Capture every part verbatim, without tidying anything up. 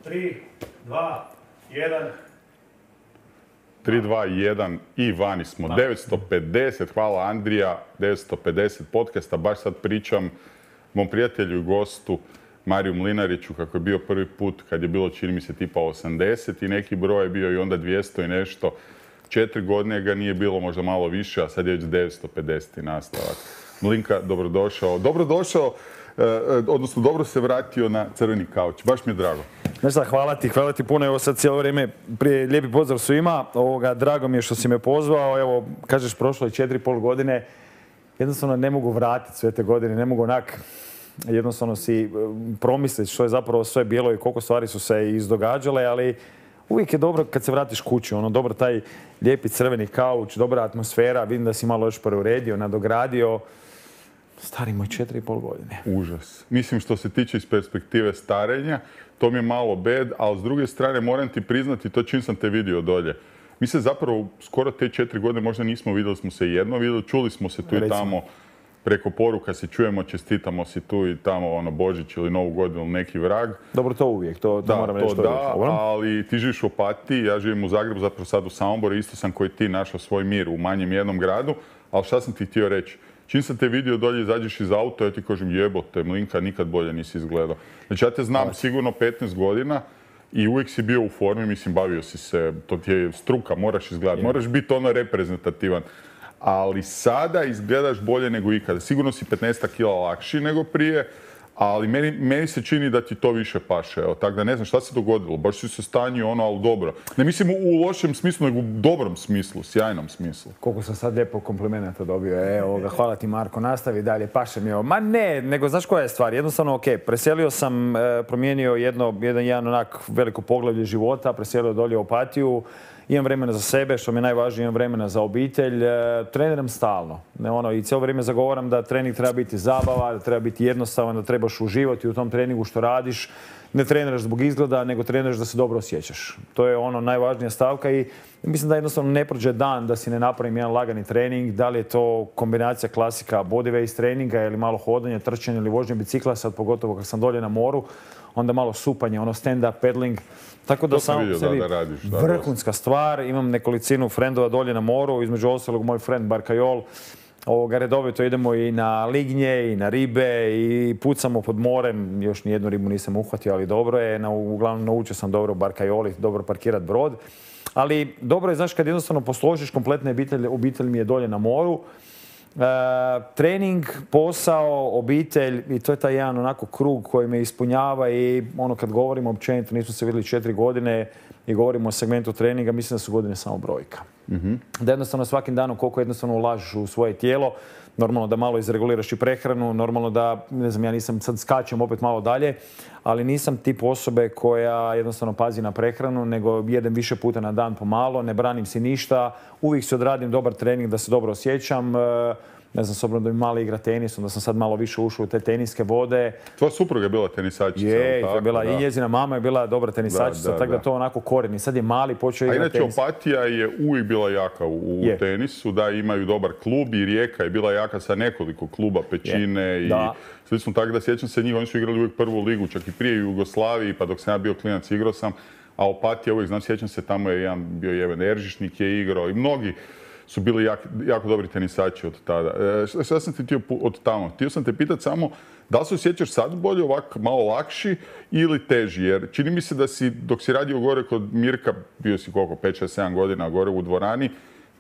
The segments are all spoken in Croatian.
tri, dva, jedan. tri, dva, jedan i vani smo. devetsto pedeset, hvala Andrija, devetsto pedeset podcasta. Baš sad pričam mom prijatelju i gostu Mariju Mlinariću kako je bio prvi put kad je bilo, čini mi se, tipa osamdeset i neki broj je bio i onda dvjesto i nešto. Četiri godine ga nije bilo, možda malo više, a sad je već devetsto pedeset nastavak. Mlinka, dobrodošao. Dobrodošao, eh, odnosno dobro se vratio na crveni kauč. Baš mi je drago. Znaš šta, hvala ti, hvala ti puno. Evo sad cijelo vrijeme, prije lijepi pozdrav svima. Ovoga, drago mi je što si me pozvao. Evo, kažeš, prošlo je četiri i pol godine. Jednostavno ne mogu vratiti sve te godine, ne mogu onak jednostavno si promisliti što je zapravo sve bilo i koliko stvari su se izdogađale, ali uvijek je dobro kad se vratiš kući, ono, dobro taj lijepi crveni kauč, dobra atmosfera, vidim da si malo još preuredio, nadogradio. Stari moj, četiri i pol godine. Užas. Mislim, što se tiče iz perspektive starenja, to mi je malo bed, ali s druge strane moram ti priznati, to čim sam te vidio dolje. Mi se zapravo skoro te četiri godine možda nismo vidjeli, smo se jedno vidjeli, čuli smo se tu i tamo preko poruka, se čujemo, čestitamo si tu i tamo, ono, Božić ili Novu godinu, neki vrag. Dobro, to uvijek, to, to da, moram reći. To da, ali ti živiš u Opatiji, ja živim u Zagrebu, zapravo sad u Samoboru, isto sam koji ti našao svoj mir u manjem jednom gradu, ali šta sam ti htio reći? Čim sam te vidio dolje, izađeš iz auta, ja ti kažem jebote, Mlinka, nikad bolje nisi izgledao. Znači ja te znam Hvala. sigurno petnaest godina i uvijek si bio u formi, mislim, bavio si se, to ti je struka, moraš izgledati, moraš biti ono reprezentativan. Ali sada izgledaš bolje nego ikada. Sigurno si petnaest kila lakši nego prije, ali meni, meni se čini da ti to više paše. Evo, tako da ne znam šta se dogodilo. Baš si se stanio ono, ali dobro. Ne mislim u lošem smislu, nego u dobrom smislu, sjajnom smislu. Koliko sam sad lijepo komplimenta dobio. Evo ga, hvala ti Marko, nastavi dalje, paše mi ovo. Ma ne, nego znaš koja je stvar? Jednostavno, ok, preselio sam, promijenio jedno, jedan, jedan onak veliko poglavlje života, preselio dolje u Opatiju. Imam vremena za sebe, što mi je najvažnije, imam vremena za obitelj. E, treniram stalno. Ne, ono, i cijelo vrijeme zagovaram da trening treba biti zabava, da treba biti jednostavan, da trebaš uživati u tom treningu što radiš. Ne treniraš zbog izgleda, nego treniraš da se dobro osjećaš. To je ono najvažnija stavka i mislim da jednostavno ne prođe dan da si ne napravim jedan lagani trening. Da li je to kombinacija klasika bodyweight treninga ili malo hodanja, trčanja ili vožnje bicikla, sad pogotovo kad sam dolje na moru, onda malo supanje, ono stand-up paddling. Tako da sam vidio, sebi da, da radiš, da, vrhunska stvar. Imam nekolicinu frendova dolje na moru, između ostalog moj friend Barkajol. Ovoga, redovito idemo i na lignje i na ribe i pucamo pod morem. Još nijednu ribu nisam uhvatio, ali dobro je. Na, uglavnom naučio sam dobro Barkajoli, dobro parkirati brod. Ali dobro je, znaš, kad jednostavno posložiš kompletne obitelj, obitelj mi je dolje na moru. E, trening, posao, obitelj i to je taj jedan onako krug koji me ispunjava i ono kad govorimo općenito, nismo se vidjeli četiri godine i govorimo o segmentu treninga, mislim da su godine samo brojka. Mm-hmm. Da jednostavno svakim danom koliko jednostavno ulažeš u svoje tijelo, normalno da malo izreguliraš i prehranu, normalno da, ne znam, ja nisam, sad skačem opet malo dalje, ali nisam tip osobe koja jednostavno pazi na prehranu, nego jedem više puta na dan pomalo, ne branim si ništa, uvijek si odradim dobar trening da se dobro osjećam. Ne znam, s obzirom da mi mali igra tenis, onda sam sad malo više ušao u te teniske vode. Tvoja supruga je bila tenisačica. Je, tako, je bila, i njezina mama je bila dobra tenisačica, da, da, tako da, da to onako korijeni. Sad je mali, počeo igrati tenis. A inače, Opatija je uvijek bila jaka u, u tenisu, da imaju dobar klub i Rijeka je bila jaka sa nekoliko kluba, Pećine je. i da. Slično, tako da sjećam se njih, oni su igrali uvijek prvu ligu, čak i prije Jugoslaviji, pa dok sam ja bio klinac igrao sam, a Opatija uvijek, znam, sjećam se, tamo je jedan bio Jeven Eržišnik je igrao i mnogi su bili jak, jako dobri tenisači od tada. E, šta sam ti htio od tamo? Htio sam te pitati samo da li se osjećaš sad bolje, ovak malo lakši ili teži? Jer čini mi se da si, dok si radio gore kod Mirka, bio si koliko, pet, šest, sedam godina gore u dvorani,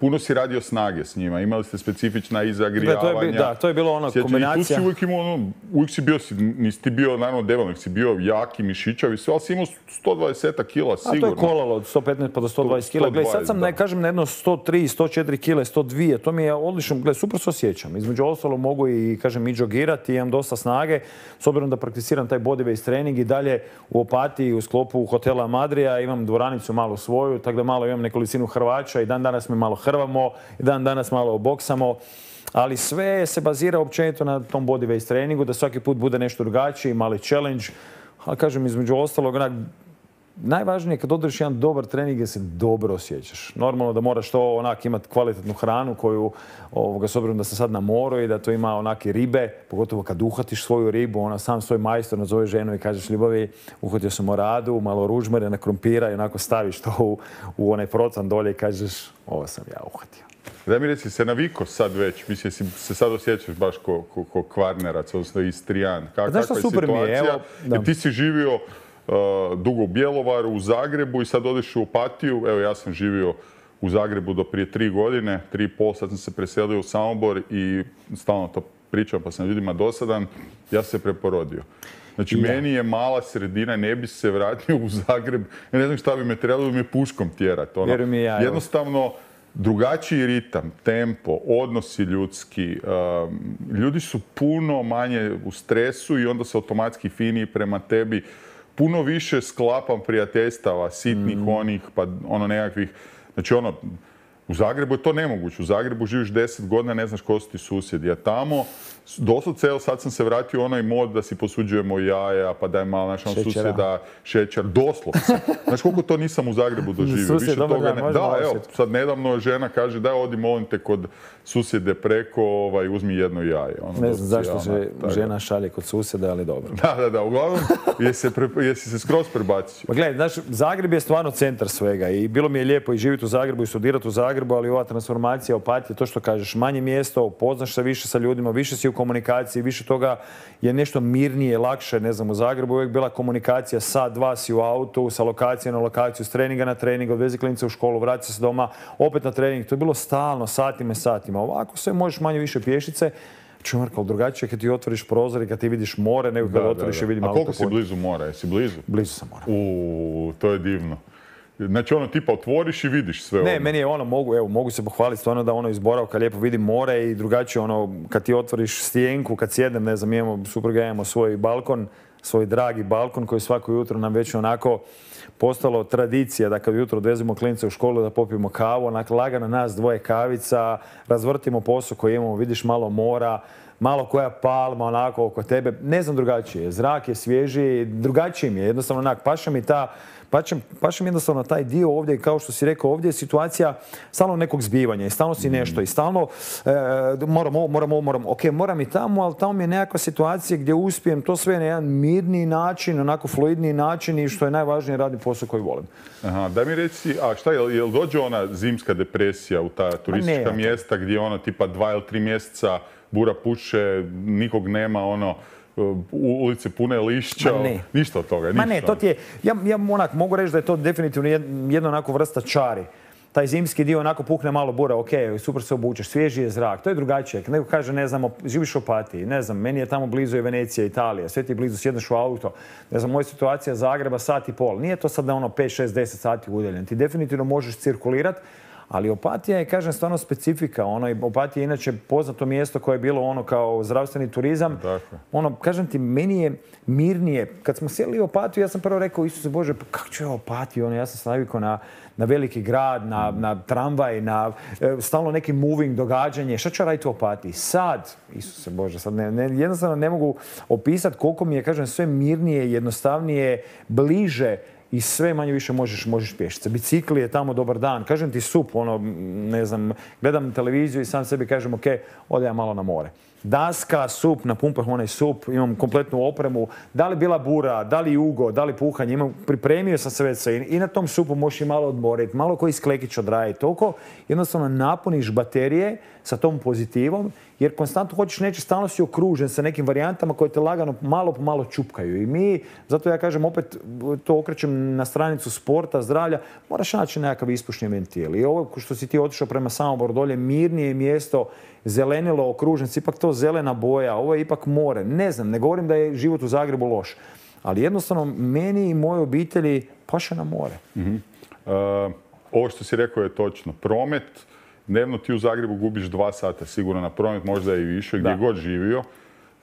puno si radio snage s njima, imali ste specifična i zagrijavanja. Da, to je bilo ono kombinacija. I tu si uvijek imao ono, uvijek si bio, nisi ti bio naravno develnik, si bio jaki, mišićavi, sve, ali si imao sto dvadeset kila sigurno. A to je kolalo od sto petnaest pa do sto dvadeset kila. Gle, sad sam, ne kažem, na jedno sto tri, sto četiri kile, sto dva, to mi je odlično, gle, super se osjećam. Između ostalo mogu i, kažem, i džogirati, imam dosta snage, s obzirom da prakticiram taj bodyweight trening i dalje u Opatiji, u sklopu hotela Madrija, imam dvoranicu malo svoju, tako da malo imam nekolicinu Hrvaća i dan danas me malo hrvamo, i dan danas malo boksamo, ali sve se bazira općenito na tom bodyweight treningu, da svaki put bude nešto drugačiji, mali challenge, ali kažem, između ostalog, onak, najvažnije je kad održiš jedan dobar trening gdje se dobro osjećaš. Normalno da moraš to onak imati kvalitetnu hranu koju, ovoga, s obzirom da sam sad na moru i da to ima onake ribe, pogotovo kad uhvatiš svoju ribu, ona sam svoj majstor nazove ženu i kažeš ljubavi, uhvatio sam oradu, malo ružmere na krompira i onako staviš to u, u onaj procan dolje i kažeš ovo sam ja uhvatio. Daj mi reci, se navikao sad već, mislim, jesi se sad osjećaš baš ko, ko, ko Kvarnerac, odnosno Istrijan. Ka, Znaš što kakva je super mi je, situacija? evo, da. Jer ti si živio uh, dugo u Bjelovaru, u Zagrebu i sad odeš u Opatiju. Evo, ja sam živio u Zagrebu do prije tri godine, tri i pol, sad sam se preselio u Samobor i stalno to pričam pa sam ljudima dosadan, ja sam se preporodio. Znači, ja. meni je mala sredina, ne bi se vratio u Zagreb, ja ne znam šta bi me trebalo, bi me puškom tjerati. Ono, Vjerujem i ja, evo. jednostavno, drugačiji ritam, tempo, odnosi ljudski, um, ljudi su puno manje u stresu i onda su automatski finiji prema tebi. Puno više sklapam prijateljstava, sitnih Mm. onih, pa ono nekakvih, znači ono, u Zagrebu je to nemoguće. U Zagrebu živiš deset godina, ne znaš ko su ti susjedi. A tamo, doslovce, evo sad sam se vratio u onaj mod da si posuđujemo jaja, pa daj malo našom susjeda šećer, doslovce. Znaš koliko to nisam u Zagrebu doživio? Susjed, Više dobar toga dan, ne. možemo Da, evo, osjetiti. sad nedavno žena kaže daj odi molim te kod susjede preko, ovaj, uzmi jedno jaje. Ono, Ne znam zašto doslovce, se ono, žena šalje kod susjeda, ali dobro. Da, da, da, uglavnom, jesi se, pre, jesi se skroz prebacio? Pa gledaj, znaš, Zagreb je stvarno centar svega i bilo mi je lijepo i živjeti u Zagrebu i studirati u Zagrebu, ali ova transformacija, Opatija, to što kažeš, manje mjesto, upoznaš se više sa ljudima, više si u komunikaciji, više toga je nešto mirnije, lakše, ne znam, u Zagrebu je uvijek bila komunikacija, sat, dva si u autu, sa lokacije na lokaciju, s treninga na trening, odvezi klince u školu, vrati se doma, opet na trening, to je bilo stalno, satima i satima. Ovako sve možeš manje više pješice, čumarka, drugačije kad ti otvoriš prozor i kad ti vidiš more, nego kad Da, otvoriš da, i vidim da. A koliko autoput. si blizu mora? Jesi blizu? Blizu sam mora. Uuu, to je divno. Znači ono tipa otvoriš i vidiš sve Ne, ono. meni je ono, mogu, evo, mogu se pohvaliti stvarno da ono iz boravka lijepo vidim more i drugačije ono, kad ti otvoriš stijenku, kad sjednem, ne znam, imamo, supruga imamo svoj balkon, svoj dragi balkon koji svako jutro nam već onako postalo tradicija da kad jutro odvezemo klince u školu da popijemo kavu, onako lagano nas dvoje kavica, razvrtimo posao koji imamo, vidiš malo mora, malo koja palma onako oko tebe, ne znam drugačije, zrak je svježiji, drugačiji mi je, jednostavno onak, paša mi ta, paša, paša mi jednostavno taj dio ovdje, kao što si rekao, ovdje je situacija stalno nekog zbivanja i stalno si nešto i stalno e, moram ovo, moram ovo, moram, ok, moram i tamo, ali tamo mi je nekakva situacija gdje uspijem to sve na jedan mirniji način, onako fluidniji način i što je najvažnije radim posao koji volim. Aha, daj mi reci, a šta, jel, jel dođe ona zimska depresija u ta turistička ne, mjesta gdje ono tipa dva ili tri mjeseca bura puše, nikog nema, ono, ulice pune lišća, Ma ne. ništa od toga, ništa. Ma ne, to ti je, ja, ja onak, mogu reći da je to definitivno jedna onako vrsta čari. Taj zimski dio onako pukne malo bura, ok, super se obučeš, svježi je zrak, to je drugačije. Neko kaže, ne znam, živiš u Opatiji, ne znam, meni je tamo blizu je Venecija, Italija, sve ti je blizu, sjedneš u auto, ne znam, moja situacija Zagreba sat i pol. Nije to sad da ono pet, šest, deset sati udaljen. Ti definitivno možeš cirkulirati, ali Opatija je, kažem, stvarno specifika. Ono, Opatija je inače poznato mjesto koje je bilo ono kao zdravstveni turizam. Tako. Ono, kažem ti, meni je mirnije. Kad smo sjeli u Opatiju, ja sam prvo rekao, Isuse Bože, pa kako ću ja Opatiju? Ono, ja sam se navikao na, na veliki grad, na, na tramvaj, na e, stalno neki moving događanje. Šta ću raditi u Opatiji? Sad, Isuse Bože, sad ne, ne, jednostavno ne mogu opisati koliko mi je, kažem, sve mirnije, jednostavnije, bliže i sve manje više možeš, možeš pješice. Bicikli je tamo dobar dan. Kažem ti sup, ono, ne znam, gledam televiziju i sam sebi kažem, ok, ode ja malo na more. Daska, sup, napumpam onaj sup, imam kompletnu opremu. Da li bila bura, da li jugo, da li puhanje, imam, pripremio sam se već sve i na tom supu možeš i malo odmoriti, malo koji sklekić odraditi. Toliko jednostavno napuniš baterije sa tom pozitivom, jer konstantno hoćeš neće, stalno si okružen sa nekim varijantama koje te lagano malo po malo čupkaju. I mi, zato ja kažem, opet to okrećem na stranicu sporta, zdravlja, moraš naći nekakav ispušni ventil. I ovo što si ti otišao prema Samoboru dolje, mirnije mjesto, zelenilo, okružen, ipak to zelena boja, ovo je ipak more. Ne znam, ne govorim da je život u Zagrebu loš, ali jednostavno meni i mojoj obitelji paše na more. Mm-hmm. Uh, ovo što si rekao je točno. Promet, dnevno ti u Zagrebu gubiš dva sata sigurno na promet, možda i više, gdje Da. god živio.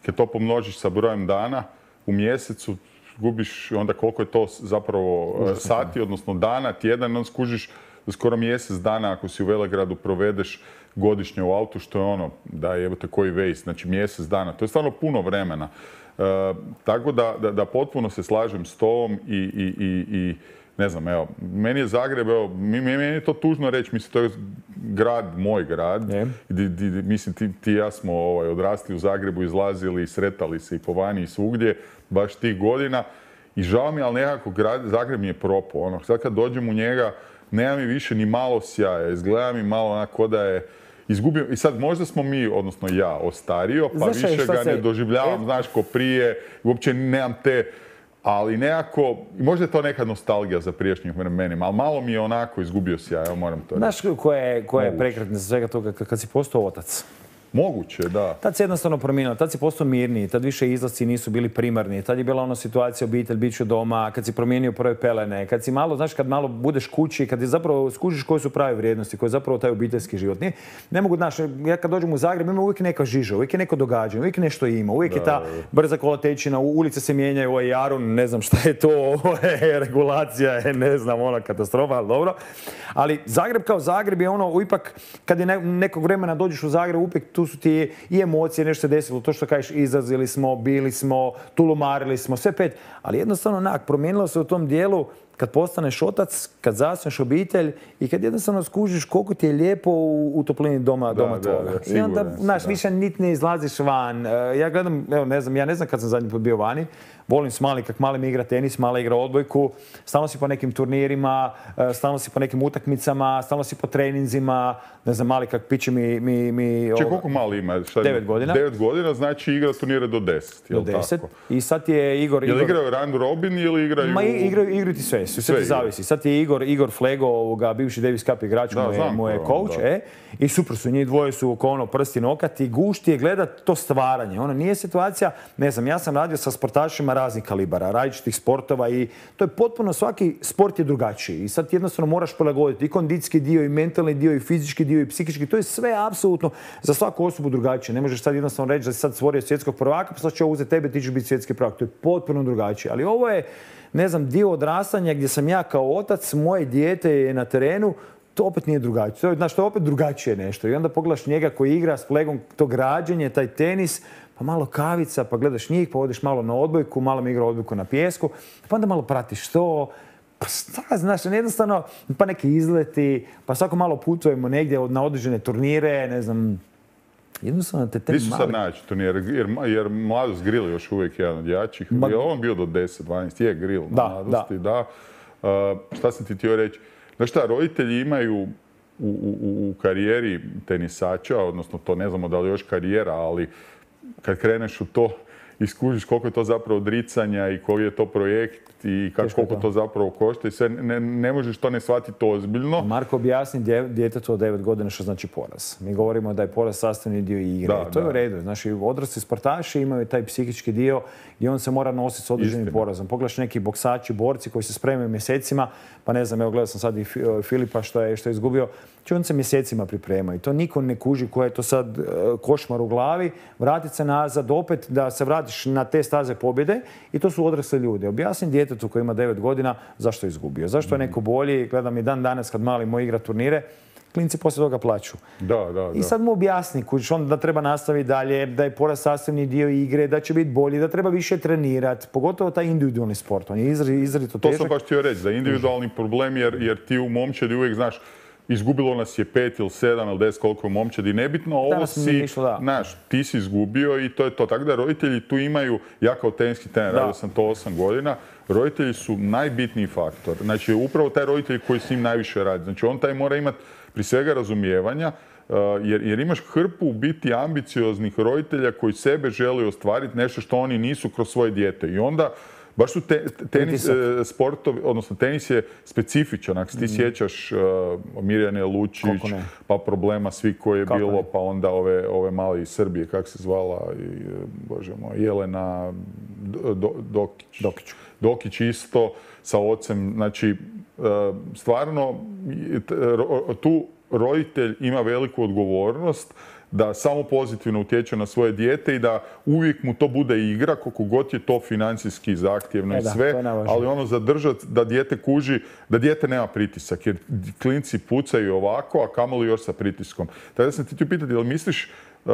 Kad to pomnožiš sa brojem dana, u mjesecu gubiš onda koliko je to zapravo uh, sati, odnosno dana, tjedan, onda skužiš skoro mjesec dana ako si u Velegradu provedeš godišnje u autu, što je ono, da jebote koji vejst, znači mjesec dana. To je stvarno puno vremena. E, tako da, da, da potpuno se slažem s tobom i, i, i, i ne znam, evo, meni je Zagreb, evo, meni je to tužno reći, mislim, to je grad, moj grad. Yeah. Di, di, di, mislim, ti, ti i ja smo ovaj, odrasli u Zagrebu, izlazili i sretali se i po vani i svugdje, baš tih godina. I žao mi, ali nekako grad, Zagreb mi je propao. Ono, sad kad dođem u njega, nema mi više ni malo sjaja, izgleda mi malo onako da je izgubio. I sad možda smo mi, odnosno ja, ostario, pa znaš, više ga se... ne doživljavam, e... znaš, ko prije, uopće nemam te... Ali nekako, možda je to neka nostalgija za prijašnjih vremenima, ali malo mi je onako izgubio sjaj, evo moram to reći. Znaš koja je, koja je prekretnica za svega toga kad si postao otac? Moguće, da. Tad se jednostavno promijenilo, tad si postao mirniji, tad više izlasci nisu bili primarni, tad je bila ona situacija obitelj, bit ću doma, kad si promijenio prve pelene, kad si malo, znaš, kad malo budeš kući, kad je zapravo skužiš koje su prave vrijednosti, koji je zapravo taj obiteljski život. Nije, ne mogu, znaš, ja kad dođem u Zagreb ima uvijek neka žiža, uvijek je neko događanje, uvijek nešto ima, uvijek da, je ta brza kolotečina, ulice se mijenjaju, ovaj Jarun, ne znam šta je to, ovo je regulacija, je, ne znam, ona katastrofa, ali dobro. Ali Zagreb kao Zagreb je ono, ipak, kad je nekog vremena dođeš u Zagreb, uvijek tu su ti i emocije, nešto se desilo, to što kažeš, izrazili smo, bili smo, tulumarili smo, sve pet. Ali jednostavno, onak, promijenilo se u tom dijelu kad postaneš otac, kad zasneš obitelj i kad jednostavno skužiš koliko ti je lijepo u, u toplini doma, da, doma tvoga. Da, da, I onda, znaš, više niti ne izlaziš van. Ja gledam, evo, ne znam, ja ne znam kad sam zadnji put bio vani. Volim s Mali, kak Mali mi igra tenis, Mali igra odbojku. Stalno si po nekim turnirima, stalno si po nekim utakmicama, stalno si po treninzima. Ne znam, Mali kak piće mi... mi, mi Če, koliko Mali ima? Šta, devet godina. Devet godina, znači igra turnire do deset, jel' do deset. Tako? I sad je Igor... Jel' Igor... igraju round robin ili igraju... Ma igraju, igraju ti sve, sve, sve ti zavisi. Sad je Igor, Igor Flego, ovoga, bivši Davis Cup igrač, da, mu je, mu je coach, e, i super su, njih dvoje su oko ono prsti nokat i gušti je gledat to stvaranje. Ono nije situacija, ne znam, ja sam radio sa sportašima raznih kalibara, različitih sportova i to je potpuno, svaki sport je drugačiji i sad jednostavno moraš prilagoditi i kondicijski dio i mentalni dio i fizički dio i psihički, to je sve apsolutno za svaku osobu drugačije. Ne možeš sad jednostavno reći da si sad stvorio svjetskog prvaka, pa sad će uzeti tebe, ti ćeš biti svjetski prvak. To je potpuno drugačije, ali ovo je, ne znam, dio odrastanja gdje sam ja kao otac, moje dijete je na terenu, to opet nije drugačije. To je, znaš, to je opet drugačije nešto. I onda pogledaš njega koji igra s Flegom to građenje, taj tenis, pa malo kavica, pa gledaš njih, pa odeš malo na odbojku, malo mi igra odbojku na pijesku, pa onda malo pratiš to. Pa znaš, jednostavno, pa neki izleti, pa svako malo putujemo negdje na određene turnire, ne znam, jednostavno te te mali... Nisu sad naći turnir, jer, jer Mladost Grill još uvijek jedan od jačih. Ma... Je on bio do deset dvanaest, je Grill da, Mladosti, da. da. Uh, šta sam ti htio reći? Znaš šta, roditelji imaju u, u, u karijeri tenisača, odnosno to ne znamo da li još karijera, ali kad kreneš u to i skužiš koliko je to zapravo odricanja i koji je to projekt i kako, koliko to. to zapravo košta i sve, ne, ne možeš to ne shvatiti ozbiljno. Marko objasni djetetu od devet godina što znači poraz. Mi govorimo da je poraz sastavni dio igre. Da, to da. je u redu. Znači, odrasli sportaši imaju taj psihički dio gdje on se mora nositi s određenim Istina. porazom. Pogledaš neki boksači, borci koji se spremaju mjesecima, pa ne znam, evo gledao sam sad i Filipa što je, što je izgubio, či on se mjesecima priprema i to niko ne kuži koja je to sad košmar u glavi, vratit se nazad opet da se vratiš na te staze pobjede i to su odrasli ljudi. Objasni djetetu koji ima devet godina zašto je izgubio, zašto je neko bolji, gledam i dan danas kad mali moj igra turnire, klinci poslije toga plaću. Da, da, da. I sad mu objasni kuć, on da treba nastaviti dalje, da je poraz sastavni dio igre, da će biti bolji, da treba više trenirati, pogotovo taj individualni sport. On je izrazito težak. To sam baš htio reći, za individualni problem jer, jer ti u momčadi uvijek znaš izgubilo nas je pet ili sedam ili deset koliko je momčadi, nebitno, ovo si, znaš, ti si izgubio i to je to. Tako da roditelji tu imaju, ja kao teniski trener, radio sam to osam godina, roditelji su najbitniji faktor. Znači, upravo taj roditelj koji s njim najviše radi. Znači, on taj mora imati prije svega razumijevanja, jer, jer imaš hrpu u biti ambicioznih roditelja koji sebe žele ostvariti nešto što oni nisu kroz svoje dijete. I onda baš su te, tenis, sportovi, odnosno tenis je specifičan. Ako ti mm. sjećaš uh, Mirjane Lučić, pa problema svi koji je kako bilo, ne? Pa onda ove, ove male iz Srbije, kako se zvala, i, bože moj, Jelena Do, Dokić. Dokić. Dokić isto sa ocem. Znači, uh, stvarno tu roditelj ima veliku odgovornost da samo pozitivno utječe na svoje dijete i da uvijek mu to bude igra, koliko god je to financijski zahtjevno E i da, sve, to je najvažnije. ali ono zadržati da dijete kuži, da dijete nema pritisak, jer klinci pucaju ovako, a kamoli još sa pritiskom. Tako da sam ti ti pitati, jel misliš uh,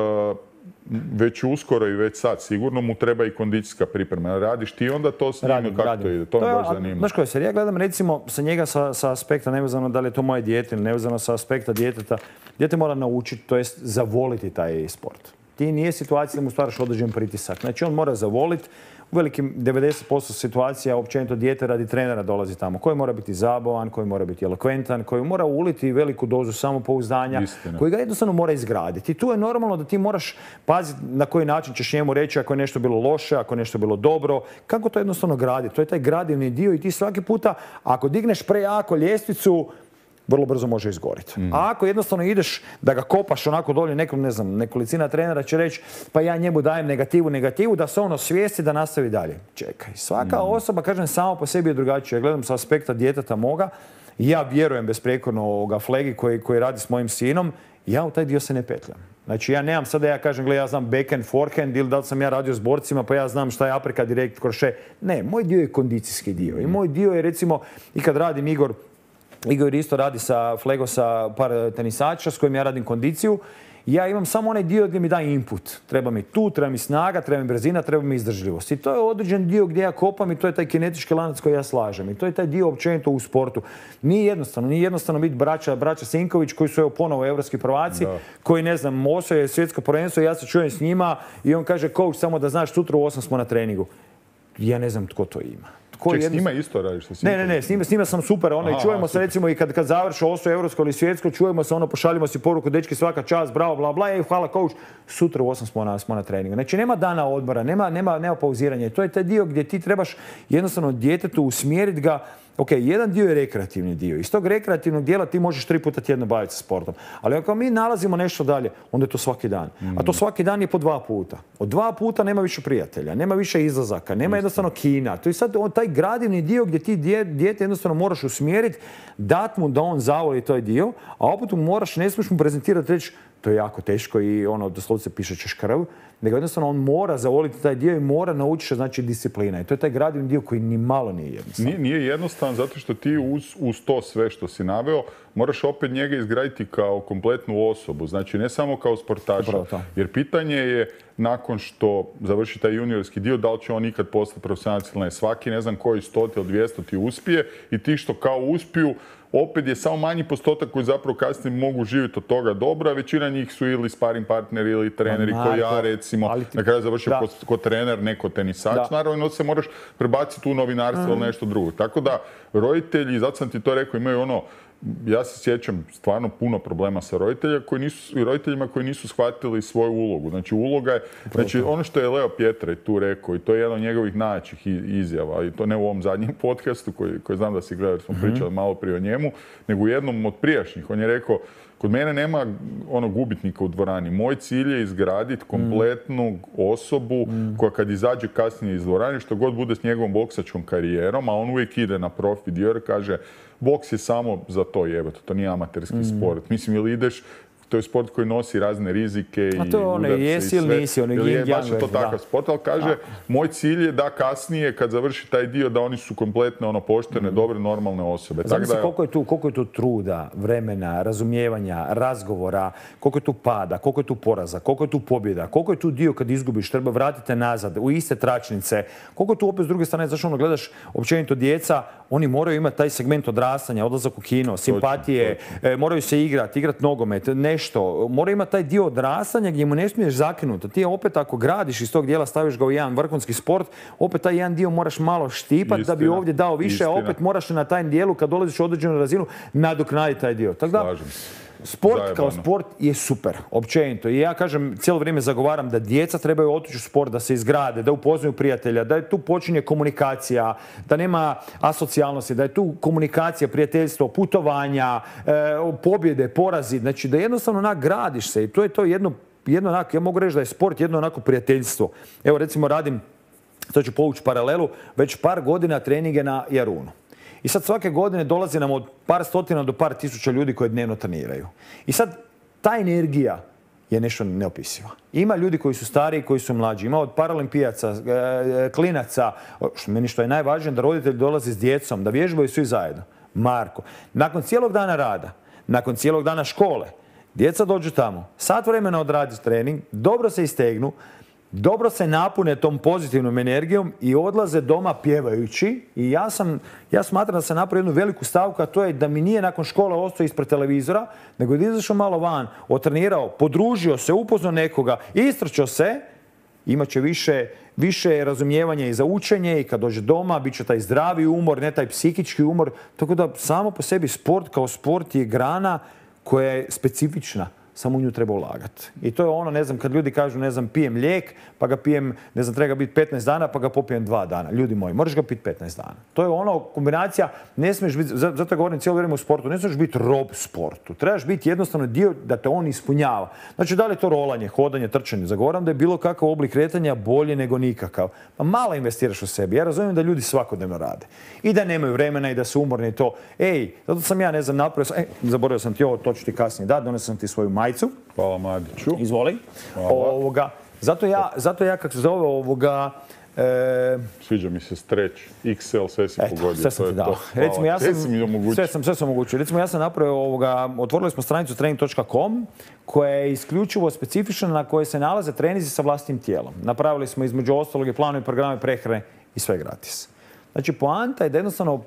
već uskoro i već sad, sigurno mu treba i kondicijska priprema. Radiš ti onda to s njim, Radim, kako radim. to ide? To me je- baš a, zanima. Znaš koje, jer ja gledam recimo sa njega sa, sa aspekta, nevezano da li je to moje dijete ili nevezano sa aspekta djeteta, dijete mora naučiti, to jest zavoliti taj sport. Ti nije situacija da mu stvaraš određen pritisak. Znači on mora zavoliti. U velikim devedeset posto situacija općenito dijete radi trenera dolazi tamo, koji mora biti zabavan, koji mora biti elokventan, koji mora uliti veliku dozu samopouzdanja, Istina. koji ga jednostavno mora izgraditi. I tu je normalno da ti moraš paziti na koji način ćeš njemu reći ako je nešto bilo loše, ako je nešto bilo dobro, kako to jednostavno graditi. To je taj gradivni dio i ti svaki puta ako digneš prejako ljestvicu, vrlo brzo može izgoriti. Mm. A ako jednostavno ideš da ga kopaš onako dolje, nekom, ne znam, nekolicina trenera će reći pa ja njemu dajem negativu, negativu, da se ono svijesti da nastavi dalje. Čekaj, svaka Mm. osoba, kažem, samo po sebi je drugačija. Ja gledam sa aspekta djeteta moga, ja vjerujem besprijekorno ovoga Flegi koji, koji radi s mojim sinom, ja u taj dio se ne petljam. Znači ja nemam sada, ja kažem, gle, ja znam backhand, forehand ili da li sam ja radio s borcima pa ja znam šta je aprika, direkt, kroše. Ne, moj dio je kondicijski dio. I moj dio je recimo, i kad radim Igor, Igor isto radi sa Flego sa par tenisača s kojim ja radim kondiciju. Ja imam samo onaj dio gdje mi da input. Treba mi tu, treba mi snaga, treba mi brzina, treba mi izdržljivost. I to je određen dio gdje ja kopam i to je taj kinetički lanac koji ja slažem. I to je taj dio općenito u sportu. Nije jednostavno, nije jednostavno biti braća, braća Sinković koji su evo ponovo evropski prvaci, Da. koji ne znam, osvoje svjetsko prvenstvo, ja se čujem s njima i on kaže coach samo da znaš sutra u osam smo na treningu. Ja ne znam tko to ima. Tko Ček, s jednostavno- njima isto radiš? Sa ne, ne, ne, s njima, s njima sam super, ono, Aha, i čujemo se super. recimo i kad, kad završi osvoje europsko ili svjetsko, čujemo se, ono, pošaljimo si poruku, dečki svaka čast, bravo, bla, bla, ej, hvala coach, sutra u osam smo na, smo na treningu. Znači, nema dana odmora, nema, nema, nema pauziranja. To je taj dio gdje ti trebaš jednostavno djetetu usmjeriti ga. Ok, jedan dio je rekreativni dio. Iz tog rekreativnog dijela ti možeš tri puta tjedno baviti se sportom. Ali ako mi nalazimo nešto dalje, onda je to svaki dan. A to svaki dan je po dva puta. Od dva puta nema više prijatelja, nema više izlazaka, nema jednostavno kina. To je sad on, taj gradivni dio gdje ti dje- dijete jednostavno moraš usmjeriti, dat mu da on zavoli taj dio, a opet mu moraš, ne smiješ mu prezentirati, reći to je jako teško i ono, doslovce piše ćeš krv, nego jednostavno on mora zavoliti taj dio i mora naučiti, znači, disciplina. I to je taj gradivni dio koji ni malo nije jednostavan. Nije, nije jednostavan zato što ti uz, uz to sve što si naveo moraš opet njega izgraditi kao kompletnu osobu. Znači ne samo kao sportaša. Upravo to. Jer pitanje je nakon što završi taj juniorski dio da li će on ikad postati profesionalac ili ne. Svaki ne znam koji stoti ili dvjesto ti uspije i ti što kao uspiju opet je samo manji postotak koji zapravo kasnije mogu živjeti od toga dobro, a većina njih su ili sparing partneri ili treneri Ma, koji ja Marko, recimo ali ti- na kraju završio da. ko, ko trener, neko tenisač. Da. Naravno se moraš prebaciti u novinarstvo ili nešto drugo. Tako da roditelji, zato sam ti to rekao, imaju ono, ja se sjećam stvarno puno problema sa roditeljima koji nisu, roditeljima koji nisu shvatili svoju ulogu. Znači uloga je, znači ono što je Leo Pjetraj tu rekao i to je jedan od njegovih najjačih izjava i to ne u ovom zadnjem podcastu koji, koji znam da si gledao jer smo pričali malo prije o njemu, nego u jednom od prijašnjih. On je rekao, kod mene nema ono gubitnika u dvorani. Moj cilj je izgraditi kompletnu osobu koja kad izađe kasnije iz dvorane, što god bude s njegovom boksačkom karijerom, a on uvijek ide na profi dio jer kaže boks je samo za to jebate, to nije amaterski sport. Mislim, ili ideš, to je sport koji nosi razne rizike i A to je ono, udarce jesi i ili sve. nisi, ono, Ili je yin-yang baš je to verzija, takav da. sport, ali kaže, moj cilj je da kasnije, kad završi taj dio, da oni su kompletne, ono, poštene, dobre, normalne osobe. Tako Znam da, se koliko je, tu, koliko je tu truda, vremena, razumijevanja, razgovora, koliko je tu pada, koliko je tu poraza, koliko je tu pobjeda, koliko je tu dio kad izgubiš, treba vratiti nazad u iste tračnice, koliko je tu opet s druge strane, znaš ono, gledaš općenito djeca, oni moraju imati taj segment odrastanja, odlazak u kino, simpatije, e, moraju se igrati, igrati nogomet, nešto, moraju imati taj dio odrastanja gdje mu ne smiješ zakinuti. Ti opet ako gradiš iz tog dijela, staviš ga u jedan vrhunski sport, opet taj jedan dio moraš malo štipati da bi Istina, ovdje dao više, a istina. opet moraš na taj dijelu kad dolaziš u određenu razinu nadoknaditi taj dio. Tako da, slažem se. sport Zajebano. kao sport je super, općenito. I ja kažem, cijelo vrijeme zagovaram da djeca trebaju otići u sport, da se izgrade, da upoznaju prijatelja, da je tu počinje komunikacija, da nema asocijalnosti, da je tu komunikacija, prijateljstvo, putovanja, e, pobjede, porazi. Znači da jednostavno nagradiš se i to je to jedno, jedno onako, ja mogu reći da je sport jedno onako prijateljstvo. Evo recimo radim, to ću povući paralelu, već par godina treninge na Jarunu. I sad svake godine dolazi nam od par stotina do par tisuća ljudi koji dnevno treniraju. I sad ta energija je nešto neopisivo. Ima ljudi koji su stariji, koji su mlađi. Ima od paralimpijaca, klinaca. Meni što je najvažnije da roditelji dolaze s djecom, da vježbaju svi zajedno. Marko, nakon cijelog dana rada, nakon cijelog dana škole, djeca dođu tamo, sat vremena odradi trening, dobro se istegnu, dobro se napune tom pozitivnom energijom i odlaze doma pjevajući. I ja sam, ja smatram da sam napravio jednu veliku stavku, a to je da mi nije nakon škole ostao ispred televizora, nego da izašao malo van, otrenirao, podružio se, upoznao nekoga, istrčao se, imat će više, više razumijevanja i za učenje i kad dođe doma bit će taj zdravi umor, ne taj psihički umor. Tako da samo po sebi sport kao sport je grana koja je specifična. Samo u nju treba ulagati. I to je ono, ne znam, kad ljudi kažu, ne znam, pijem lijek, pa ga pijem, ne znam, treba ga biti petnaest dana, pa ga popijem dva dana. Ljudi moji, moraš ga piti petnaest dana. To je ono, kombinacija, ne smiješ biti, zato govorim cijelo vrijeme u sportu, ne smiješ biti rob sportu. Trebaš biti jednostavno dio da te on ispunjava. Znači, da li je to rolanje, hodanje, trčanje? Zagovaram da je bilo kakav oblik kretanja bolje nego nikakav. Pa malo investiraš u sebi. Ja razumijem da ljudi svakodnevno rade. I da nemaju vremena i da su umorni i to. Ej, zato sam ja, ne znam, napravio sam, ej, zaboravio sam ti ovo, to ću ti kasnije dati, donesao sam ti svoju majcu. Hvala Mladiću. Izvoli. Ovoga, zato ja, zato ja kako se zove ovoga... E, Sviđa mi se streć, iks el, sve si eto, pogodio. Sve sam ti dao. Recimo, ja sam, sve, mi sve sam, sve sam omogućio. Recimo, ja sam napravio ovoga, otvorili smo stranicu trening točka com koja je isključivo specifična na kojoj se nalaze trenizi sa vlastnim tijelom. Napravili smo između ostalog i planove, programe prehrane i sve gratis. Znači, poanta je da jednostavno uh,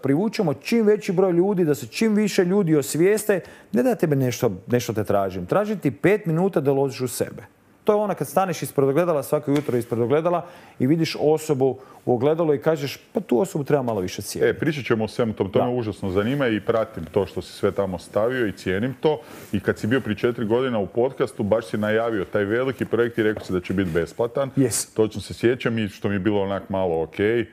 privučemo čim veći broj ljudi, da se čim više ljudi osvijeste, ne da tebe nešto, nešto te tražim. Tražim ti pet minuta da uložiš u sebe. To je ono kad staneš ispred ogledala, svako jutro ispred ogledala i vidiš osobu u ogledalu i kažeš, pa tu osobu treba malo više cijeniti. E, pričat ćemo o svemu tom, to me užasno zanima i pratim to što si sve tamo stavio i cijenim to. I kad si bio prije četiri godina u podcastu, baš si najavio taj veliki projekt i rekao si da će biti besplatan. Yes. Točno se sjećam i što mi je bilo onak malo okej.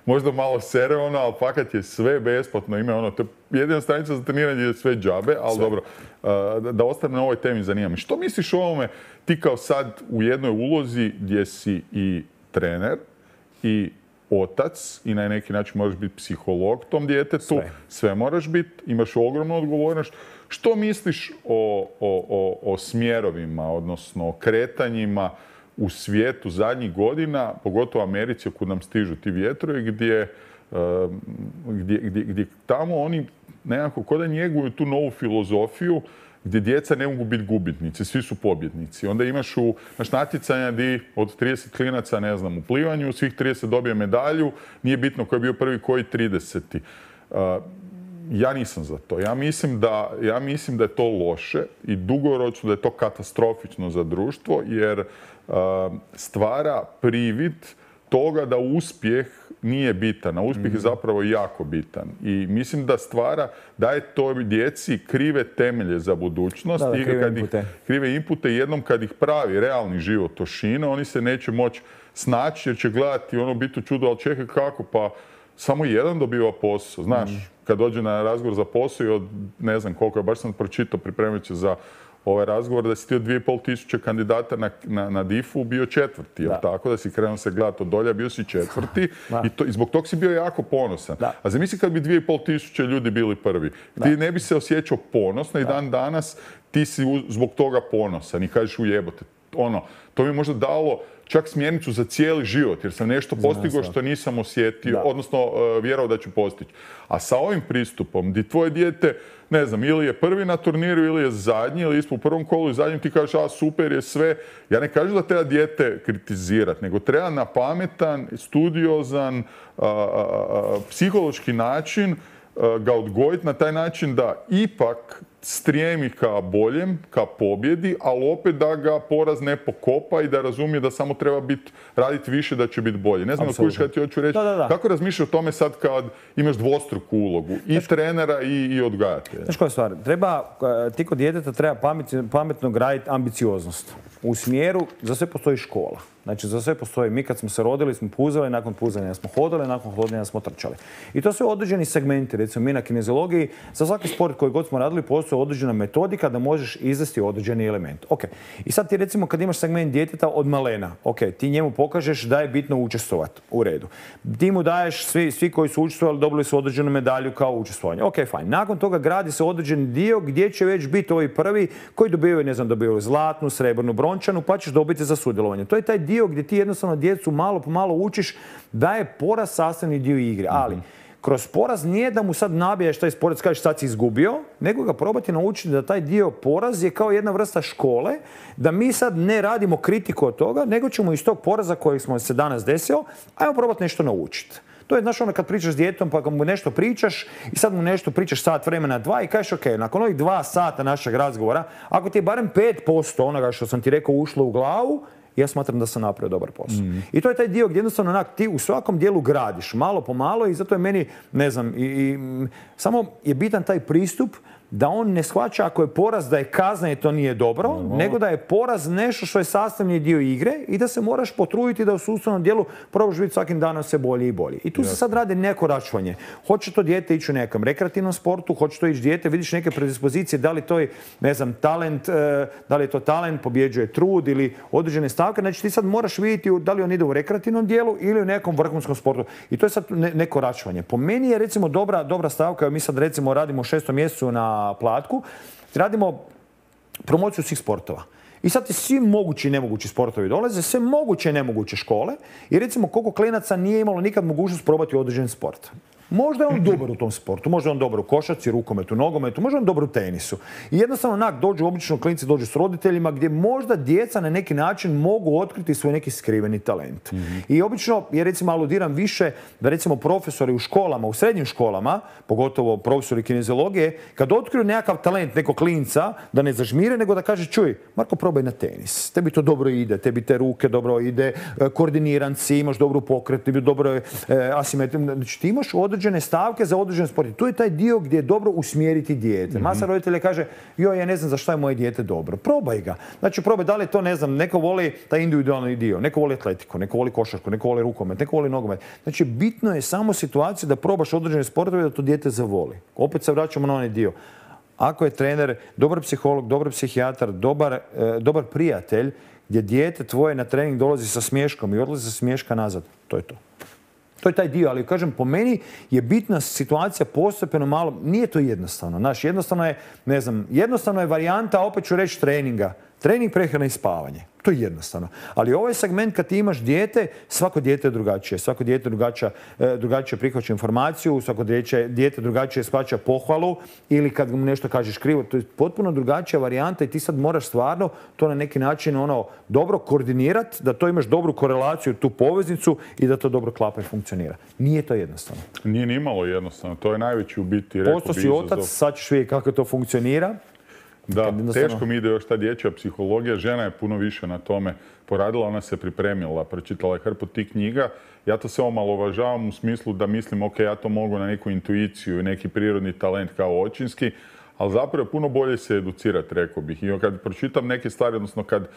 Možda malo sere ono, ali fakat je sve besplatno. Ima ono, to je jedina stranica za treniranje je sve džabe, ali sve. Dobro, uh, da ostane na ovoj temi zanima me. Što misliš o ovome, ti kao sad u jednoj ulozi gdje si i trener i otac i na neki način moraš biti psiholog tom djetetu, sve, sve moraš biti, imaš ogromnu odgovornost. Što misliš o, o, o, o smjerovima, odnosno o kretanjima u svijetu zadnjih godina, pogotovo u Americi, kud nam stižu ti vjetrovi, gdje, gdje, gdje, gdje tamo oni nekako kod da njeguju tu novu filozofiju gdje djeca ne mogu biti gubitnici, svi su pobjednici. Onda imaš u naš natjecanja gdje od trideset klinaca, ne znam, u plivanju, svih trideset dobije medalju, nije bitno ko je bio prvi, koji trideseti. Ja nisam za to. Ja mislim da, ja mislim da je to loše i dugoročno da je to katastrofično za društvo, jer uh, stvara privid toga da uspjeh nije bitan, a uspjeh mm. je zapravo jako bitan. I mislim da stvara, daje to djeci krive temelje za budućnost. Da, da, i krive kad inpute. Ih, krive inpute, jednom kad ih pravi realni život ošine, oni se neće moći snaći jer će gledati ono biti čudo, ali čekaj kako, pa samo jedan dobiva posao. Znaš, mm. kad dođe na razgovor za posao i od ne znam koliko, ja baš sam pročitao pripremajući za ovaj razgovor, da si ti od dvije i pol tisuće kandidata na, na, na difu bio četvrti, jel tako? Da si krenuo se gledati od dolja, bio si četvrti i, to, i zbog tog si bio jako ponosan. Da. A zamisli kad bi dvije i pol tisuće ljudi bili prvi. Da. Ti ne bi se osjećao ponosno i dan danas ti si u, zbog toga ponosan i kažeš ujebote. Ono, to mi možda dalo čak smjernicu za cijeli život, jer sam nešto postigao što nisam osjetio, da. odnosno uh, vjerovao da ću postići. A sa ovim pristupom, di tvoje dijete, ne znam, ili je prvi na turniru, ili je zadnji, ili ispo u prvom kolu i zadnjem, ti kažeš, a super je sve. Ja ne kažem da treba dijete kritizirati, nego treba na pametan, studiozan, uh, uh, uh, psihološki način uh, ga odgojiti na taj način da ipak strijemi ka boljem, ka pobjedi, ali opet da ga poraz ne pokopa i da razumije da samo treba biti, raditi više da će biti bolje. Ne znam da kužiš kada ti hoću reći. Da, da, da. Kako razmišljaš o tome sad kad imaš dvostruku ulogu i Znaš, trenera i, i odgajatelja? Znaš koja stvar? Treba, ti kod djeteta treba pamet, pametno graditi ambicioznost. U smjeru, za sve postoji škola. Znači, za sve postoji. Mi kad smo se rodili smo puzali, nakon puzanja smo hodali, nakon hodanja smo trčali. I to su određeni segmenti. Recimo, mi na kineziologiji, za svaki sport koji god smo radili, postoji određena metodika da možeš izvesti određeni element. Ok. I sad ti recimo kad imaš segment djeteta od malena, ok, ti njemu pokažeš da je bitno učestvovati. U redu. Ti mu daješ, svi, svi koji su učestvovali dobili su određenu medalju kao učestvovanje. Ok, fajn. Nakon toga gradi se određeni dio gdje će već biti ovi prvi koji dobivaju, ne znam, dobivaju zlatnu, srebrnu, brončanu, pa ćeš dobiti za sudjelovanje. To je taj dio gdje ti jednostavno djecu malo po malo učiš da je poraz sastavni dio igre. Ali kroz poraz nije da mu sad nabijaš taj sport, kažeš sad si izgubio, nego ga probati naučiti da taj dio poraz je kao jedna vrsta škole, da mi sad ne radimo kritiku od toga, nego ćemo iz tog poraza kojeg smo se danas desio, ajmo probati nešto naučiti. To je, znaš, ono kad pričaš s djetom pa mu nešto pričaš i sad mu nešto pričaš sat vremena, dva i kažeš ok, nakon ovih dva sata našeg razgovora, ako ti je barem pet posto onoga što sam ti rekao ušlo u glavu, ja smatram da sam napravio dobar posao. Mm. I to je taj dio gdje jednostavno onak, ti u svakom dijelu gradiš, malo po malo i zato je meni, ne znam, i, i, samo je bitan taj pristup da on ne shvaća ako je poraz da je kazna i to nije dobro, no. nego da je poraz nešto što je sastavni dio igre i da se moraš potruditi da u sustavnom dijelu probaš biti svakim danom sve bolji i bolji. I tu se sad radi neko računanje. Hoće to dijete ići u nekom rekreativnom sportu, hoće to ići dijete, vidiš neke predispozicije, da li to je, ne znam, talent, da li je to talent, pobjeđuje trud ili određene stavke. Znači ti sad moraš vidjeti da li on ide u rekreativnom dijelu ili u nekom vrhunskom sportu. I to je sad neko računanje. Po meni je recimo dobra, dobra stavka, mi sad recimo radimo u šestom mjesecu na Platku, radimo promociju svih sportova. I sad ti svi mogući i nemogući sportovi dolaze, sve moguće i nemoguće škole i recimo koliko klinaca nije imalo nikad mogućnost probati određen sport. Možda je on dobar u tom sportu, možda je on dobar u košarci, rukometu, nogometu, možda je on dobar u tenisu. I jednostavno onak dođu, obično klinci dođu s roditeljima gdje možda djeca na neki način mogu otkriti svoj neki skriveni talent. Mm-hmm. I obično, ja recimo aludiram više da recimo profesori u školama, u srednjim školama, pogotovo profesori kineziologije, kad otkriju nekakav talent nekog klinca, da ne zažmire, nego da kaže čuj, Marko, probaj na tenis. Tebi to dobro ide, tebi te ruke dobro ide, koordiniran si, imaš dobru pokret, tebi dobro je asimetrično. Znači ti imaš određene stavke za određen sport. I tu je taj dio gdje je dobro usmjeriti dijete. Mm-hmm. Masa roditelja kaže, joj, ja ne znam za šta je moje dijete dobro. Probaj ga. Znači, probaj da li je to, ne znam, neko voli taj individualni dio, neko voli atletiku, neko voli košarku, neko voli rukomet, neko voli nogomet. Znači, bitno je samo situacija da probaš određene sportove da to dijete zavoli. Opet se vraćamo na onaj dio. Ako je trener, dobar psiholog, dobar psihijatar, dobar, e, dobar prijatelj, gdje dijete tvoje na trening dolazi sa smješkom i odlazi sa smješka nazad, to je to. To je taj dio, ali kažem, po meni je bitna situacija postepeno malo, nije to jednostavno. Znaš, jednostavno je, ne znam, jednostavno je varijanta, opet ću reći, treninga. Trening, prehrana i spavanje. To je jednostavno. Ali ovaj segment kad ti imaš dijete, svako dijete je drugačije. Svako dijete drugačije, drugačije prihvaća informaciju, svako dijete drugačije shvaća pohvalu ili kad mu nešto kažeš krivo. To je potpuno drugačija varijanta i ti sad moraš stvarno to na neki način ono, dobro koordinirati, da to imaš dobru korelaciju, tu poveznicu i da to dobro klapa i funkcionira. Nije to jednostavno. Nije ni malo jednostavno. To je najveći u biti, rekao bi, Posto si otac, sad ćeš vidjeti kako to funkcionira. Da, jednostavno... teško mi ide još ta dječja psihologija. Žena je puno više na tome poradila, ona se pripremila, pročitala je hrpu tih knjiga. Ja to sve omalovažavam u smislu da mislim, ok, ja to mogu na neku intuiciju i neki prirodni talent kao očinski, ali zapravo je puno bolje se educirati, rekao bih. I kad pročitam neke stvari, odnosno kad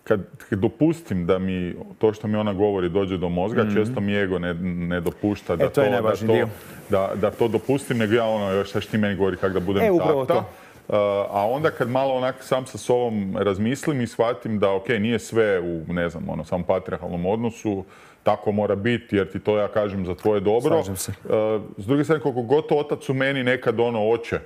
Kad, kad dopustim da mi to što mi ona govori dođe do mozga, mm-hmm. često mi ego ne, ne dopušta da, e, to, to, da, to, da, da to dopustim, nego ja ono, još šta ti meni govori kako da budem e, tata. Uh, a onda kad malo onak sam sa sobom razmislim i shvatim da ok, nije sve u, ne znam, ono, samom patrijarhalnom odnosu, tako mora biti jer ti to ja kažem za tvoje dobro. Slažem se. Uh, s druge strane, koliko god otac u meni nekad ono hoće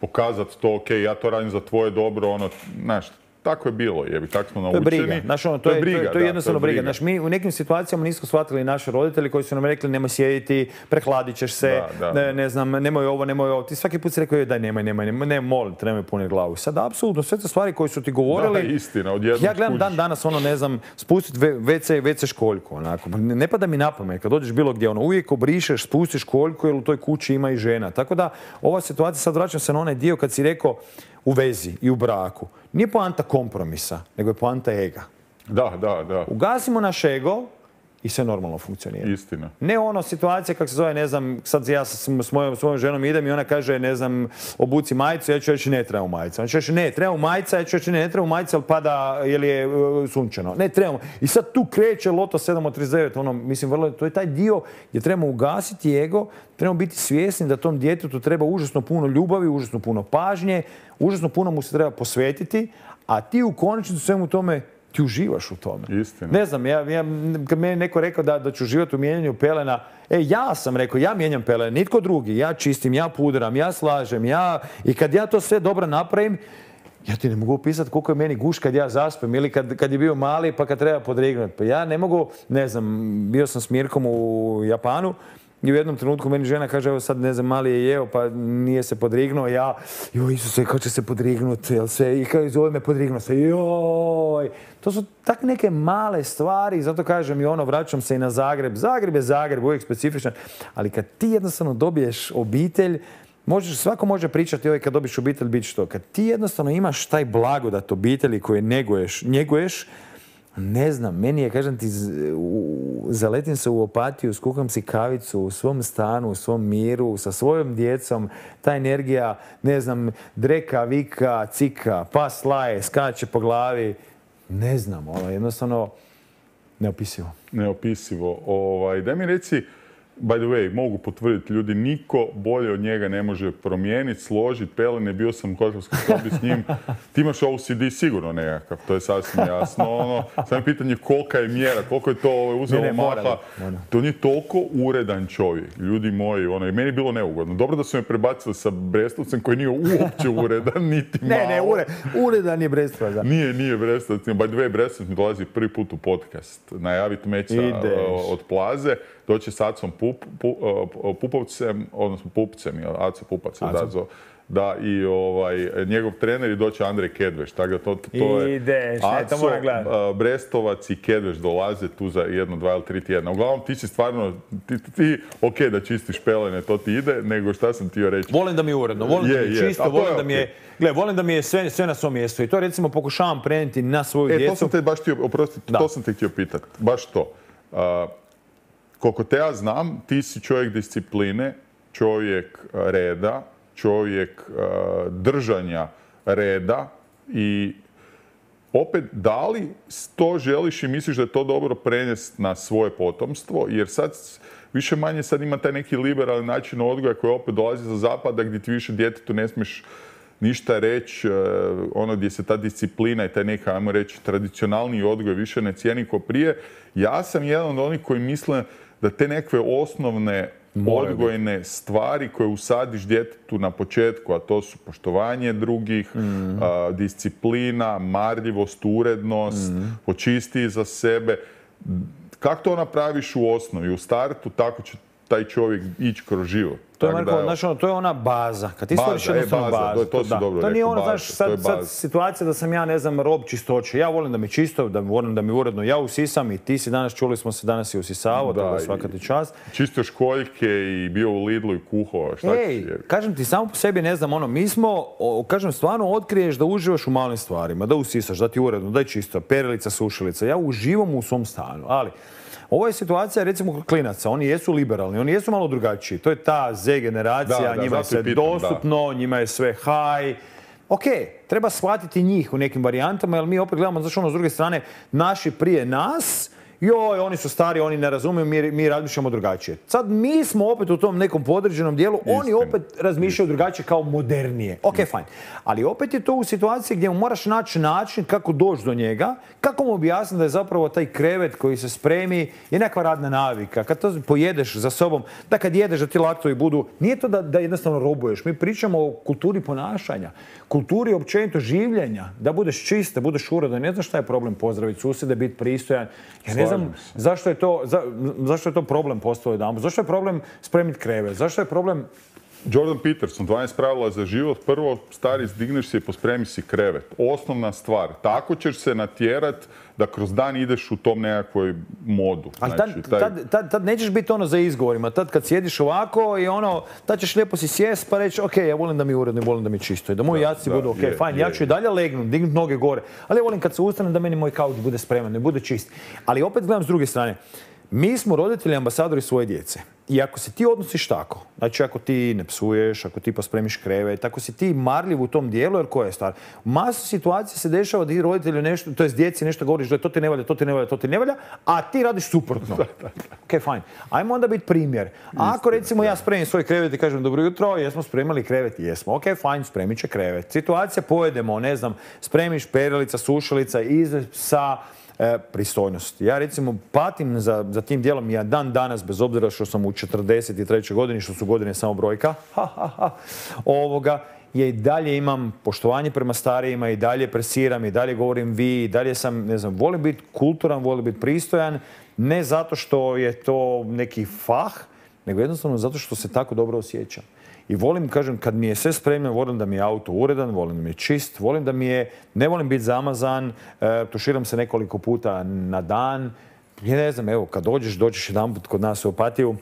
pokazati to, ok, ja to radim za tvoje dobro, ono, znaš, tako je bilo, jebi, tako smo naučeni. To je briga. Znaš, ono, to, to je, briga, to je, to je jednostavno briga. Znaš, mi u nekim situacijama nismo shvatili naši roditelji koji su nam rekli nemoj sjediti, prehladit ćeš se, da, da. Ne, ne znam, nemoj ovo, nemoj ovo. Ti svaki put si rekao daj nemoj, nemoj, nemoj, ne, molim te, nemoj puniti glavu. Sad, apsolutno, sve te stvari koje su ti govorili... Da, istina, odjednom ja gledam dan danas, ono, ne znam, spustiti ve ce, ve ce školjku, onako. Ne, ne pada mi na pamet, kad dođeš bilo gdje, ono, uvijek obrišeš, spustiš školjku jer u toj kući ima i žena. Tako da, ova situacija, sad vraćam se na onaj dio kad si rekao u vezi i u braku. Nije poanta kompromisa, nego je poanta ega. Da, da, da. Ugasimo naš ego i sve normalno funkcionira. Istina. Ne ono situacija kako se zove, ne znam, sad ja s mojom, svojom ženom idem i ona kaže, ne znam, obuci majicu, ja ću reći ne treba u majicu. Ona će reći ne, treba u majica, ja ću reći ne, treba u majicu, ali pada jer je uh, sunčano. Ne, trebamo. I sad tu kreće Loto sedam od trideset devet, ono, mislim, vrlo, to je taj dio gdje trebamo ugasiti ego, trebamo biti svjesni da tom djetetu treba užasno puno ljubavi, užasno puno pažnje, užasno puno mu se treba posvetiti, a ti u konačnici svemu tome ti uživaš u tome. Istina. Ne znam, ja, ja, kad meni neko rekao da, da ću uživati u mijenjanju pelena, e, ja sam rekao, ja mijenjam pelene, nitko drugi, ja čistim, ja pudram, ja slažem, ja, i kad ja to sve dobro napravim, ja ti ne mogu opisati koliko je meni guš kad ja zaspem ili kad, kad je bio mali pa kad treba podrignuti. Pa ja ne mogu, ne znam, bio sam s Mirkom u Japanu i u jednom trenutku meni žena kaže, evo sad ne znam, mali je jeo pa nije se podrignuo, ja, joj Isuse, kako će se podrignuti, jel sve, i kao zove me podrignuo se, joj. To su tak neke male stvari, zato kažem i ono, vraćam se i na Zagreb. Zagreb je Zagreb, uvijek specifičan, ali kad ti jednostavno dobiješ obitelj, možeš, svako može pričati ovaj kad dobiš obitelj bit što. Kad ti jednostavno imaš taj blagodat obitelji koje neguješ, njeguješ, ne znam, meni je, kažem ti, u, zaletim se u Opatiju, skuham si kavicu u svom stanu, u svom miru, sa svojom djecom, ta energija, ne znam, dreka, vika, cika, pas laje, skače po glavi, ne znam, ono, jednostavno neopisivo. Neopisivo. Ovaj, daj mi reci, by the way, mogu potvrditi ljudi, niko bolje od njega ne može promijeniti, složiti pelene, bio sam u hotelskoj sobi s njim. Ti imaš O C D sigurno nekakav, to je sasvim jasno. Ono, samo je pitanje kolika je mjera, koliko je to ovaj, uzelo ne, ne, maha. mora, mora. To nije toliko uredan čovjek, ljudi moji. Ono, i meni je bilo neugodno. Dobro da su me prebacili sa Brestovcem koji nije uopće uredan, niti malo. Ne, ne, ure, uredan je Brestovac. Nije, nije Brestovac. By the way, Brestovac mi dolazi prvi put u podcast. Najaviti meća od Plaze. Doći s Acom Pup, Pup, Pupovcem, odnosno Pupcem, Aco Pupac je da, da, i ovaj, njegov trener i doći Andrej Kedveš. Tako da to, to je Ideš, ne, to moram gledati. Brestovac i Kedveš dolaze tu za jedno, dva ili tri tjedna. Uglavnom ti si stvarno, ti, ti ok da čistiš pelene, to ti ide, nego šta sam htio reći. Volim da mi je uredno, volim je, da mi je čisto, volim da mi je, gle, volim da mi je sve, sve na svom mjestu i to recimo pokušavam prenijeti na svoju e, djecu. To sam te baš htio, oprosti, to sam te htio pitati, baš to. Uh, Koliko te ja znam, ti si čovjek discipline, čovjek reda, čovjek uh, držanja reda i opet da li to želiš i misliš da je to dobro prenesti na svoje potomstvo, jer sad više manje sad ima taj neki liberalni način odgoja koji opet dolazi za zapada gdje ti više djetetu ne smiješ ništa reći, ono gdje se ta disciplina i taj neka, ajmo reći, tradicionalni odgoj više ne cijeni ko prije. Ja sam jedan od onih koji misle da te nekakve osnovne odgojne stvari koje usadiš djetetu na početku, a to su poštovanje drugih, mm. a, disciplina, marljivost, urednost, mm. počisti za sebe. Kako to napraviš u osnovi, u startu, tako će taj čovjek ići kroz život. To je, Marko, znaš, ono, to je ona baza. Kad ti stvoriš jednostavno bazu. To, to, to, to, to nije ono, znaš, sad, sad situacija da sam ja, ne znam, rob čistoće. Ja volim da mi čisto, da volim da mi uredno. Ja usisam i ti si danas, čuli smo se, danas i usisavao, da, da svaka ti čast. Čistio školjke i bio u Lidlu i kuho. Šta Ej, ti kažem ti, samo po sebi, ne znam, ono, mi smo, o, kažem, stvarno otkriješ da uživaš u malim stvarima, da usisaš, da ti uredno, da je čisto, perilica, sušilica. Ja uživam u svom stanu, ali ovo je situacija, recimo, klinaca. Oni jesu liberalni, oni jesu malo drugačiji. To je ta Z generacija, da, da, njima je sve pitam, dostupno, da. Njima je sve high. Ok, treba shvatiti njih u nekim varijantama, jer mi opet gledamo, znači ono, s druge strane, naši prije nas, joj, oni su stari, oni ne razumiju, mi, mi razmišljamo drugačije. Sad mi smo opet u tom nekom podređenom dijelu, Istin. Oni opet razmišljaju Istin. drugačije kao modernije. Ok, fajn. Ali opet je to u situaciji gdje mu moraš naći način kako doći do njega, kako mu objasniti da je zapravo taj krevet koji se spremi je nekakva radna navika. Kad to pojedeš za sobom, da kad jedeš da ti laktovi budu, nije to da, da jednostavno robuješ. Mi pričamo o kulturi ponašanja, kulturi općenito življenja, da budeš čist, da budeš uredan. Ne znaš šta je problem pozdraviti susjede, biti pristojan. Ja ne znam zašto je to, za, zašto je to problem postao jedan. Zašto je problem spremiti krevet? Zašto je problem... Jordan Peterson, dvanaest pravila za život. Prvo, stari, zdigneš se i pospremi si krevet. Osnovna stvar. Tako ćeš se natjerat da kroz dan ideš u tom nekakvoj modu. Ali znači, tad, taj... tad, tad, tad nećeš biti ono za izgovorima. Tad kad sjediš ovako i ono, tad ćeš lijepo si sjest pa reći ok, ja volim da mi je uredno, volim da mi je čisto. I da moji jaci budu ok, je, fajn, je, ja ću i dalje legnuti, dignut noge gore. Ali ja volim kad se ustanem da meni moj kauč bude spreman, ne bude čist. Ali opet gledam s druge strane. Mi smo roditelji ambasadori svoje djece. I ako se ti odnosiš tako, znači ako ti ne psuješ, ako ti pospremiš krevet, ako si ti marljiv u tom dijelu, jer koja je stvar? U masu situacija se dešava da ti roditelju nešto, to jest djeci nešto govoriš da to ti ne valja, to ti ne valja, to ti ne valja, a ti radiš suprotno. Ok, fajn. Ajmo onda biti primjer. Ako recimo ja spremim svoj krevet i kažem dobro jutro, jesmo spremali krevet? Jesmo. Ok, fajn, spremit će krevet. Situacija pojedemo, ne znam, spremiš perilica, sušalica iz sa E, pristojnost. Ja recimo patim za, za tim dijelom, ja dan danas, bez obzira što sam u četrdeset trećoj godini, što su godine samo brojka, ha, ha, ha, ovoga, ja i dalje imam poštovanje prema starijima, i dalje presiram, i dalje govorim vi, i dalje sam, ne znam, volim biti kulturan, volim biti pristojan, ne zato što je to neki fah, nego jednostavno zato što se tako dobro osjećam. I volim, kažem, kad mi je sve spremno, volim da mi je auto uredan, volim da mi je čist, volim da mi je, ne volim biti zamazan, e, tuširam se nekoliko puta na dan. Ja ne znam, evo, kad dođeš, dođeš jedanput kod nas u Opatiju,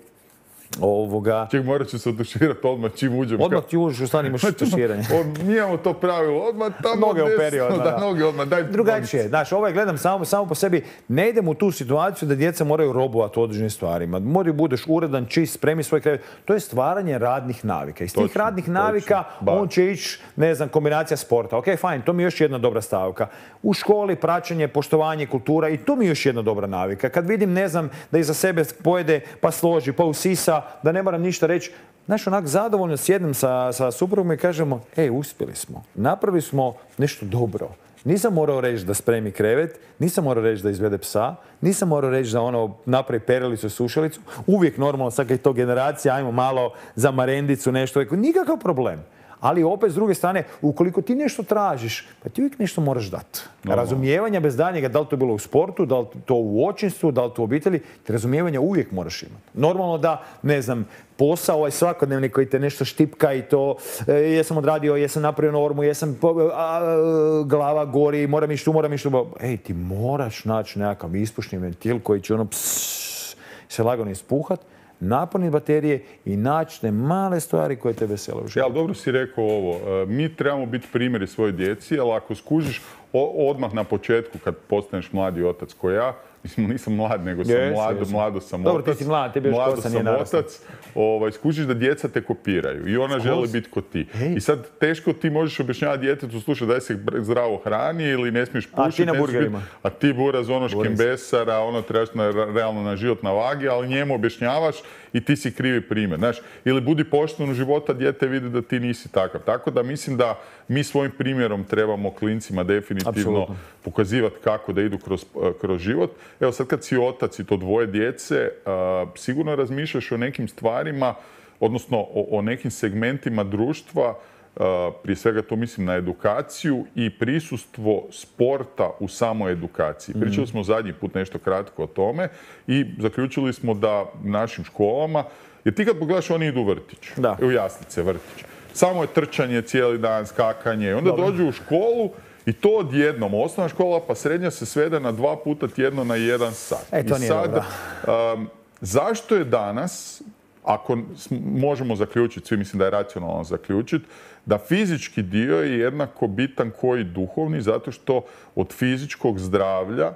ovoga... Ček, morat ću se oduširati odmah čim uđem. Odmah ti uđeš, u stvari imaš tuširanje. Mi imamo to pravilo, odmah tamo noge desno, operi odmah, da, noge odmah, daj... Drugačije, znaš, ovaj gledam samo, samo po sebi, ne idem u tu situaciju da djeca moraju robovati u određenim stvarima. Moraju budeš uredan, čist, spremi svoj krevet. To je stvaranje radnih navika. Iz tih točno, radnih navika točno, on će ići, ne znam, kombinacija sporta. Ok, fajn, to mi je još jedna dobra stavka. U školi praćenje, poštovanje, kultura i to mi je još jedna dobra navika. Kad vidim, ne znam, da iza sebe pojede, pa složi, pa usisa, da ne moram ništa reći. Znaš, onak zadovoljno sjednem sa, sa suprugom i kažemo, ej, uspjeli smo. Napravili smo nešto dobro. Nisam morao reći da spremi krevet, nisam morao reći da izvede psa, nisam morao reći da ono napravi perilicu i sušalicu. Uvijek normalno, sad kad je to generacija, ajmo malo za marendicu, nešto. Nikakav problem. Ali opet, s druge strane, ukoliko ti nešto tražiš, pa ti uvijek nešto moraš dati. Razumijevanja bez daljnjega, da li to bilo u sportu, da li to u očinstvu, da li to u obitelji, ti razumijevanja uvijek moraš imati. Normalno da, ne znam, posao ovaj svakodnevni koji te nešto štipka i to, e, jesam odradio, jesam napravio normu, jesam a, a, glava gori, moram ići tu, moram ići tu. Ej, ti moraš naći nekakav ispušni ventil koji će ono psss, se lagano ispuhat, napuniti baterije i naći te male stvari koje te vesele u životu. Ja, ali dobro si rekao ovo. Mi trebamo biti primjeri svoje djeci, ali ako skužiš odmah na početku kad postaneš mladi otac ko ja, mislim, nisam mlad, nego sam yes, mlado, yes. mlado sam dobro, otac. Dobro, ti si mlad, tebi još kosa nije narasla. Otac, ovaj, skužiš da djeca te kopiraju i ona Skos. želi biti ko ti. Hey. I sad teško ti možeš objašnjavati djetetu, slušaj, daj se zdravo hrani ili ne smiješ pušiti. A ti na burgerima. Biti, a ti buraz ono škembesara, ono trebaš na, realno na život na vagi, ali njemu objašnjavaš i ti si krivi primjer. Znaš, ili budi pošten u života, dijete vidi da ti nisi takav. Tako da mislim da mi svojim primjerom trebamo klincima definitivno Absolutno. pokazivati kako da idu kroz, kroz život. Evo sad kad si otac i to dvoje djece, uh, sigurno razmišljaš o nekim stvarima, odnosno o, o nekim segmentima društva, uh, prije svega to mislim na edukaciju i prisustvo sporta u samoj edukaciji. Mm-hmm. Pričali smo zadnji put nešto kratko o tome i zaključili smo da našim školama, jer ti kad pogledaš oni idu u vrtić, da. u jaslice, vrtić. Samo je trčanje cijeli dan, skakanje. Onda Dobre. dođu u školu i to odjednom. Osnovna škola pa srednja se svede na dva puta tjedno na jedan sat. E, to I nije sad, dobro. Um, zašto je danas, ako možemo zaključiti, svi mislim da je racionalno zaključiti, da fizički dio je jednako bitan koji duhovni, zato što od fizičkog zdravlja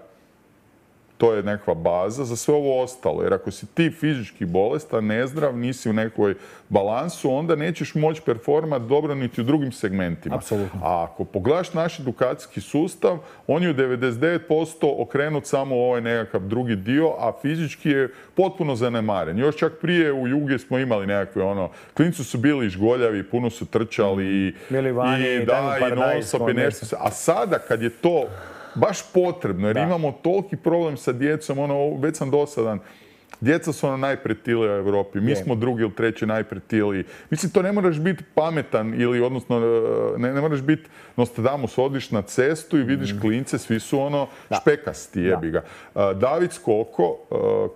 to je nekakva baza za sve ovo ostalo. Jer ako si ti fizički bolestan, nezdrav, nisi u nekoj balansu, onda nećeš moći performati dobro niti u drugim segmentima. Apsolutno. A ako pogledaš naš edukacijski sustav, on je u devedeset devet posto okrenut samo u ovaj nekakav drugi dio, a fizički je potpuno zanemaren. Još čak prije u Jugi smo imali nekakve ono, klinci su bili žgoljavi, puno su trčali i, vani, i da, i non-stop i nešto. A sada kad je to baš potrebno, jer da. imamo toliki problem sa djecom, ono, već sam dosadan. Djeca su ono najpretilija u Europi, mi je. smo drugi ili treći najpretiliji. Mislim, to ne moraš biti pametan ili, odnosno, ne, ne moraš biti Nostradamus, odiš na cestu i vidiš mm. klince, svi su ono da. špekasti, jebi ga. Da. David Skoko,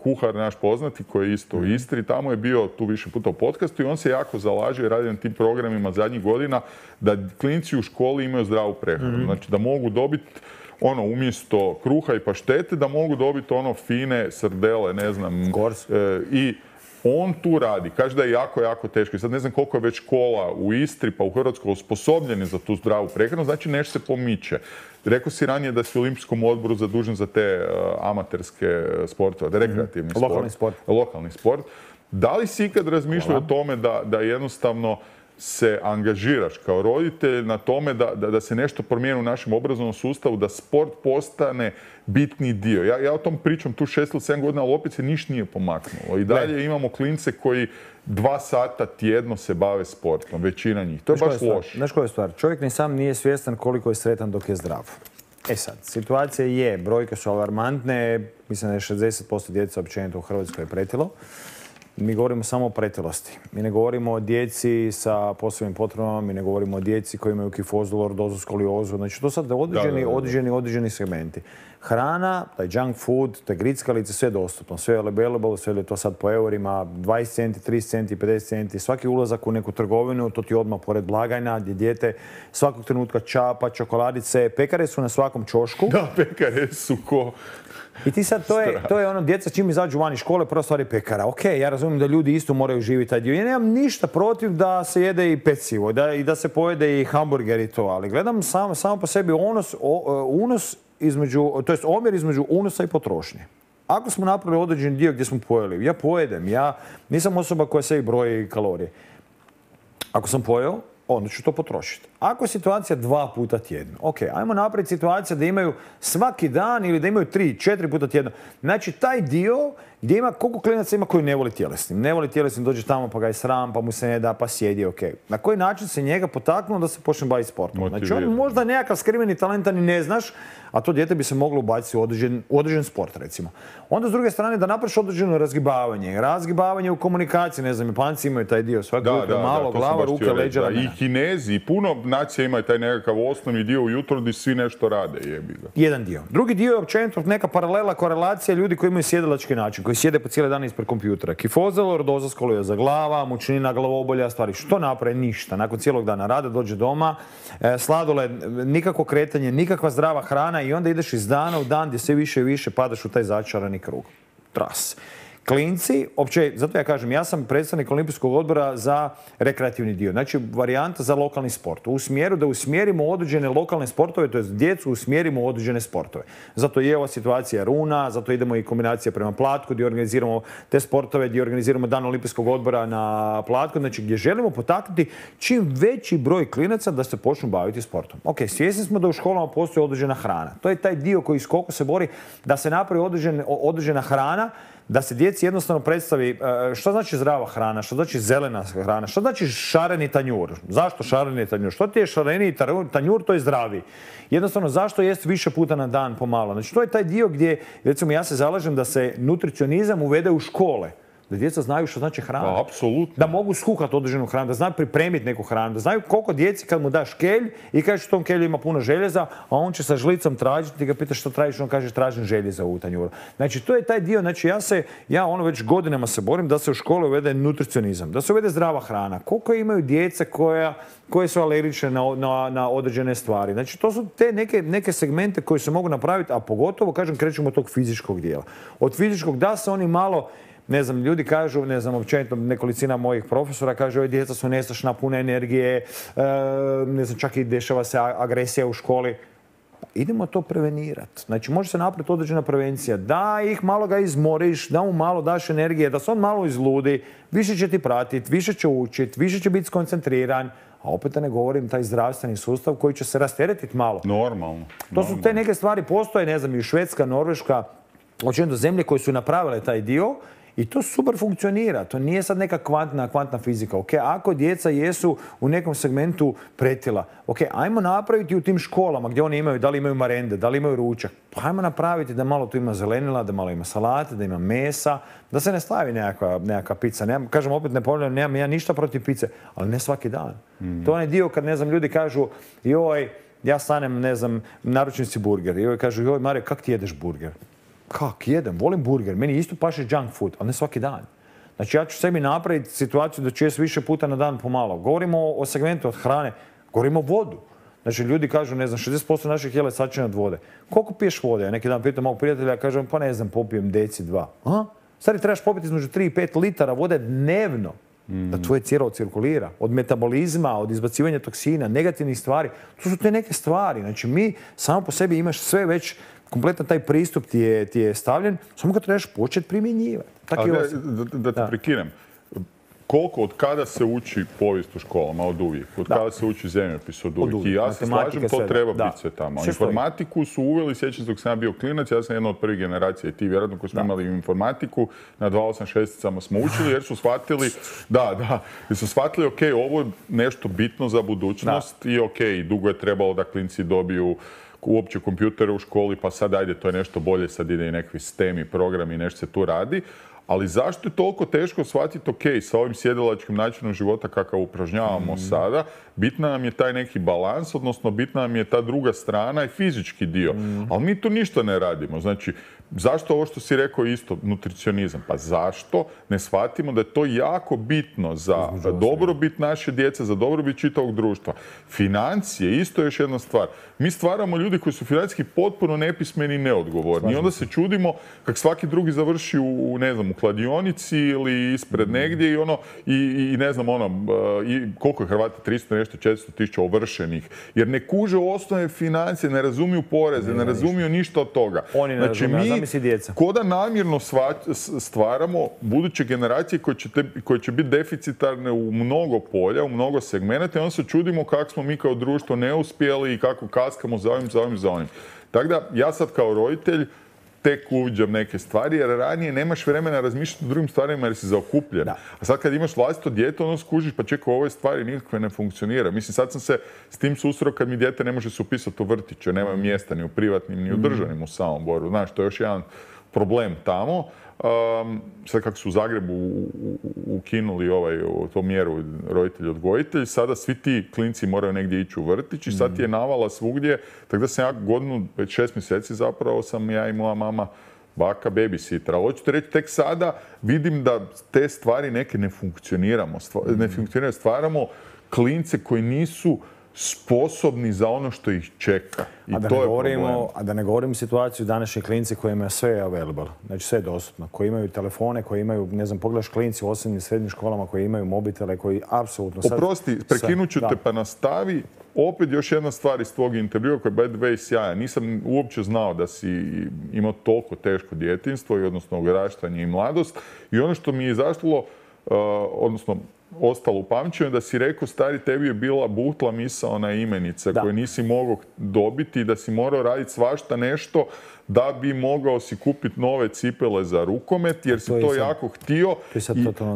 kuhar naš poznati, koji je isto mm. u Istri, tamo je bio tu više puta u podcastu i on se jako zalaže i radi na tim programima zadnjih godina da klinci u školi imaju zdravu prehranu. Mm. Znači, da mogu dobiti ono, umjesto kruha i paštete, da mogu dobiti ono fine srdele, ne znam. Gors. E, I On tu radi, kaže da je jako, jako teško. I sad ne znam koliko je već škola u Istri pa u Hrvatskoj osposobljeni za tu zdravu prehranu, znači nešto se pomiče. Rekao si ranije da si u Olimpijskom odboru zadužen za te uh, amaterske sportove, da je rekreativni sport. Lokalni sport. Lokalni sport. Da li si ikad razmišljao o tome da, da jednostavno se angažiraš kao roditelj na tome da, da, da se nešto promijeni u našem obrazovnom sustavu, da sport postane bitni dio. Ja, ja o tom pričam tu šest ili sedam godina, ali opet se ništa nije pomaknulo. I dalje ne. Imamo klince koji dva sata tjedno se bave sportom, većina njih. To je baš loše. Znaš koja je stvar? Čovjek ni sam nije svjestan koliko je sretan dok je zdrav. E sad, situacija je, brojke su alarmantne, mislim da je šezdeset posto djece općenito u Hrvatskoj je pretilo. Mi govorimo samo o pretilosti. Mi ne govorimo o djeci sa posebnim potrebama, mi ne govorimo o djeci koji imaju kifozu, lordozu, skoliozu. Znači, to sad određeni, određeni, određeni segmenti. Hrana, taj junk food, te grickalice, sve je dostupno. Sve je available, sve je to sad po eurima, dvadeset centi, trideset centi, pedeset centi. Svaki ulazak u neku trgovinu, to ti odmah pored blagajna, gdje dijete svakog trenutka čapa, čokoladice. Pekare su na svakom ćošku. Da, pekare su ko... I ti sad, to je, to je ono, djeca čim izađu van iz škole, prva stvar je pekara. Ok, ja razumijem da ljudi isto moraju živjeti taj dio. Ja nemam ništa protiv da se jede i pecivo da, i da se pojede i hamburger i to, ali gledam samo, samo po sebi unos, o, unos između, to jest omjer između unosa i potrošnje. Ako smo napravili određeni dio gdje smo pojeli, ja pojedem, ja nisam osoba koja sebi broji kalorije. Ako sam pojeo, onda ću to potrošiti. Ako je situacija dva puta tjedno, ok, ajmo napraviti situaciju da imaju svaki dan ili da imaju tri, četiri puta tjedno. Znači, taj dio gdje ima, koliko klinaca ima koji ne voli tjelesnim. Ne voli tjelesnim, dođe tamo pa ga je sram, pa mu se ne da, pa sjedi, ok. Na koji način se njega potaknuo da se počne baviti sportom? Znači, on možda nekakav skriveni talenta ni ne znaš, a to dijete bi se moglo ubaciti u određen, u određen sport, recimo. Onda, s druge strane, da napraviš određeno razgibavanje. Razgibavanje u komunikaciji, ne znam, Japanci imaju taj dio. Svaki da, jutro da, malo, da, glava, ruke, leđa, I Kinezi, i puno nacija imaju taj nekakav osnovni dio ujutro gdje svi nešto rade, jebi ga. Jedan dio. Drugi dio je općenito neka paralela, korelacija ljudi koji imaju sjedilački način, koji sjede po cijele dane ispred kompjutera. Kifoza, lordoza, skolioza glava, mučnina, glavobolja, stvari. Što naprave? Ništa. Nakon cijelog dana rada dođe doma, e, sladoled, nikakvo kretanje, nikakva zdrava hrana i onda ideš iz dana u dan gdje sve više i više padaš u taj začarani krug. Tras. Klinci, opće, zato ja kažem, ja sam predstavnik Olimpijskog odbora za rekreativni dio. Znači, varijanta za lokalni sport. U smjeru da usmjerimo određene lokalne sportove, to je djecu usmjerimo u određene sportove. Zato je ova situacija runa, zato idemo i kombinacija prema Platku, gdje organiziramo te sportove, gdje organiziramo dan Olimpijskog odbora na Platku, znači gdje želimo potaknuti čim veći broj klinaca da se počnu baviti sportom. Ok, svjesni smo da u školama postoji određena hrana. To je taj dio koji skoko se bori da se napravi određen, određena hrana, da se djeci jednostavno predstavi što znači zdrava hrana, što znači zelena hrana, što znači šareni tanjur. Zašto šareni tanjur? Što ti je šareni tanjur, to je zdravi. Jednostavno, zašto jesti više puta na dan pomalo? Znači, to je taj dio gdje, recimo, ja se zalažem da se nutricionizam uvede u škole. Da djeca znaju što znači hrana. Da, apsolutno. Da mogu skuhati određenu hranu, da znaju pripremiti neku hranu, da znaju koliko djeci kad mu daš kelj i kažeš u tom kelju ima puno željeza, a on će sa žlicom tražiti, ti ga pitaš što tražiš, on kaže tražim željeza u tanjuru. Znači, to je taj dio, znači ja se, ja ono već godinama se borim da se u škole uvede nutricionizam, da se uvede zdrava hrana. Koliko imaju djece koja, koje su alergične na, na, na određene stvari. Znači, to su te neke, neke segmente koje se mogu napraviti, a pogotovo, kažem, krećemo od tog fizičkog dijela. Od fizičkog da se oni malo, ne znam, ljudi kažu, ne znam, općenito nekolicina mojih profesora kaže, ove djeca su nestašna, puna energije, e, ne znam, čak i dešava se agresija u školi. Idemo to prevenirati. Znači, može se napraviti određena prevencija. Da ih malo ga izmoriš, da mu malo daš energije, da se on malo izludi, više će ti pratiti, više će učiti, više će biti skoncentriran. A opet da ne govorim taj zdravstveni sustav koji će se rasteretiti malo. Normalno. To su te neke stvari, postoje, ne znam, i Švedska, Norveška, općenito zemlje koje su napravile taj dio. I to super funkcionira. To nije sad neka kvantna, kvantna fizika. Okay, ako djeca jesu u nekom segmentu pretila, ok, ajmo napraviti u tim školama gdje oni imaju, da li imaju marende, da li imaju ručak, pa ajmo napraviti da malo tu ima zelenila, da malo ima salate, da ima mesa, da se ne stavi nekakva, nekakva pizza. Nemam, kažem, opet ne ponavljam, nemam ja ništa protiv pice, ali ne svaki dan. Mm. To je onaj dio kad, ne znam, ljudi kažu, joj, ja stanem, ne znam, naručim si burger. I joj kažu, joj, Mario, kak ti jedeš burger? Kak jedem? Volim burger. Meni isto paše junk food, ali ne svaki dan. Znači, ja ću sebi napraviti situaciju da ću jesti više puta na dan pomalo. Govorimo o segmentu od hrane, govorimo o vodu. Znači, ljudi kažu, ne znam, šezdeset posto naših jela je sačinjeno od vode. Koliko piješ vode? Ja neki dan pitam mog prijatelja, kažem, pa ne znam, popijem deci dva. A? Stari, trebaš popiti između tri i pet litara vode dnevno da tvoje tijelo cirkulira. Od metabolizma, od izbacivanja toksina, negativnih stvari. To su te neke stvari. Znači, mi samo po sebi imaš sve već, kompletan taj pristup ti je, ti je stavljen, samo ga trebaš početi primjenjivati. Ali da, da, da te prekinem. Koliko, od kada se uči povijest u školama? Od uvijek. Od da. Kada se uči zemljopis? Od uvijek. Od uvijek. I ja se slažem, to treba da. biti sve tamo. Sve informatiku su uveli, sjećam se dok sam ja bio klinac, ja sam jedna od prvih generacija i ti vjerojatno koji smo da. imali informatiku, na dva osam šesticama smo učili jer su shvatili, da, da, jer su shvatili, ok, ovo je nešto bitno za budućnost da. i ok, dugo je trebalo da klinci dobiju uopće kompjutere u školi, pa sad ajde, to je nešto bolje, sad ide i nekakvi STEM i programi, nešto se tu radi. Ali zašto je toliko teško shvatiti, ok, sa ovim sjedilačkim načinom života kakav upražnjavamo mm. sada, bitna nam je taj neki balans, odnosno bitna nam je ta druga strana i fizički dio. Mm. Ali mi tu ništa ne radimo. Znači, zašto ovo što si rekao isto, nutricionizam? Pa zašto ne shvatimo da je to jako bitno za dobrobit naše djece, za dobrobit čitavog društva? Financije, isto je još jedna stvar. Mi stvaramo ljudi koji su financijski potpuno nepismeni i neodgovorni. I onda se čudimo kak svaki drugi završi u, ne znam, u kladionici ili ispred mm. negdje i ono, i, i ne znam, ono, i koliko je Hrvata, tristo nešto, četiristo tisuća ovršenih. Jer ne kuže osnovne financije, ne razumiju poreze, ne, ne razumiju ništa od toga. Oni ne znači, razumiju, mi ko da namjerno stvaramo buduće generacije koje će, te, koje će biti deficitarne u mnogo polja, u mnogo segmenata i onda se čudimo kako smo mi kao društvo neuspjeli i kako kaskamo za ovim, za ovim, za onim. Tako da, ja sad kao roditelj tek uviđam neke stvari, jer ranije nemaš vremena razmišljati o drugim stvarima jer si zaokupljen. Da. A sad kad imaš vlastito dijete, ono skužiš, pa čekaj, ove stvari nikakve ne funkcionira. Mislim, sad sam se s tim susreo kad mi dijete ne može se upisati u vrtiće, nema mjesta ni u privatnim, ni u državnim u Samoboru. Znaš, to je još jedan problem tamo. Um, sad kako su u Zagrebu u, u, ukinuli ovaj, to mjeru roditelj-odgojitelj, sada svi ti klinci moraju negdje ići u vrtić i sad je navala svugdje. Tako da sam ja godinu, već šest mjeseci zapravo sam ja i moja mama baka babysitter. Ali hoću ti reći, tek sada vidim da te stvari neke ne funkcioniramo. Stva, ne funkcioniramo, stvaramo klince koji nisu sposobni za ono što ih čeka. I a, da to je govorimo, problem. a da ne govorimo situaciju današnjih klinci koji imaju sve available, znači sve je dostupno, koji imaju telefone, koji imaju, ne znam, pogledaš klinci u osnovnim i srednjim školama koji imaju mobitele, koji apsolutno sad... Oprosti, prekinut ću te pa nastavi. Opet još jedna stvar iz tvog intervjua koji je by the way sjajan. Nisam uopće znao da si imao toliko teško djetinjstvo i odnosno odraštanje i mladost. I ono što mi je izašlo, uh, odnosno ostalo u pamćenju, da si rekao, stari, tebi je bila buhtla misaona imenica da. koju nisi mogao dobiti i da si morao raditi svašta nešto da bi mogao si kupiti nove cipele za rukomet, jer si to, to jako htio. I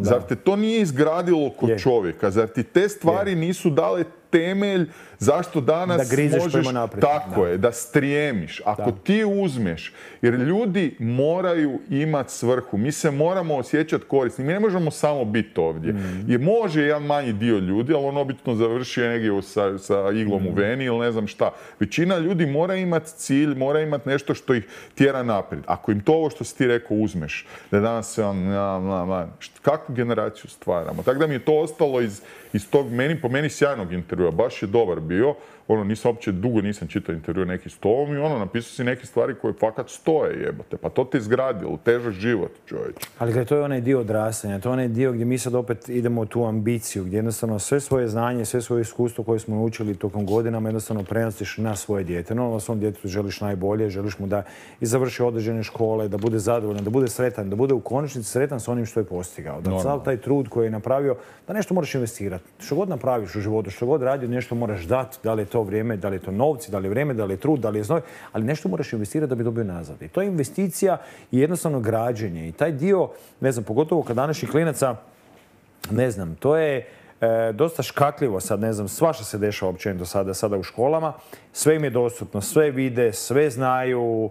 zar te to nije izgradilo kod je. čovjeka? Zar ti te stvari je. nisu dale temelj zašto danas da možeš... Tako da. je, da strijemiš. Ako da. ti uzmeš, jer ljudi moraju imati svrhu. Mi se moramo osjećati korisni. Mi ne možemo samo biti ovdje. Mm. Jer može jedan manji dio ljudi, ali on obično završi negdje sa, sa iglom mm. u veni ili ne znam šta. Većina ljudi mora imati cilj, mora imati nešto što ih tjera naprijed. Ako im to ovo što si ti rekao uzmeš, da danas se on... Na, na, na, kakvu generaciju stvaramo? Tako da mi je to ostalo iz, iz tog meni, po meni sjajnog intervjua. Baš je dobar bio. Ono, nisam uopće dugo nisam čitao intervju neki s tobom i ono, napisao si neke stvari koje fakat stoje, jebote. Pa to te izgradilo, težak život, čovječ. Ali gledaj, to je onaj dio odrastanja, to je onaj dio gdje mi sad opet idemo u tu ambiciju, gdje jednostavno sve svoje znanje, sve svoje iskustvo koje smo naučili tokom godinama jednostavno prenosiš na svoje dijete. No, na svom djetetu želiš najbolje, želiš mu da i završi određene škole, da bude zadovoljan, da bude sretan, da bude u konačnici sretan sa onim što je postigao. Da sav taj trud koji je napravio, da nešto moraš investirati. Što god napraviš u životu, što god radio, nešto moraš dati, da li je to vrijeme, da li je to novci, da li je vrijeme, da li je trud, da li je znoj, ali nešto moraš investirati da bi dobio nazad. I to je investicija i jednostavno građenje. I taj dio, ne znam, pogotovo kad današnjih klinaca, ne znam, to je e, dosta škakljivo sad, ne znam, svašta se dešava općenito sada, sada u školama. Sve im je dostupno, sve vide, sve znaju.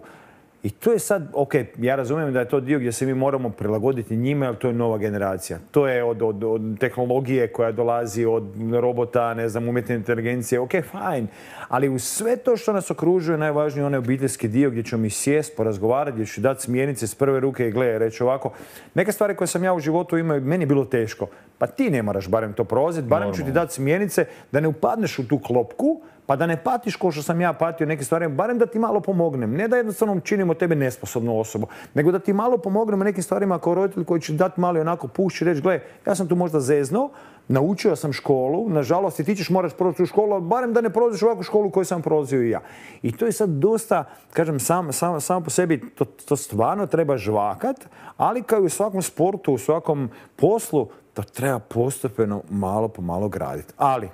I to je sad, ok, ja razumijem da je to dio gdje se mi moramo prilagoditi njima, jer to je nova generacija. To je od, od, od tehnologije koja dolazi, od robota, ne znam, umjetne inteligencije, ok, fajn. Ali uz sve to što nas okružuje, najvažniji je onaj obiteljski dio gdje ćemo mi sjest, porazgovarati, gdje ću dati smjernice s prve ruke i gledaj, reći ovako. Neke stvari koje sam ja u životu imao, meni je bilo teško. Pa ti ne moraš barem to prolaziti, barem ću ti dati smjernice da ne upadneš u tu klopku, pa da ne patiš ko što sam ja patio neke stvari, barem da ti malo pomognem. Ne da jednostavno činimo tebe nesposobnu osobu, nego da ti malo pomognemo nekim stvarima kao roditelj koji će dati malo onako pušći i reći, gle, ja sam tu možda zezno, naučio sam školu, nažalost i ti ćeš morati proći u školu, barem da ne prolaziš ovakvu školu koju sam prolazio i ja. I to je sad dosta, kažem, samo sam, sam po sebi, to, to stvarno treba žvakat, ali kao i u svakom sportu, u svakom poslu, to treba postepeno malo po malo graditi. Ali,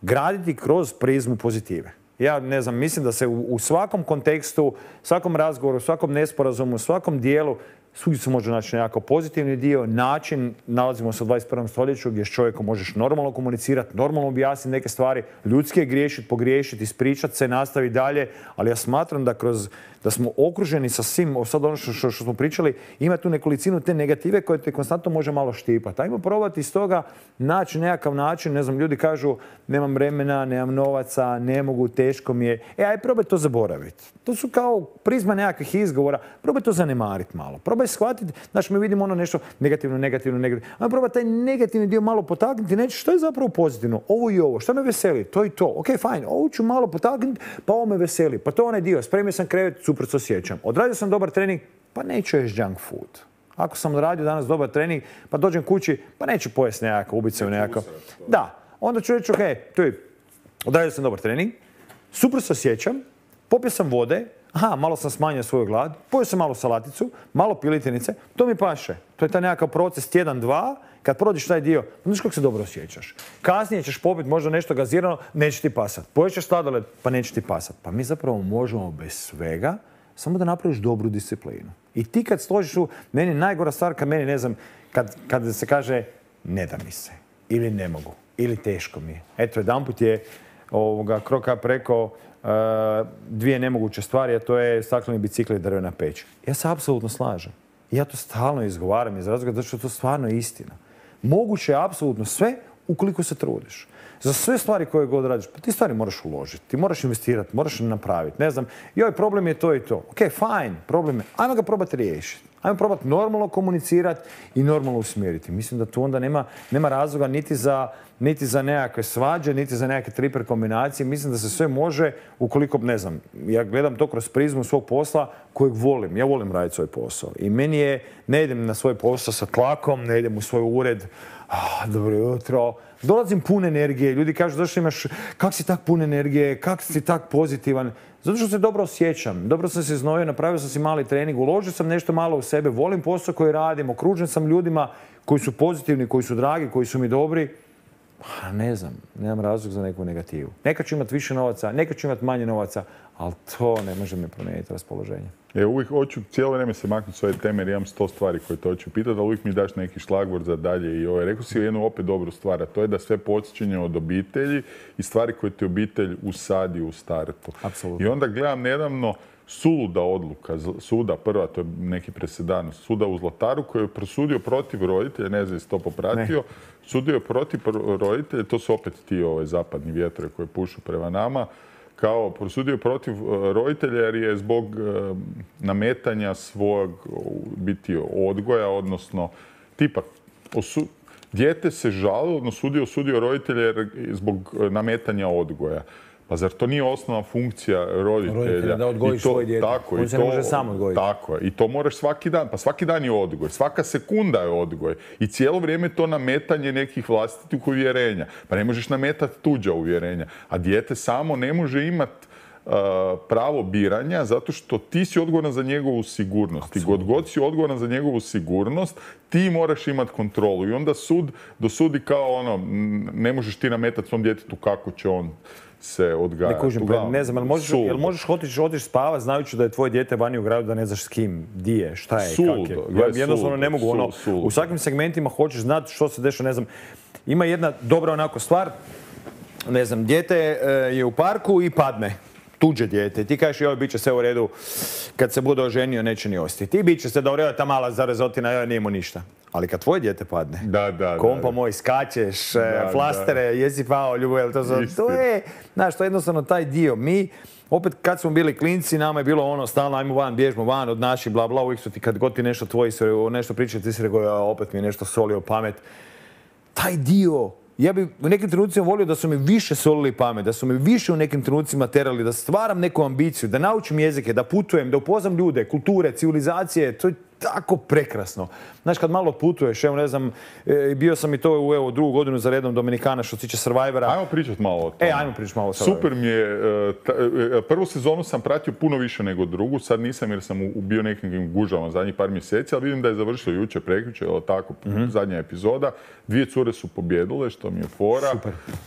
graditi kroz prizmu pozitive. Ja ne znam, mislim da se u, u svakom kontekstu, svakom razgovoru, svakom nesporazumu, svakom dijelu svugdje se može naći nekako pozitivni dio, način, nalazimo se u dvadeset prvom stoljeću gdje s čovjekom možeš normalno komunicirati, normalno objasniti neke stvari, ljudski je griješiti, pogriješiti, ispričati se, nastaviti dalje, ali ja smatram da kroz da smo okruženi sa svim, sad ono što, što, što smo pričali, ima tu nekolicinu te negative koje te konstantno može malo štipati. Ajmo probati iz toga naći nekakav način, ne znam, ljudi kažu nemam vremena, nemam novaca, ne mogu, teško mi je. E, aj probaj to zaboraviti. To su kao prizma nekakvih izgovora. Probaj to zanemariti malo. Probaj shvatiti, znači mi vidimo ono nešto negativno, negativno, negativno. Ajmo probaj taj negativni dio malo potaknuti, neći što je zapravo pozitivno. Ovo i ovo, što me veseli, to i to. Ok, fajn, ovo ću malo potaknuti, pa ovo me veseli. Pa to je onaj dio, spremio sam krevet, super se osjećam. Odradio sam dobar trening, pa neću jesti junk food. Ako sam odradio danas dobar trening, pa dođem kući, pa neću pojesti nekakav ubice u nekakav. Da, onda ću reći, ok, tu je, odradio sam dobar trening, super se osjećam, popio sam vode, aha, malo sam smanjio svoju glad, pojeo sam malo salaticu, malo piletinice, to mi paše. To je taj nekakav proces tjedan, dva, kad prođeš taj dio, znaš kako se dobro osjećaš. Kasnije ćeš popiti možda nešto gazirano, neće ti pasat. Poješćeš sladoled, pa neće ti pasat. Pa mi zapravo možemo bez svega, samo da napraviš dobru disciplinu. I ti kad složiš u, meni najgora stvar, kad meni, ne znam, kad, kad se kaže ne da mi se, ili ne mogu, ili teško mi je. Eto, jedanput je ovoga Kroka preko uh, dvije nemoguće stvari, a to je stakleni bicikl i drvena peć. Ja se apsolutno slažem. Ja to stalno izgovaram iz razloga zato što to stvarno je istina. Moguće je apsolutno sve ukoliko se trudiš. Za sve stvari koje god radiš, pa ti stvari moraš uložiti, ti moraš investirati, moraš napraviti. Ne znam, joj, problem je to i to. Ok, fajn, problem je. Ajmo ga probati riješiti. Ajmo probati normalno komunicirati i normalno usmjeriti. Mislim da tu onda nema, nema razloga niti za, niti za nekakve svađe, niti za nekakve triper kombinacije. Mislim da se sve može ukoliko, ne znam, ja gledam to kroz prizmu svog posla kojeg volim. Ja volim raditi svoj posao. I meni je, ne idem na svoj posao sa tlakom, ne idem u svoj ured, ah, dobro jutro, dolazim pun energije. Ljudi kažu, zašto imaš, kak si tak pun energije, kak si tak pozitivan? Zato što se dobro osjećam. Dobro sam se znojio, napravio sam si mali trening, uložio sam nešto malo u sebe, volim posao koji radim, okružen sam ljudima koji su pozitivni, koji su dragi, koji su mi dobri. Pa ne znam, nemam razlog za neku negativu. Nekad ću imati više novaca, nekad ću imati manje novaca, ali to ne može mi promijeniti raspoloženje. E, uvijek hoću cijelo vrijeme se maknuti s ove teme jer imam sto stvari koje te hoću pitati, ali uvijek mi daš neki šlagvort za dalje. I ovaj, rekao si jednu opet dobru stvar, a to je da sve podsjećanje od obitelji i stvari koje ti obitelj usadi u startu. Apsolutno. I onda gledam nedavno suluda odluka suda, prva, to je neki presedan, suda u Zlataru koji je prosudio protiv roditelja, ne znam jesi to popratio, ne. Sudio je protiv roditelja, to su opet ti ovaj, zapadni vjetrovi koji pušu prema nama, kao prosudio protiv roditelja jer je zbog e, nametanja svog biti odgoja, odnosno tipa osu, dijete se žalilo, odnosno sudio, sudio roditelja jer zbog nametanja odgoja. Pa zar to nije osnovna funkcija roditelja? Roditelja da odgojiš svoje dijete. Tako, on se ne može sam odgojiti. Tako je. I to moraš svaki dan. Pa svaki dan je odgoj. Svaka sekunda je odgoj. I cijelo vrijeme je to nametanje nekih vlastitih uvjerenja. Pa ne možeš nametati tuđa uvjerenja. A dijete samo ne može imati uh, pravo biranja zato što ti si odgovoran za njegovu sigurnost. I god god si odgovoran za njegovu sigurnost, ti moraš imati kontrolu. I onda sud dosudi kao ono, ne možeš ti nametati svom djetetu kako će on se odgajati. Ne kužim, ne znam, jel možeš, jel možeš otići, otići spavati znajući da je tvoje dijete vani u gradu da ne znaš s kim, di je, šta je, kak je. Ja jednostavno ne mogu, ono, u svakim segmentima hoćeš znati što se dešava, ne znam. Ima jedna dobra onako stvar, ne znam, dijete je u parku i padne. Tuđe dijete. Ti kažeš, joj, bit će sve u redu, kad se bude oženio, neće ni ostati. Ti bit će se da u redu, ta mala zarezotina, joj, nije mu ništa. Ali kad tvoje dijete padne, da, da, kompa da, moj, skačeš, da, flastere, da. Jesi pao, ljubav, to, to je, znaš, to je jednostavno taj dio. Mi, opet kad smo bili klinci, nama je bilo ono, stalno, ajmo van, bježmo van od naših, bla, bla, uvijek su ti, kad god ti nešto tvoji, nešto pričaju, ti si rekao, ja, opet mi je nešto solio pamet. Taj dio ja bi u nekim trenucima volio da su mi više solili pamet, da su mi više u nekim trenucima terali, da stvaram neku ambiciju, da naučim jezike, da putujem, da upoznam ljude, kulture, civilizacije. To je tako prekrasno. Znaš, kad malo putuješ, evo ne znam, e, bio sam i to u evo, drugu godinu za redom Dominikana što se tiče Survivora. Ajmo pričat malo o tome. E, ajmo pričat malo o Survivoru. Super mi je, e, ta, e, prvu sezonu sam pratio puno više nego drugu, sad nisam jer sam u, u bio nekim gužavama zadnjih par mjeseci, ali vidim da je završilo jučer, prekjučer, evo tako, mm-hmm. zadnja epizoda. Dvije cure su pobjedile, što mi je fora. Super. E,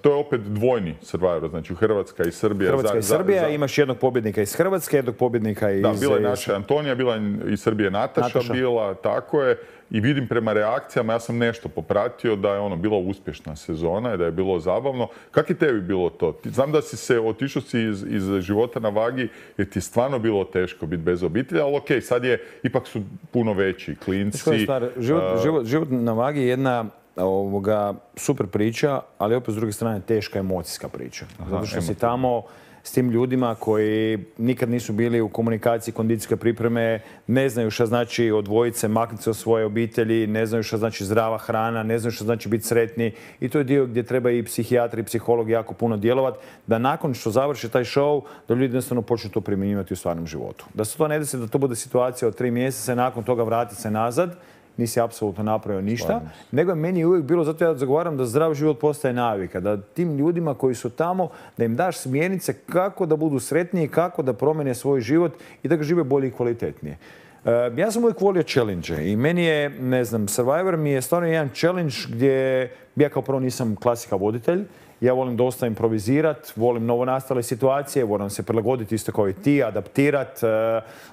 to je opet dvojni Survivor, znači Hrvatska i Srbija. Hrvatska za, i Srbija, za, za... imaš jednog pobjednika iz Hrvatske, jednog pobjednika iz... Da, bila je naša Antonija, bila je iz Srbije Nataša, Nataša. bila, tako je. I vidim prema reakcijama, ja sam nešto popratio da je ono bila uspješna sezona i da je bilo zabavno. Kako je tebi bilo to? Ti, znam da si se otišao si iz, iz života na vagi jer ti je stvarno bilo teško biti bez obitelji, ali okej, sad je, ipak su puno veći klinci. Stvar, život, uh, život, život na vagi je jedna ovoga, super priča, ali opet s druge strane teška emocijska priča. Aha, zato što si tamo s tim ljudima koji nikad nisu bili u komunikaciji, kondicijske pripreme, ne znaju šta znači odvojiti se, maknuti se od svoje obitelji, ne znaju šta znači zdrava hrana, ne znaju šta znači biti sretni. I to je dio gdje treba i psihijatri i psiholog jako puno djelovati, da nakon što završi taj show, da ljudi jednostavno počnu to primjenjivati u stvarnom životu. Da se to ne desi, da to bude situacija od tri mjeseca i nakon toga vratiti se nazad, nisi apsolutno napravio ništa, Stvarno. nego je meni uvijek bilo, zato ja zagovaram da zdrav život postaje navika, da tim ljudima koji su tamo, da im daš smjernice kako da budu sretniji, kako da promijene svoj život i da ga žive bolje i kvalitetnije. Uh, ja sam uvijek volio challenge i meni je, ne znam, Survivor mi je stvarno jedan challenge gdje ja kao prvo nisam klasika voditelj. Ja volim dosta improvizirati, volim novonastale situacije, volim se prilagoditi isto kao i ti, adaptirati.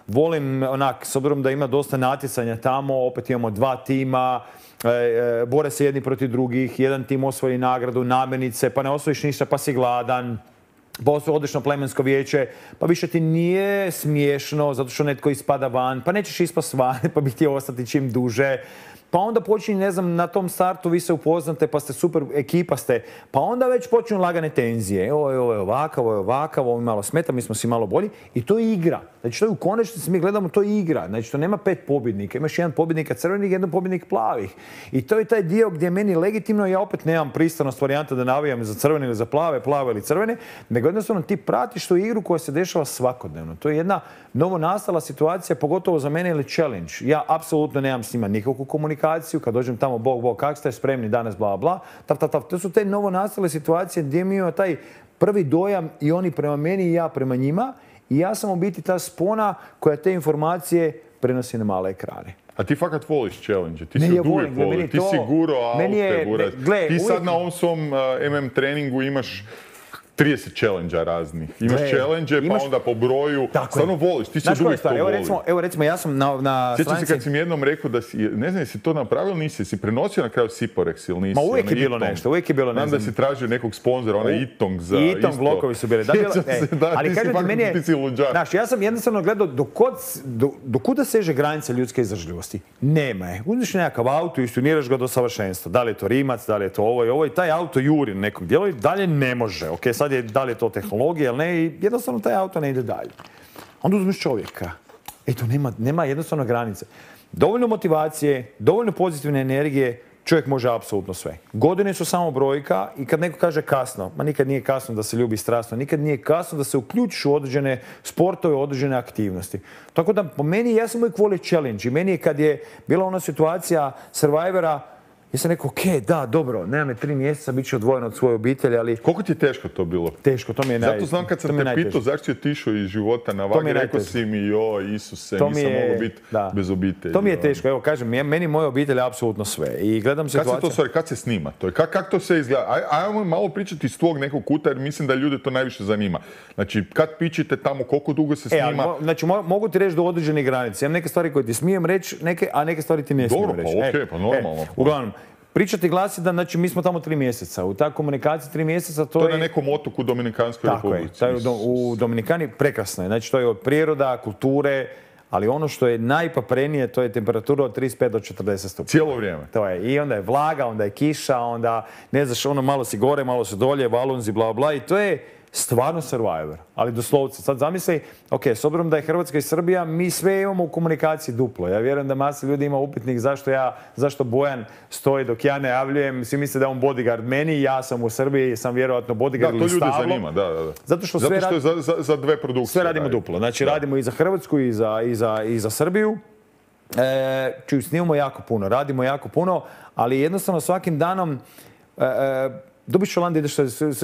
Volim onak, s obzirom da ima dosta natjecanja tamo, opet imamo dva tima, bore se jedni protiv drugih, jedan tim osvoji nagradu, namirnice, pa ne osvojiš ništa pa si gladan. Pa osvoji odlično plemensko vijeće, pa više ti nije smiješno zato što netko ispada van, pa nećeš ispast van, pa bi ti ostati čim duže. Pa onda počinje, ne znam, na tom startu vi se upoznate, pa ste super, ekipa ste, pa onda već počinju lagane tenzije. Ovo je, ovo je ovakav, ovo je ovakav, ovo mi malo smeta, mi smo si malo bolji. I to je igra. Znači, to je u konačnici, mi gledamo, to je igra. Znači, to nema pet pobjednika. Imaš jedan pobjednika crvenih, jedan pobjednik plavih. I to je taj dio gdje je meni legitimno, ja opet nemam pristranost varijanta da navijam za crvene ili za plave, plave ili crvene, nego jednostavno ti pratiš tu igru koja se dešava svakodnevno. To je jedna novonastala situacija, pogotovo za mene, ili challenge. Ja apsolutno nemam s njima nikakvu komunikaciju. Kad dođem tamo, bog, bog, kak ste spremni danas, bla, bla, tav, tav, tav. To su te novonastale situacije gdje mi imamo taj prvi dojam i oni prema meni i ja prema njima. I ja sam u biti ta spona koja te informacije prenosi na male ekrane. A ti fakat voliš challenge, ti ne, si ja od uvijek volim, voli, ti to, si guro aute, gura. Ti sad uvijek... na ovom svom uh, em em treningu imaš trideset challenge-a raznih. Imaš Gle, challenge, imaš... pa onda po broju. Stvarno voliš, ti si od uvijek to voli. Evo recimo, evo recimo, ja sam na, na Sjećam stranici... se kad si mi jednom rekao da si, ne znam, jesi to napravio ili nisi, jesi prenosio na kraju Siporex ili nisi? Ma uvijek je bilo nešto, uvijek je bilo nešto. Znam da si tražio nekog sponzora, onaj Itong za isto. Itong blokovi su bili. Da, bila, se, da, ali ti si fakat, meni je, ti si luđak. Znaš, ja sam jednostavno gledao dokod, do, dokuda seže granica ljudske izdržljivosti. Nema je. Uzmiš nekakav auto i istuniraš ga do savršenstva. Da li je to Rimac, da li je to ovo i ovo i taj auto juri na nekog dijela i dalje ne može. Ok, sad je, da li je to tehnologija ili ne, i jednostavno taj auto ne ide dalje. Onda uzmeš čovjeka. Eto, nema, nema jednostavno granice. Dovoljno motivacije, dovoljno pozitivne energije, čovjek može apsolutno sve. Godine su samo brojka i kad neko kaže kasno, ma nikad nije kasno da se ljubi strasno, nikad nije kasno da se uključiš u određene sportove, određene aktivnosti. Tako da, po meni, ja sam uvijek volio challenge i meni je kad je bila ona situacija Survivora, ja sam rekao, ok, da, dobro, nema me tri mjeseca, bit ću odvojen od svoje obitelji, ali... Koliko ti je teško to bilo? Teško, to mi je najteže. Zato znam kad sam te pitao zašto si otišao iz života na vagi, rekao si mi, joj, Isuse, to nisam je... mogao biti bez obitelji. To mi je teško, evo, kažem, meni moja obitelj je apsolutno sve. I gledam situaciju... Kad se to, stvari, kad se snima to? Kako kak to sve izgleda? Aj, ajmo malo pričati iz tvog nekog kuta, jer mislim da ljude to najviše zanima. Znači, kad pičite tamo, koliko dugo se snima? E, ali, znači, mogu ti reći do određene granice. Imam neke stvari koje ti smijem reći, neke, a neke stvari ti ne smijem Dobro, reći. Dobro, pa okej, okay, pa normalno. E, uglavnom, pričati glasi da, znači, mi smo tamo tri mjeseca. U ta komunikaciji tri mjeseca to, to je... To je na nekom otoku u Dominikanskoj republici. Tako je. To je u Dominikani prekrasno je. Znači, to je od priroda, kulture, ali ono što je najpaprenije, to je temperatura od trideset pet do četrdeset stupnjeva. Cijelo vrijeme. To je. I onda je vlaga, onda je kiša, onda, ne znaš, ono malo si gore, malo si dolje, valunzi, bla, bla. I to je stvarno Survivor, ali doslovce. Sad zamisli, ok, s obzirom da je Hrvatska i Srbija, mi sve imamo u komunikaciji duplo. Ja vjerujem da masa ljudi ima upitnik zašto ja, zašto Bojan stoji dok ja najavljujem. Svi misle da je on bodyguard meni, ja sam u Srbiji, sam vjerovatno bodyguard ili stablo. Da, to ljude zanima, da, da. Zato što, Zato sve što je za, za, za dve produkcije. Sve radimo radi. duplo. Znači da. radimo i za Hrvatsku i za, i za, i za Srbiju. E, čuj, snimamo jako puno, radimo jako puno, ali jednostavno svakim danom e, e, dobiš Holandije, ideš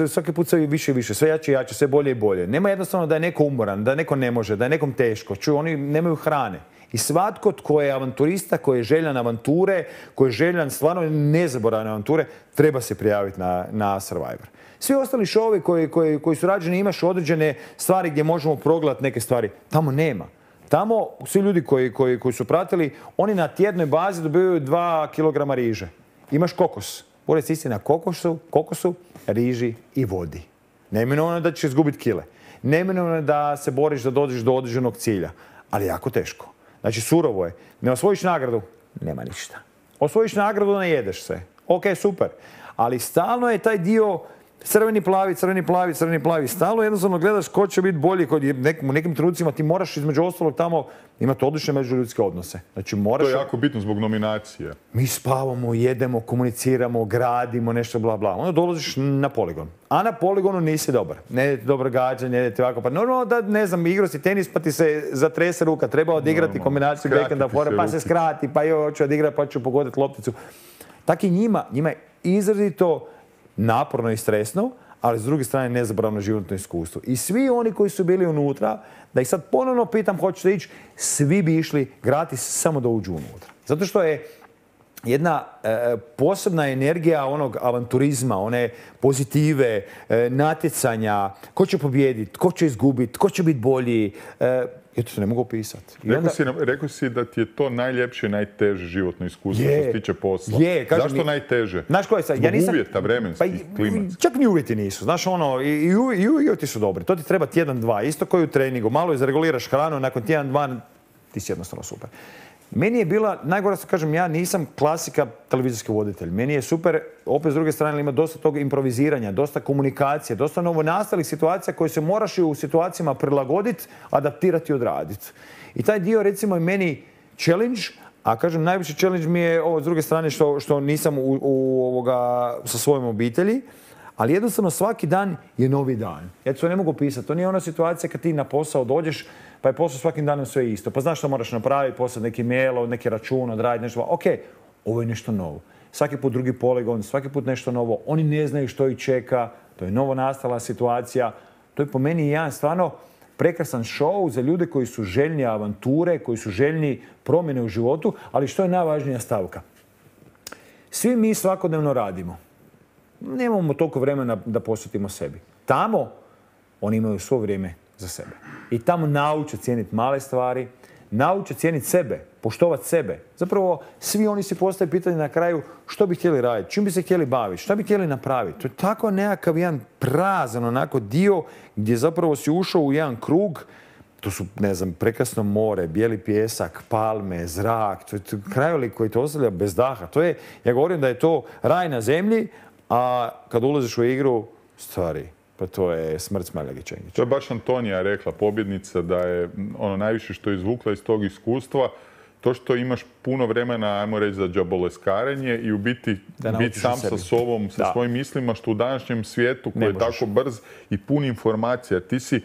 svaki put sve više i više, sve jače i jače, sve bolje i bolje. Nema jednostavno da je neko umoran, da neko ne može, da je nekom teško. Čuj, oni nemaju hrane. I svatko tko je avanturista, koji je željan avanture, koji je željan stvarno nezaboravne avanture, treba se prijaviti na, na Survivor. Svi ostali šovi koji, koji, koji su rađeni, imaš određene stvari gdje možemo progledati neke stvari. Tamo nema. Tamo svi ljudi koji, koji, koji su pratili, oni na tjednoj bazi dobivaju dva kilograma riže. Imaš kokos. Bolje si na kokosu, kokosu, riži i vodi. Neminovno je da ćeš izgubiti kile. Neminovno je da se boriš da dođeš do određenog cilja. Ali jako teško. Znači, surovo je. Ne osvojiš nagradu, nema ništa. Osvojiš nagradu, ne jedeš se. Ok, super. Ali stalno je taj dio crveni plavi, crveni plavi, crveni plavi. Stalno jednostavno gledaš ko će biti bolji. Kod nekim, u nekim trenucima ti moraš između ostalog tamo imati odlične međuljudske odnose. Znači, moraš... To je jako bitno zbog nominacije. Mi spavamo, jedemo, komuniciramo, gradimo, nešto bla bla. Onda dolaziš na poligon. A na poligonu nisi dobar. Ne idete dobro gađanje, ne idete ovako. Pa normalno da, ne znam, igrao si tenis pa ti se zatrese ruka. Treba odigrati no, kombinaciju backenda fora, pa se skrati, pa joj, hoću odigrati, pa ću pogoditi lopticu. Tako i njima, njima je izrazito naporno i stresno, ali s druge strane nezaboravno životno iskustvo. I svi oni koji su bili unutra, da ih sad ponovno pitam hoćete ići, svi bi išli gratis samo da uđu unutra. Zato što je jedna e, posebna energija onog avanturizma, one pozitive, e, natjecanja, ko će pobijediti, ko će izgubiti, ko će biti bolji. E, ja to se ne mogu opisati. Rekao, onda... si, rekao si da ti je to najljepše i najteže životno iskustvo je, što se tiče posla. Je, kažem, zašto najteže? Znaš koje sad? Zbog ja nisam... uvjeta vremenskih, pa, klimatskih. Čak ni uvjeti nisu. Znaš, ono, i, i, i uvjeti su dobri. To ti treba tjedan, dva. Isto koji u treningu. Malo izreguliraš hranu, nakon tjedan, dva, ti si jednostavno super. Meni je bila, najgore što kažem, ja nisam klasika televizijski voditelj. Meni je super, opet s druge strane, ima dosta tog improviziranja, dosta komunikacije, dosta novonastalih situacija koje se moraš u situacijama prilagoditi, adaptirati i odraditi. I taj dio, recimo, je meni challenge, a kažem, najveći challenge mi je ovo s druge strane što, što nisam u, u, ovoga, sa svojom obitelji, ali jednostavno svaki dan je novi dan. Ja to ne mogu pisati. To nije ona situacija kad ti na posao dođeš, pa je posao svakim danom sve isto. Pa znaš što moraš napraviti, poslati neki mail, neki račun, odraditi nešto. Ok, ovo je nešto novo. Svaki put drugi poligon, svaki put nešto novo. Oni ne znaju što ih čeka. To je novo nastala situacija. To je po meni jedan stvarno prekrasan show za ljude koji su željni avanture, koji su željni promjene u životu, ali što je najvažnija stavka? Svi mi svakodnevno radimo. Nemamo toliko vremena da posvetimo sebi. Tamo oni imaju svo vrijeme za sebe. I tamo nauče cijeniti male stvari, nauče cijeniti sebe, poštovati sebe. Zapravo, svi oni si postaju pitanje na kraju što bi htjeli raditi, čim bi se htjeli baviti, što bi htjeli napraviti. To je tako nekakav jedan prazan onako dio gdje zapravo si ušao u jedan krug. To su, ne znam, prekrasno more, bijeli pijesak, palme, zrak. To je krajolik koji te ostavlja bez daha. To je, ja govorim da je to raj na zemlji, a kad ulaziš u igru, stvari, pa to je smrt Smaljage Čengića. To je baš Antonija rekla, pobjednica, da je ono najviše što je izvukla iz tog iskustva to što imaš puno vremena, ajmo reći, za džaboleskarenje i u biti biti sam sa sobom, sa da. svojim mislima, što u današnjem svijetu koji je tako brz i pun informacija, ti si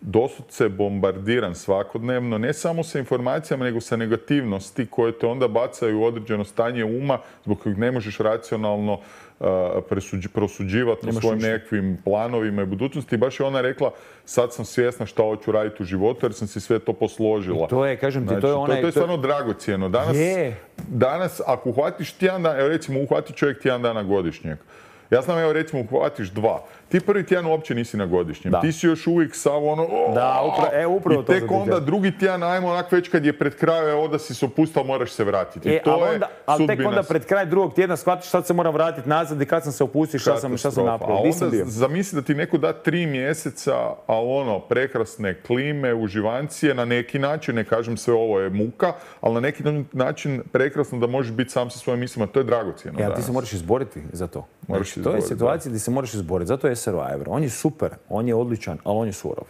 doslovce bombardiran svakodnevno, ne samo sa informacijama, nego sa negativnosti koje te onda bacaju u određeno stanje uma zbog kojeg ne možeš racionalno uh, presuđi, prosuđivati o svojim nekakvim planovima i budućnosti. Baš je ona rekla, sad sam svjesna šta hoću raditi u životu jer sam si sve to posložila. I to je, kažem ti, znači, to je onaj... To, to je stvarno dragocijeno. Danas, je. danas, ako uhvatiš tjedan dana, evo recimo uhvati čovjek tjedan dana godišnjeg. Ja znam, evo recimo, uhvatiš dva. Ti prvi tjedan uopće nisi na godišnjem. Da. Ti si još uvijek sav ono... O, da, upra, e, upravo to. I tek onda drugi tjedan, ajmo onak već kad je pred kraju, evo da si se opustao, moraš se vratiti. E, to ali je onda, ali tek onda pred kraj drugog tjedna shvatiš sad se moram vratiti nazad i kad sam se opustio, šta sam, šta sam napravio. A onda zamisli da ti neko da tri mjeseca, ali ono, prekrasne klime, uživancije, na neki način, ne kažem sve ovo je muka, ali na neki način prekrasno da možeš biti sam sa svojim mislima. To je dragocjeno. Ja, ti se moraš izboriti za to. Moraš znači, to je situacija gdje se moraš izboriti. Zato je Survivor. On je super, on je odličan, ali on je surov.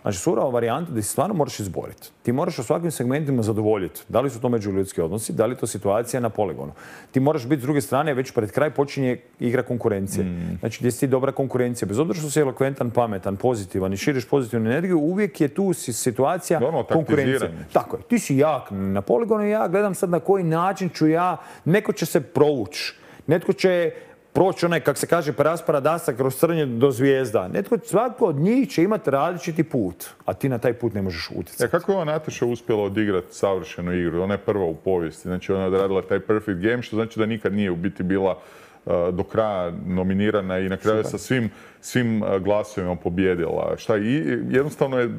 Znači, surova varijanta da se stvarno moraš izboriti. Ti moraš u svakim segmentima zadovoljiti. Da li su to međuljudski odnosi, da li je to situacija na poligonu. Ti moraš biti s druge strane, već pred kraj počinje igra konkurencije. Mm. Znači, gdje si ti dobra konkurencija. Bez obzira što si elokventan, pametan, pozitivan i širiš pozitivnu energiju, uvijek je tu situacija konkurencije. Tako je. Ti si jak na poligonu i ja gledam sad na koji način ću ja, neko će se provući. Netko će proći onaj, kak se kaže, preraspara dasa kroz crnje do zvijezda. Netko, svako od njih će imati različiti put, a ti na taj put ne možeš utjecati. E, kako je ova Nataša uspjela odigrati savršenu igru? Ona je prva u povijesti. Znači, ona je odradila taj perfect game, što znači da nikad nije u biti bila uh, do kraja nominirana i na kraju sa svim, svim uh, glasovima pobjedila. Šta, i jednostavno je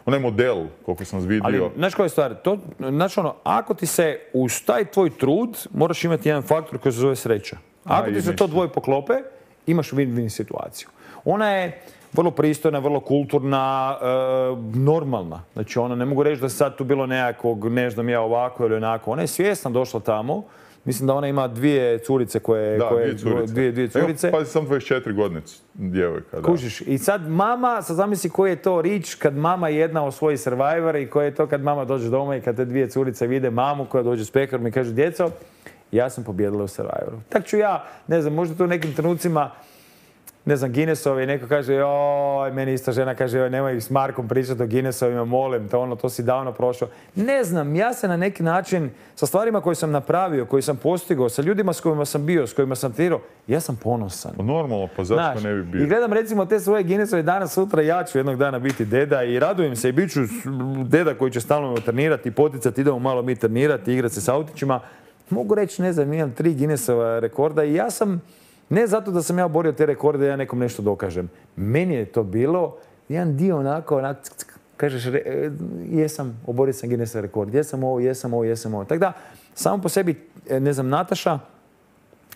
onaj model, koliko sam vidio. Ali, znaš koja je stvar? To, znači, ono, ako ti se uz taj tvoj trud, moraš imati jedan faktor koji se zove sreća. Ako ti se to dvoje poklope, imaš win-win situaciju. Ona je vrlo pristojna, vrlo kulturna, e, normalna. Znači, ona, ne mogu reći da se sad tu bilo nekakvog, ne znam ja, ovako ili onako. Ona je svjesna došla tamo. Mislim da ona ima dvije curice koje... Da, koje, dvije curice. Dvije, dvije curice. Evo, pazi, sam dvadeset četiri godine djevojka. Da. Kužiš. I sad mama, sad zamisli koji je to rič kad mama jedna osvoji Survivor i koji je to kad mama dođe doma i kad te dvije curice vide mamu koja dođe s pekarom i kaže, djeco, ja sam pobjedila u Survivoru. Tak ću ja, ne znam, možda tu u nekim trenucima, ne znam, Guinnessovi, neko kaže, joj, meni ista žena kaže, joj, nemoj s Markom pričati o Guinnessovima, molim te, ono, to si davno prošao. Ne znam, ja se na neki način, sa stvarima koje sam napravio, koje sam postigao, sa ljudima s kojima sam bio, s kojima sam tirao, ja sam ponosan. Normalno, pa zašto Znaš, ne bi bio? I gledam recimo te svoje Guinnessove danas, sutra ja ću jednog dana biti deda i radujem se i bit ću deda koji će stalno trenirati i poticati, idemo malo mi trenirati, igrati se s autićima. Mogu reći, ne znam, imam tri Guinnessova rekorda i ja sam, ne zato da sam ja oborio te rekorde, ja nekom nešto dokažem. Meni je to bilo jedan dio onako, onako, kažeš, re, jesam, oborio sam Guinnessov rekord, jesam ovo, jesam ovo, jesam ovo. Tako da, samo po sebi, ne znam, Nataša,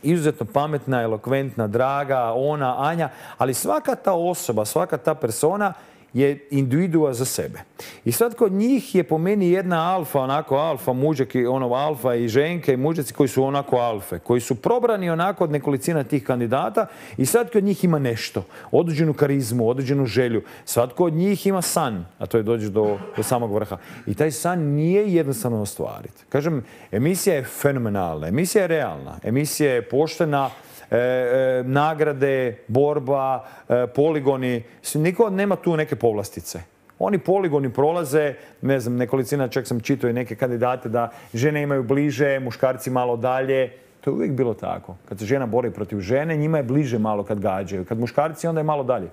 izuzetno pametna, elokventna, draga, ona, Anja, ali svaka ta osoba, svaka ta persona je individua za sebe. I sad kod njih je po meni jedna alfa, onako alfa mužak, ono alfa i ženke i mužaci koji su onako alfe, koji su probrani onako od nekolicina tih kandidata i svatko od njih ima nešto, određenu karizmu, određenu želju. Svatko od njih ima san, a to je dođeš do, do samog vrha. I taj san nije jednostavno ostvariti. Kažem, emisija je fenomenalna, emisija je realna, emisija je poštena, E, e, nagrade, borba, e, poligoni. Niko nema tu neke povlastice. Oni poligoni prolaze, ne znam, nekolicina, čak sam čitao i neke kandidate da žene imaju bliže, muškarci malo dalje. To je uvijek bilo tako. Kad se žena bori protiv žene, njima je bliže malo kad gađaju. Kad muškarci, onda je malo dalje.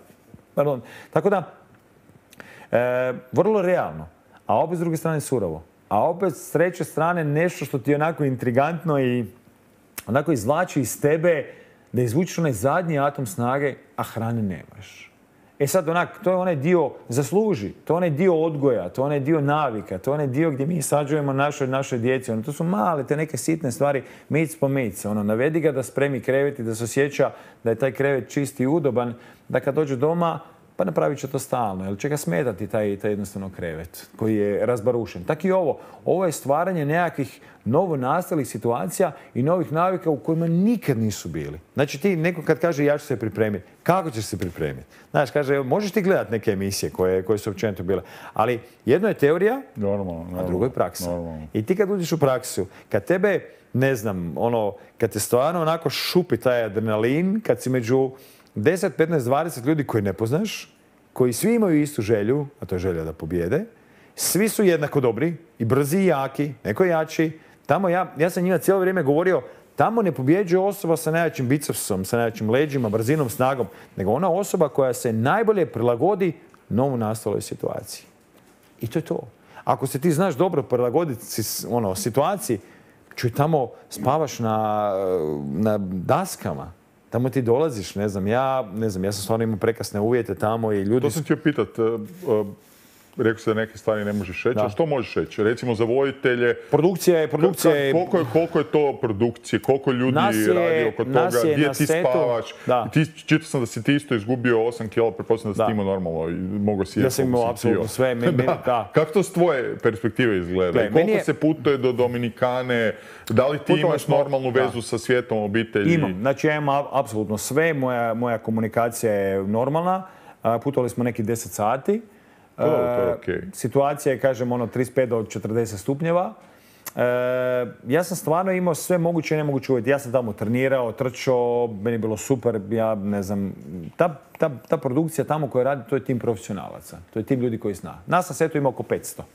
Pardon. Tako da, e, vrlo realno. A opet s druge strane surovo. A opet s treće strane nešto što ti je onako intrigantno i onako izvlači iz tebe da izvučiš onaj zadnji atom snage, a hrane nemaš. E sad, onak, to je onaj dio zasluži, to je onaj dio odgoja, to je onaj dio navika, to je onaj dio gdje mi sađujemo našoj, našoj djeci. Ono, to su male, te neke sitne stvari, mic po mic. Ono, navedi ga da spremi krevet i da se osjeća da je taj krevet čist i udoban, da kad dođe doma, pa napravit će to stalno, jer će ga smetati taj, taj jednostavno krevet koji je razbarušen. Tako i ovo. Ovo je stvaranje nekakvih novonastalih situacija i novih navika u kojima nikad nisu bili. Znači ti neko kad kaže ja ću se pripremiti, kako ćeš se pripremiti? Znaš, kaže, možeš ti gledati neke emisije koje, koje su općenito bile, ali jedno je teorija, normalno, normalno, a drugo je praksa. Normalno. I ti kad uđeš u praksu, kad tebe, ne znam, ono, kad te stvarno onako šupi taj adrenalin, kad si među deset, petnaest, dvadeset ljudi koji ne poznaš, koji svi imaju istu želju, a to je želja da pobjede, svi su jednako dobri i brzi i jaki, neko jači. Tamo ja, ja sam njima cijelo vrijeme govorio, tamo ne pobjeđuje osoba sa najjačim bicepsom, sa najjačim leđima, brzinom, snagom, nego ona osoba koja se najbolje prilagodi novu nastaloj situaciji. I to je to. Ako se ti znaš dobro prilagoditi ono, situaciji, čuj, tamo spavaš na, na daskama, tamo ti dolaziš, ne znam, ja, ne znam, ja sam stvarno imao prekasne uvjete tamo i ljudi... To sam htio pitat, rekao si da neke stvari ne možeš reći, a što možeš reći? Recimo za voditelje... Produkcija je... Produkcija je... Koliko, je, koliko je to produkcije, koliko ljudi je, radi oko toga, gdje ti setu, spavaš? Ti, čitao sam da si ti isto izgubio osam kila, pretpostavljam da si ti imao normalno i mogo si jesti. Ja sam imao apsolutno sve. Meni, da. Da. Kako to s tvoje perspektive izgleda? Gle, koliko je... se putuje do Dominikane? Da li ti Putovali imaš smo, normalnu vezu da. sa svijetom obitelji? Imam. Znači ja imam apsolutno sve. Moja, moja komunikacija je normalna. Putovali smo neki deset sati. To, to je okay. Situacija je, kažem, ono trideset pet do četrdeset stupnjeva. E, ja sam stvarno imao sve moguće i nemoguće uvjeti. Ja sam tamo trenirao, trčao, meni je bilo super. Ja ne znam, ta, ta, ta produkcija tamo koja radi, to je tim profesionalaca. To je tim ljudi koji zna. Nas na setu ima oko petsto.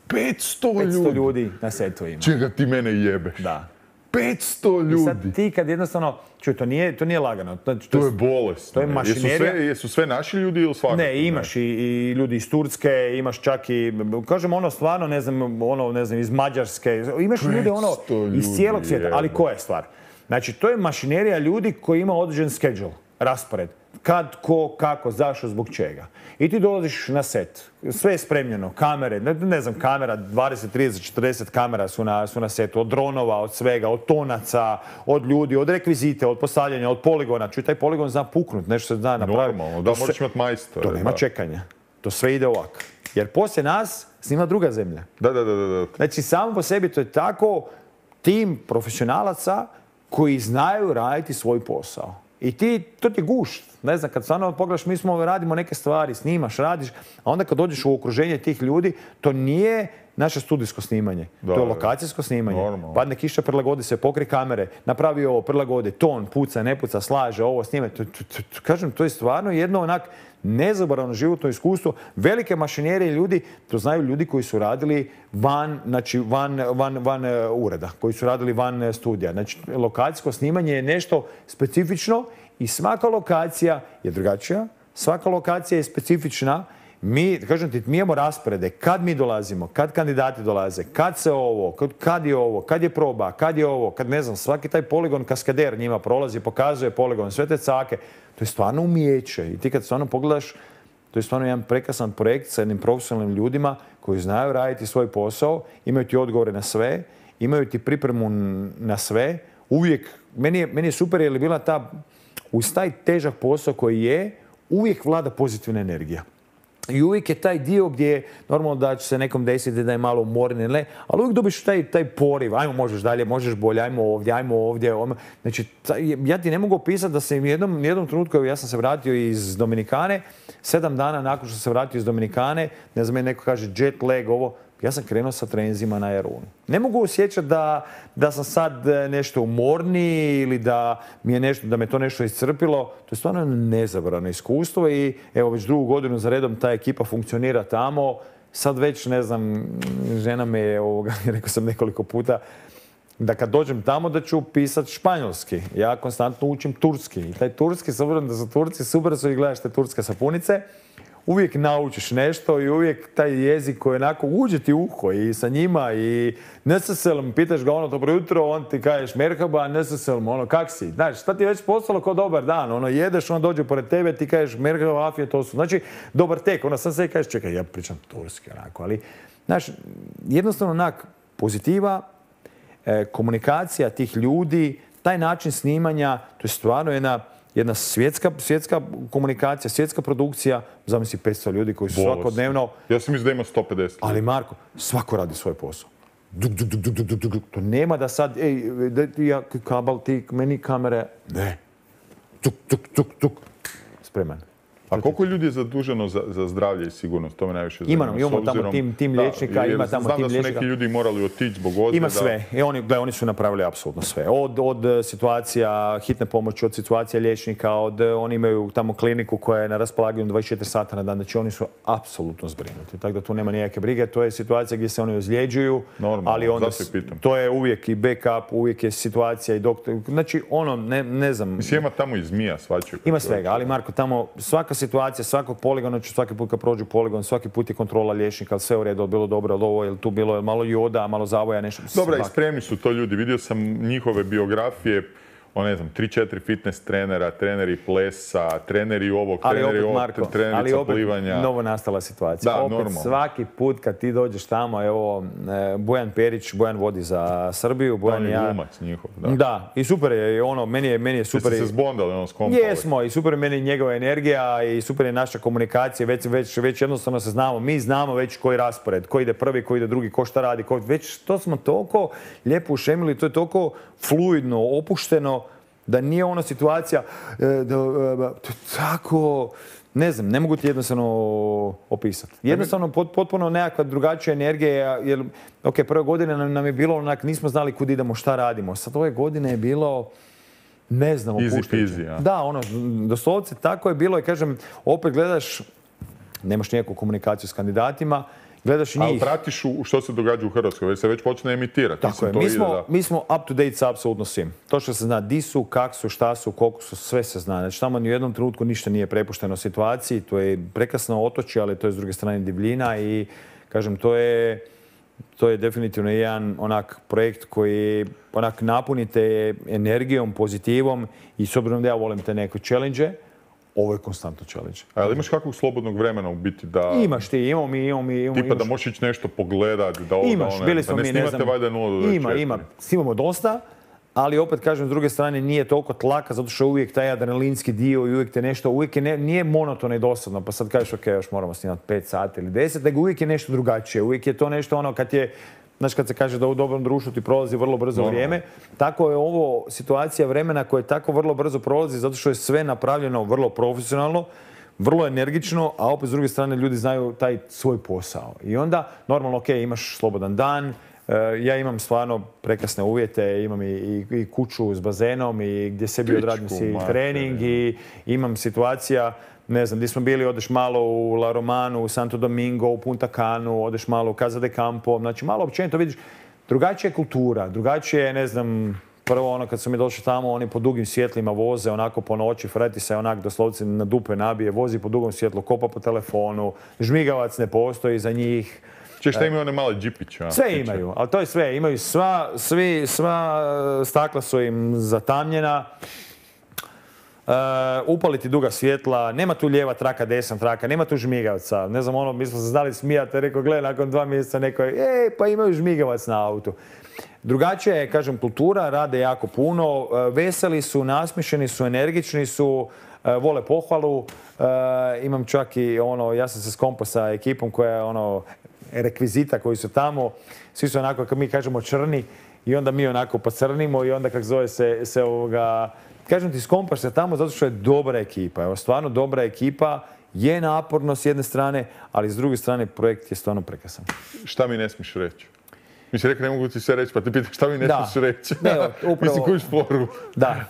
petsto ljudi? petsto ljudi na setu ima. Čega ti mene jebeš? Da. petsto ljudi. I sad ti kad jednostavno, čuj, to nije, to nije lagano. To, to, to je bolest. To je mašinerija. Jesu sve, jesu sve naši ljudi ili svakako? Ne, imaš ne. I, i ljudi iz Turske, imaš čak i, kažem ono stvarno, ne znam, ono, ne znam, iz Mađarske. Imaš ljude ono ljudi, iz cijelog svijeta. Je. Ali koja je stvar? Znači, to je mašinerija ljudi koji ima određen schedule, raspored. Kad, ko, kako, zašto, zbog čega. I ti dolaziš na set. Sve je spremljeno. Kamere, ne, ne znam, kamera, dvadeset, trideset, četrdeset kamera su na, su na setu. Od dronova, od svega, od tonaca, od ljudi, od rekvizite, od postavljanja, od poligona. Čuj, taj poligon zna puknut, nešto se zna napraviti. Normalno, da, moraš imati majstora. To nema čekanja. To sve ide ovako. Jer poslije nas snima druga zemlja. Da, da, da, da. Znači, samo po sebi to je tako tim profesionalaca koji znaju raditi svoj posao. I ti, to ti je gušt. Ne znam, kad stvarno pogledaš, mi smo radimo neke stvari, snimaš, radiš, a onda kad dođeš u okruženje tih ljudi, to nije naše studijsko snimanje. Da, to je lokacijsko snimanje. Normalno. Padne kiša, prilagodi se, pokri kamere, napravi ovo, prilagodi, ton, puca, ne puca, slaže, ovo, snime. To, to, to, to, kažem, to je stvarno jedno onak nezaboravno životno iskustvo. Velike mašinerije ljudi, to znaju ljudi koji su radili van, znači van, van, van ureda, koji su radili van studija. Znači, lokacijsko snimanje je nešto specifično i svaka lokacija je drugačija, svaka lokacija je specifična. Mi, kažem ti, mi imamo rasporede, kad mi dolazimo, kad kandidati dolaze, kad se ovo, kad, kad je ovo, kad je proba, kad je ovo, kad ne znam, svaki taj poligon kaskader njima prolazi, pokazuje poligon, sve te cake. To je stvarno umijeće i ti kad stvarno pogledaš, to je stvarno jedan prekrasan projekt sa jednim profesionalnim ljudima koji znaju raditi svoj posao, imaju ti odgovore na sve, imaju ti pripremu na sve. Uvijek, meni je, meni je super jer je bila ta, uz taj težak posao koji je, uvijek vlada pozitivna energija. I uvijek je taj dio gdje normalno da će se nekom desiti da je malo umorni, ne, ali uvijek dobiš taj, taj poriv, ajmo možeš dalje, možeš bolje, ajmo ovdje, ajmo ovdje. Ajmo. Znači, ja ti ne mogu opisati da se u jednom, jednom trenutku, ja sam se vratio iz Dominikane, sedam dana nakon što sam se vratio iz Dominikane, ne znam, neko kaže jet lag, ovo, ja sam krenuo sa trenzima na Jarunu. Ne mogu osjećati da, da sam sad nešto umorniji ili da, mi je nešto, da me to nešto iscrpilo. To je stvarno nezabrano iskustvo i evo već drugu godinu za redom ta ekipa funkcionira tamo. Sad već, ne znam, žena me je, ovoga, rekao sam nekoliko puta, da kad dođem tamo da ću pisati španjolski. Ja konstantno učim turski. I taj turski, s obzirom da su Turci, super su i gledaš te turske sapunice. Uvijek naučiš nešto i uvijek taj jezik koji onako uđe ti u uho i sa njima i neseselom, pitaš ga ono dobro jutro, on ti kažeš merhaba, neseselom, ono kak si? Znaš, šta ti je već postalo kao dobar dan, ono jedeš, on dođe pored tebe, ti kažeš merhaba, afije, to su, znači dobar tek, ono sam se kažeš čekaj, ja pričam turski onako, ali znaš, jednostavno onak pozitiva, e, komunikacija tih ljudi, taj način snimanja, to je stvarno jedna Jedna svjetska, svjetska komunikacija, svjetska produkcija, zamisli petsto ljudi koji su Bolest. Svakodnevno... Ja sam mislim da ima sto pedeset. Ali Marko, svako radi svoj posao. Duk, duk, duk, duk, duk, duk. To nema da sad, ej, da ja kabel, ti, meni kamere. Ne. Tuk, tuk, tuk, tuk. Spreman. A koliko ljudi je zaduženo za, za zdravlje i sigurnost? To me najviše zanima. Imamo, imamo tamo tim, tim liječnika, ima tamo tim liječnika. Znam da su neki ljudi morali otići zbog ozljeda. Ima sve. I oni, gle, oni su napravili apsolutno sve. Od, od situacija hitne pomoći, od situacija liječnika, od, oni imaju tamo kliniku koja je na raspolaganju dvadeset četiri sata na dan. Znači oni su apsolutno zbrinuti. Tako da tu nema nikakve brige. To je situacija gdje se oni ozljeđuju. Normalno, ali onda, zato pitam. to je uvijek i backup, uvijek je situacija i doktor. Znači ono, ne, ne znam. Mislim, ima tamo i zmija, svačaju. Ima svega, ali Marko, tamo svaka situacija, svakog poligona ću svaki put kad prođu poligon, svaki put je kontrola liječnika, ali sve u redu, bilo dobro, ali ovo je tu bilo malo joda, malo zavoja, nešto. Dobra, i spremni su to ljudi. Vidio sam njihove biografije. o ne znam, tri četiri fitness trenera, treneri plesa, treneri ovog, ali treneri opet, ovog, Marko, trenerica ali opet plivanja. novo nastala situacija. Da, opet normalno. svaki put kad ti dođeš tamo, evo, Bojan Perić, Bojan vodi za Srbiju, Bojan On i je ja. glumac njihov, da. Da, i super je, ono, meni je, meni je super. Jeste se zbondali, ono, skompali? Jesmo, i super je meni njegova energija i super je naša komunikacija, već, već, već jednostavno se znamo, mi znamo već koji raspored, ko ide prvi, ko ide drugi, ko šta radi, ko... već to smo toliko lijepo ušemili, to je toliko fluidno, opušteno, da nije ona situacija, da, tako, ne znam, ne mogu ti jednostavno opisati. Jednostavno potpuno nekakva drugačija energija, jer, ok, prve godine nam, nam je bilo onak, nismo znali kud idemo, šta radimo. Sad ove godine je bilo, ne znam, opuštajuće. Easy peasy, ja. Da, ono, doslovce tako je bilo i kažem, opet gledaš, nemaš nikakvu komunikaciju s kandidatima, gledaš i njih. Ali pratiš u što se događa u Hrvatskoj, već se već počne emitirati. Tako je, mi smo, da... mi smo up to date sa apsolutno svim. To što se zna di su, kak su, šta su, koliko su, sve se zna. Znači tamo ni u jednom trenutku ništa nije prepušteno situaciji, to je prekrasno otočje, ali to je s druge strane divljina i kažem, to je, to je definitivno jedan onak projekt koji onak napunite energijom, pozitivom i s obzirom da ja volim te neke challenge, ovo je konstantno challenge. A ali imaš kakvog slobodnog vremena u biti da... Imaš ti, imamo mi, imamo mi... Imamo, tipa imaš... da možeš ići nešto pogledat, da ovo, imaš, da one... bili smo da ne mi, snimate ne znam... valjda nula do dvadeset četiri. Ima, ima. Snimamo dosta, ali opet kažem, s druge strane nije toliko tlaka, zato što je uvijek taj adrenalinski dio i uvijek te nešto, uvijek je ne, nije monotono i dosadno, pa sad kažeš, ok, još moramo snimati pet sati ili deset, nego uvijek je nešto drugačije, uvijek je to nešto ono kad je... Znaš, kad se kaže da u dobrom društvu ti prolazi vrlo brzo no, vrijeme, tako je ovo situacija vremena koja tako vrlo brzo prolazi zato što je sve napravljeno vrlo profesionalno, vrlo energično, a opet s druge strane ljudi znaju taj svoj posao. I onda, normalno, ok, imaš slobodan dan, ja imam stvarno prekrasne uvjete, imam i, i, i kuću s bazenom i gdje sebi odradim si trening i imam situacija, ne znam, gdje smo bili, odeš malo u La Romanu, u Santo Domingo, u Punta Canu, odeš malo u Casa de Campo, znači malo općenito vidiš, drugačija je kultura, drugačije je, ne znam, prvo ono kad su mi došli tamo, oni po dugim svjetlima voze, onako po noći, freti se onak doslovce na dupe nabije, vozi po dugom svjetlu, kopa po telefonu, žmigavac ne postoji za njih. Če šta imaju one male džipiće? Sve imaju, ali to je sve, imaju sva, svi, sva stakla su im zatamnjena. Uh, upaliti duga svjetla, nema tu lijeva traka, desna traka, nema tu žmigavca. Ne znam, ono, mi smo se znali smijati, rekao, gle, nakon dva mjeseca neko je, ej, pa imaju žmigavac na autu. Drugačija je, kažem, kultura, rade jako puno, uh, veseli su, nasmišeni su, energični su, uh, vole pohvalu. Uh, imam čak i ono, ja sam se skompao sa ekipom koja je ono, rekvizita koji su tamo, svi su onako, kako mi kažemo, črni i onda mi onako pocrnimo i onda, kako zove se, se ovoga, kažem ti, skompaš se tamo zato što je dobra ekipa. Evo, stvarno dobra ekipa, je naporno s jedne strane, ali s druge strane projekt je stvarno prekrasan. Šta mi ne smiješ reći? Mi si rekao, ne mogu ti sve reći, pa te pitam šta mi ne da. smiješ reći. Ne, upravo... Mislim, kuć poru. Da.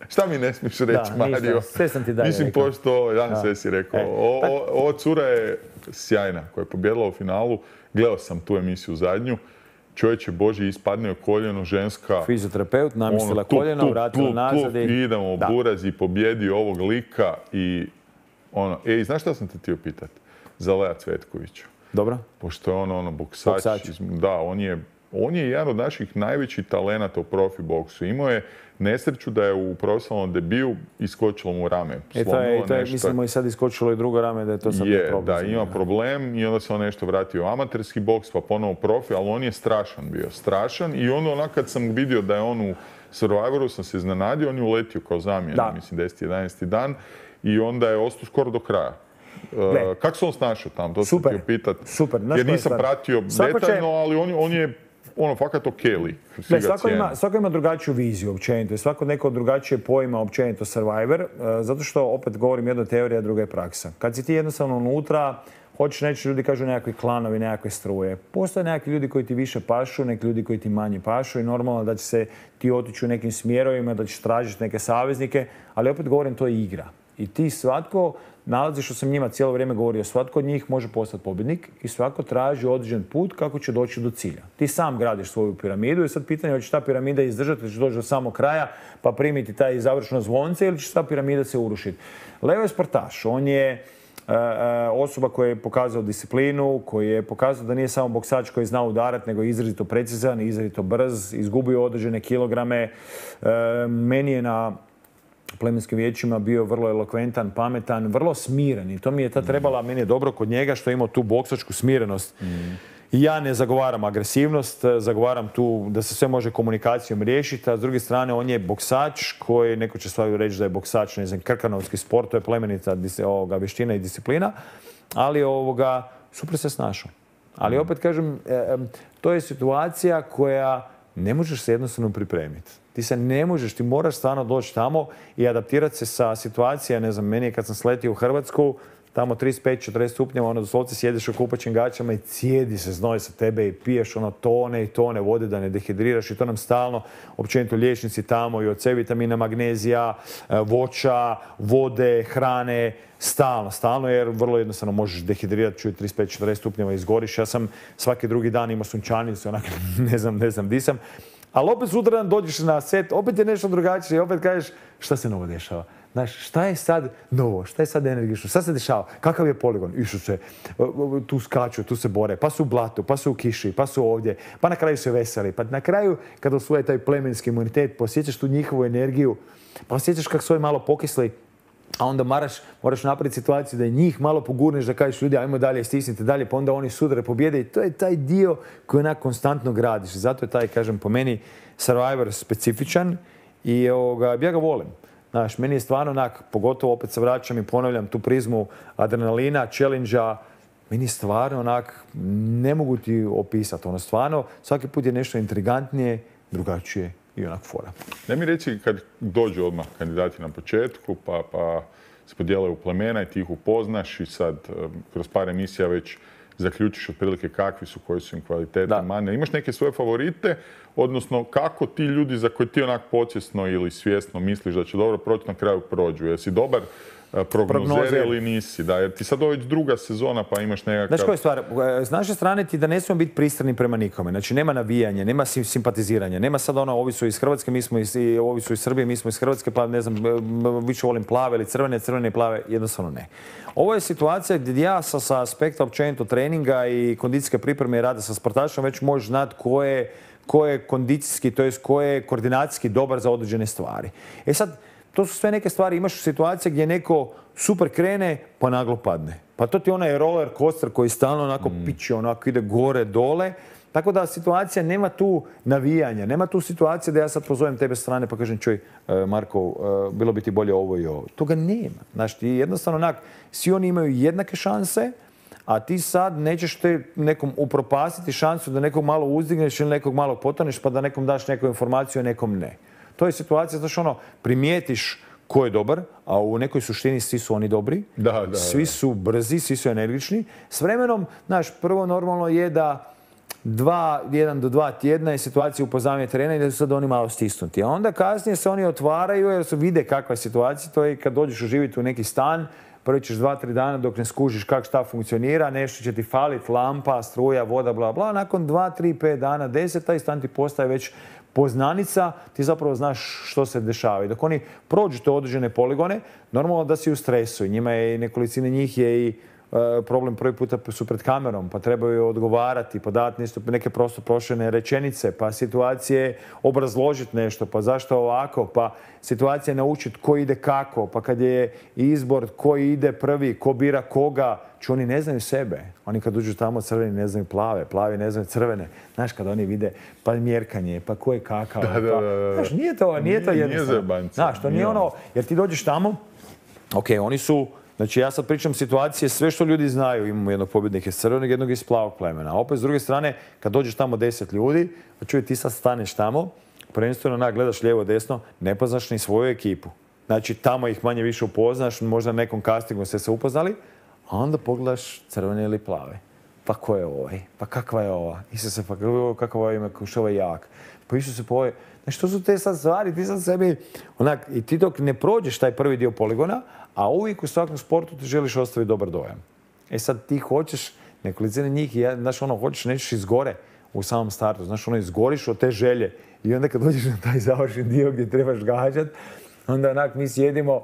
Šta mi ne smiješ reći, da, Mario? Ništa. Sve sam ti dalje Mislim, rekao. pošto, ja sve si rekao. E, o, o, ova cura je sjajna, koja je pobjedila u finalu. Gledao sam tu emisiju zadnju. Čovječe Boži, ispadne koljeno, ženska... Fizioterapeut, namistila ono, koljeno, vratila nazad i... Idemo, da. Buraz i pobjedi ovog lika i... Ono, ej, znaš šta sam te htio pitati? Za Lea Cvetkovića. Dobro. Pošto je on ono boksač. Boksač. Da, on je, on je jedan od naših najvećih talenata u profi boksu. Imao je nesreću da je u profesionalnom debiju iskočilo mu rame. E to je, to je mislimo i sad iskočilo i drugo rame, da je to sad je, problem. Da, ima problem i onda se on nešto vratio u amaterski boks, pa ponovo profi, ali on je strašan bio, strašan. I onda onak kad sam vidio da je on u Survivoru, sam se iznenadio, on je uletio kao zamjena, mislim deseti jedanaesti dan i onda je ostao skoro do kraja. Uh, kako se on snašao tamo? To sam htio pitat. Super. Jer nisam pratio detaljno, će... ali on, on je ono, fakat ok lik. Ne, svako, ima, svako ima drugačiju viziju općenito. Svako neko drugačije pojma općenito Survivor, uh, zato što, opet govorim, jedna teorija, druga je praksa. Kad si ti jednostavno unutra, hoćeš neći, ljudi kažu nekakvi klanovi, nekakve struje. Postoje nekakvi ljudi koji ti više pašu, neki ljudi koji ti manje pašu i normalno da će se ti otići u nekim smjerovima, da ćeš tražiti neke saveznike, ali opet govorim, to je igra. I ti svatko nalazi, što sam njima cijelo vrijeme govorio, svatko od njih može postati pobjednik i svako traži određen put kako će doći do cilja. Ti sam gradiš svoju piramidu i sad pitanje je hoće ta piramida izdržati, ili će doći do samog kraja pa primiti taj završno zvonce ili će ta piramida se urušiti. Leo je sportaš, on je osoba koja je pokazao disciplinu, koji je pokazao da nije samo boksač koji zna udarati, nego je izrazito precizan, izrazito brz, izgubio određene kilograme. Meni je na plemenskim vijećima bio vrlo elokventan, pametan, vrlo smiren i to mi je ta trebala, meni je dobro kod njega što je imao tu boksačku smirenost. I ja ne zagovaram agresivnost, zagovaram tu da se sve može komunikacijom riješiti, a s druge strane on je boksač koji, neko će stvarno reći da je boksač, ne znam, krkanovski sport, to je plemenita ovoga, vještina i disciplina, ali ovoga, super se snašao. Ali opet kažem, to je situacija koja ne možeš se jednostavno pripremiti. Ti se ne možeš, ti moraš stvarno doći tamo i adaptirati se sa situacija, ne znam, meni je kad sam sletio u Hrvatsku, tamo trideset pet četrdeset stupnjeva, ono doslovce sjediš u kupaćim gaćama i cijedi se znoj sa tebe i piješ ono tone i tone vode da ne dehidriraš i to nam stalno, općenito liječnici tamo i od C vitamina, magnezija, voća, vode, hrane, stalno, stalno jer vrlo jednostavno možeš dehidrirati, čuj trideset pet četrdeset stupnjeva izgoriš. Ja sam svaki drugi dan imao sunčanicu, onak ne znam, ne znam di sam. Ali opet sutradan dođeš na set, opet je nešto drugačije i opet kažeš šta se novo dešava. Znaš, šta je sad novo, šta je sad energično, šta se dešava, kakav je poligon, Isuse, tu skaču, tu se bore, pa su u blatu, pa su u kiši, pa su ovdje, pa na kraju se veseli, pa na kraju kad osvoje taj plemenski imunitet, posjećaš tu njihovu energiju, pa osjećaš kako su ovi malo pokisli, a onda moraš, moraš napraviti situaciju da je njih malo pogurneš, da kažeš ljudi, ajmo dalje, stisnite dalje, pa onda oni sudare pobjede i to je taj dio koji onak konstantno gradiš. Zato je taj, kažem, po meni Survivor specifičan i ovoga, ja ga volim. Znaš, meni je stvarno onak, pogotovo opet se vraćam i ponavljam tu prizmu adrenalina, challenge-a, meni je stvarno onak, ne mogu ti opisati. Ono, stvarno, svaki put je nešto intrigantnije, drugačije i onak fora. Ne mi reći kad dođu odmah kandidati na početku, pa, pa se podijele u plemena i ti ih upoznaš i sad kroz par emisija već zaključiš otprilike kakvi su, koji su im kvalitete, mane. Imaš neke svoje favorite, odnosno kako ti ljudi za koje ti onak podsvjesno ili svjesno misliš da će dobro proći na kraju prođu. Jesi dobar prognozer ili nisi? Da, jer ti sad ovo već druga sezona pa imaš nekakav... Znaš koja je stvar? S naše strane ti da ne smijemo biti pristrani prema nikome. Znači nema navijanja, nema simpatiziranja, nema sad ono ovi su iz Hrvatske, mi smo iz, ovi su iz Srbije, mi smo iz Hrvatske, pa ne znam, više volim plave ili crvene, crvene i plave, jednostavno ne. Ovo je situacija gdje ja sa, sa aspekta općenito treninga i kondicijske pripreme i rada sa sportašom već možeš znati ko je, ko je kondicijski, to jest ko je koordinacijski dobar za određene stvari. E sad, to su sve neke stvari, imaš situacije gdje neko super krene pa naglo padne. Pa to ti onaj roller coaster koji stalno onako mm. piće, onako ide gore, dole. Tako da situacija nema tu navijanja, nema tu situacije da ja sad pozovem tebe strane pa kažem čuj, Marko, bilo bi ti bolje ovo i ovo. Toga nema. Znaš, ti jednostavno onak, svi oni imaju jednake šanse, a ti sad nećeš te nekom upropastiti šansu da nekog malo uzdigneš ili nekog malo potoneš pa da nekom daš neku informaciju, a nekom ne. To je situacija, znaš ono, primijetiš ko je dobar, a u nekoj suštini svi su oni dobri, da, da, svi su brzi, svi su energični. S vremenom, znaš, prvo normalno je da dva, jedan do dva tjedna je situacija upoznavanja terena i da su sad oni malo stisnuti. A onda kasnije se oni otvaraju jer su vide kakva je situacija. To je kad dođeš uživiti u neki stan, prvi ćeš dva, tri dana dok ne skužiš kako šta funkcionira, nešto će ti falit, lampa, struja, voda, bla, bla. Nakon dva, tri, pet dana, deset, taj stan ti postaje već poznanica, ti zapravo znaš što se dešava. I dok oni prođu te određene poligone, normalno da si u stresu. I njima je, nekolicine njih je i problem prvi puta su pred kamerom, pa trebaju odgovarati, pa dati neke prosto prošljene rečenice, pa situacije obrazložiti nešto, pa zašto ovako, pa situacije naučiti ko ide kako, pa kad je izbor ko ide prvi, ko bira koga, ču oni ne znaju sebe. Oni kad uđu tamo crveni ne znaju plave, plavi ne znaju crvene. Znaš, kad oni vide pa mjerkanje, pa ko je kakav. Da, da, da, da. Znaš, nije to, nije to jednostavno. Znaš, to nije ono, jer ti dođeš tamo, ok, oni su, znači ja sad pričam situacije, sve što ljudi znaju, imamo jednog pobjednika iz crvenog, jednog iz plavog plemena. A opet s druge strane, kad dođeš tamo deset ljudi, pa čuje ti sad staneš tamo, prvenstveno onak gledaš lijevo desno, ne poznaš ni svoju ekipu. Znači tamo ih manje više upoznaš, možda na nekom castingu ste se upoznali, a onda pogledaš crvene ili plave. Pa ko je ovaj? Pa kakva je ova? Isuse, pa kakva je ime, što je jak? Pa Isuse, pa ovaj... Znači, to su te sad stvari, ti sad sebi... Onak, i ti dok ne prođeš taj prvi dio poligona, a uvijek u svakom sportu ti želiš ostaviti dobar dojam. E sad ti hoćeš, nekolicine njih, ja, znaš ono, hoćeš, nećeš izgore u samom startu. Znaš, ono, izgoriš od te želje. I onda kad dođeš na taj završni dio gdje trebaš gađat, onda onak mi sjedimo,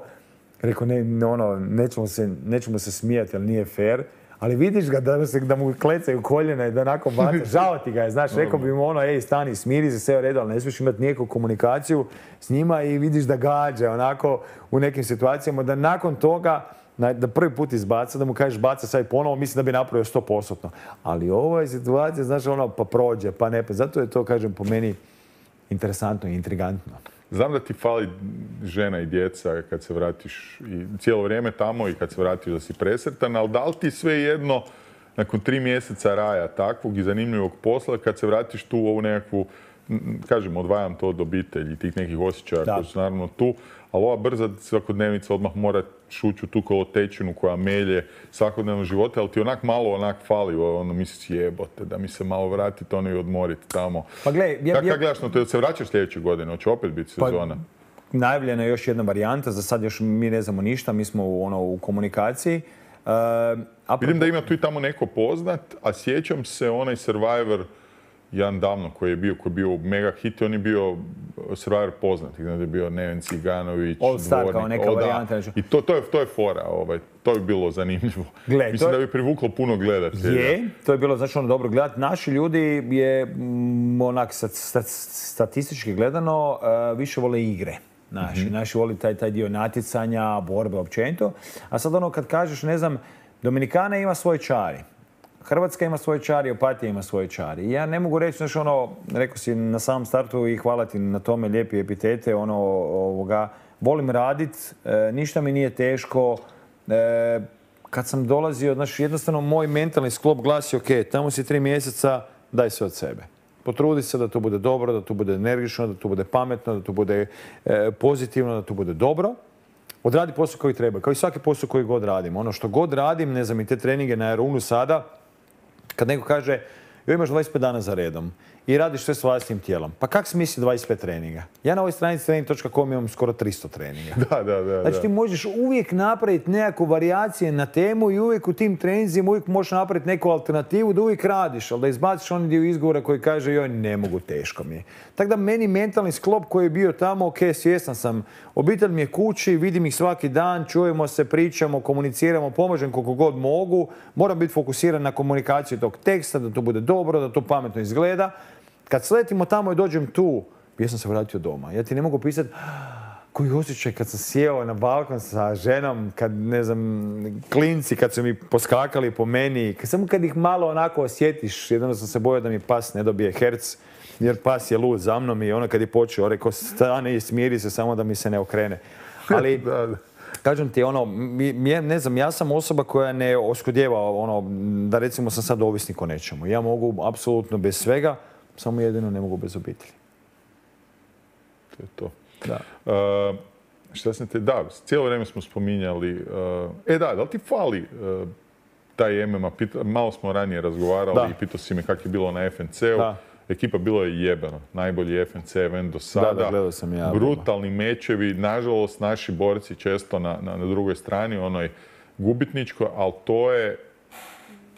Rekao, ne, ono, nećemo se, nećemo se smijati, ali nije fair. Ali vidiš ga da, se, da mu klecaju koljena i da onako baca, žao ti ga je, znaš, rekao bi mu ono, ej, stani, smiri se, sve u redu, ali ne smiješ imati nikakvu komunikaciju s njima i vidiš da gađa, onako, u nekim situacijama, da nakon toga, da prvi put izbaca, da mu kažeš baca sad i ponovo, mislim da bi napravio sto posto. Ali ovo je situacija, znaš, ono, pa prođe, pa ne, pa zato je to, kažem, po meni interesantno i intrigantno. Znam da ti fali žena i djeca kad se vratiš i cijelo vrijeme tamo i kad se vratiš da si presretan, ali da li ti svejedno nakon tri mjeseca raja takvog i zanimljivog posla, kad se vratiš tu u ovu nekakvu, kažem, odvajam to od obitelji, tih nekih osjećaja koji su naravno tu, ali ova brza svakodnevnica odmah mora šući u tu kolotečinu koja melje svakodnevno živote, ali ti onak malo onak fali, ono misliš jebote, da mi se malo vratiti ono i odmoriti tamo. Pa gle, ja, Kako ja, gledaš na to, da se vraćaš sljedeće godine, hoće opet biti sezona? Pa, najavljena je još jedna varijanta, za sad još mi ne znamo ništa, mi smo u, ono, u komunikaciji. Uh, apropo... Vidim da ima tu i tamo neko poznat, a sjećam se onaj Survivor jedan davno koji je bio, koji je bio mega hit, on je bio Survivor poznat, znači je bio Neven Ciganović, All Star kao neka varijanta. I to, to, je, to je fora, ovaj, to bi bilo zanimljivo. Gle, Mislim je... da bi privuklo puno gledatelja. Je, to je bilo znači ono dobro gledati. Naši ljudi je m, onak stat, stat, statistički gledano uh, više vole igre. Naši, mm-hmm. naši voli taj, taj dio natjecanja, borbe općenito. A sad ono kad kažeš, ne znam, Dominikana ima svoj čari. Hrvatska ima svoje čari, Opatija ima svoje čari. Ja ne mogu reći, znači ono, rekao si na samom startu i hvala ti na tome, lijepi epitete, ono, ovoga, volim radit, e, ništa mi nije teško. E, kad sam dolazio, znači jednostavno moj mentalni sklop glasi, ok, tamo si tri mjeseca, daj sve od sebe. Potrudi se da to bude dobro, da to bude energično, da to bude pametno, da to bude e, pozitivno, da to bude dobro. Odradi posao koji treba, kao i svaki posao koji god radim. Ono što god radim, ne znam, i te treninge na Aeronu sada, kad neko kaže, joj imaš dvadeset pet dana za redom i radiš sve s vlastitim tijelom. Pa kak smisli dvadeset pet treninga? Ja na ovoj stranici trening točka com imam skoro tristo treninga. Da, da, da. Znači ti možeš uvijek napraviti nekakvu varijacije na temu i uvijek u tim treninzima uvijek možeš napraviti neku alternativu da uvijek radiš, ali da izbaciš onaj dio izgovora koji kaže joj ne mogu, teško mi je. Tako da meni mentalni sklop koji je bio tamo, ok, svjestan sam, obitelj mi je kući, vidim ih svaki dan, čujemo se, pričamo, komuniciramo, pomažem koliko god mogu, moram biti fokusiran na komunikaciju tog teksta, da to bude dobro, da to pametno izgleda. Kad sletimo tamo i dođem tu, ja sam se vratio doma. Ja ti ne mogu pisati koji osjećaj kad sam sjeo na balkon sa ženom, kad, ne znam, klinci, kad su mi poskakali po meni. Samo kad ih malo onako osjetiš, jedno sam se bojao da mi pas ne dobije herc, jer pas je lud za mnom i ono kad je počeo, rekao, stane i smiri se samo da mi se ne okrene. Ali, da, da. Kažem ti, ono, mi, ne znam, ja sam osoba koja ne oskudjeva, ono, da recimo sam sad ovisnik o nečemu. Ja mogu apsolutno bez svega, samo jedino ne mogu bez obitelji. To je to. Da. Uh, šta sam te, da, cijelo vrijeme smo spominjali, uh, e da, da li ti fali uh, taj M M A, pita, malo smo ranije razgovarali da. I pitao si me kako je bilo na F N C-u. Da. Ekipa bilo je jebeno, najbolji F N C event do sada. Da, da, gledao sam ja. Brutalni mečevi, nažalost naši borci često na, na, na drugoj strani, onoj gubitničkoj, ali to je,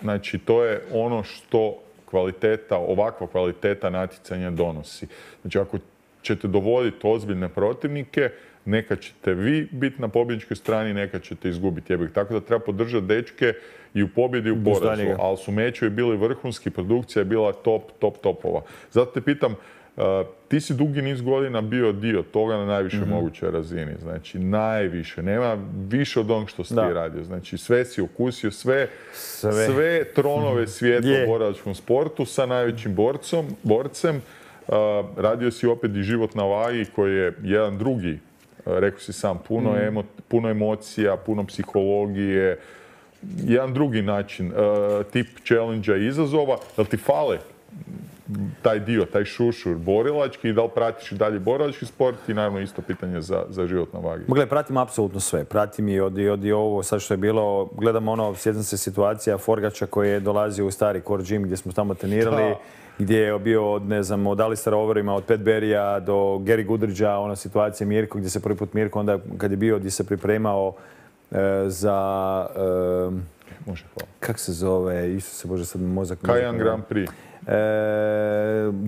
znači to je ono što kvaliteta, ovakva kvaliteta natjecanja donosi. Znači ako ćete dovoditi ozbiljne protivnike, neka ćete vi biti na pobjedničkoj strani, neka ćete izgubiti jebik. Tako da treba podržati dečke i u pobjedi i u porazu. Ali su mečevi bili vrhunski, produkcija je bila top, top, topova. Zato te pitam, uh, ti si dugi niz godina bio dio toga na najviše mm-hmm. mogućoj razini. Znači, najviše. Nema više od onog što si ti radio. Znači, sve si okusio, sve, sve. sve tronove svijeta yeah. u borilačkom sportu sa najvećim borcom, borcem. Uh, radio si opet i Život na vagi koji je jedan drugi, uh, rekao si sam, puno, mm. emo, puno emocija, puno psihologije, jedan drugi način, uh, tip challenge-a i izazova. Da li ti fale taj dio, taj šušur borilački i da li pratiš i dalje borilački sport i naravno isto pitanje za, za Život na vagi? Gle, pratim apsolutno sve. Pratim i od, i od i ovo sad što je bilo, gledam ono, sjećam se situacija Forgača koji je dolazio u stari core gym gdje smo tamo trenirali. Da. Gdje je bio od, ne znam, od Alistera Overima, od Pat Berrya do Gary Goodridgea, ona situacija Mirko, gdje se prvi put Mirko, onda kad je bio, gdje se pripremao e, za, e, Može, hvala. Kak se zove, Isuse Bože, sad mozak... Cayenne Grand Prix. E,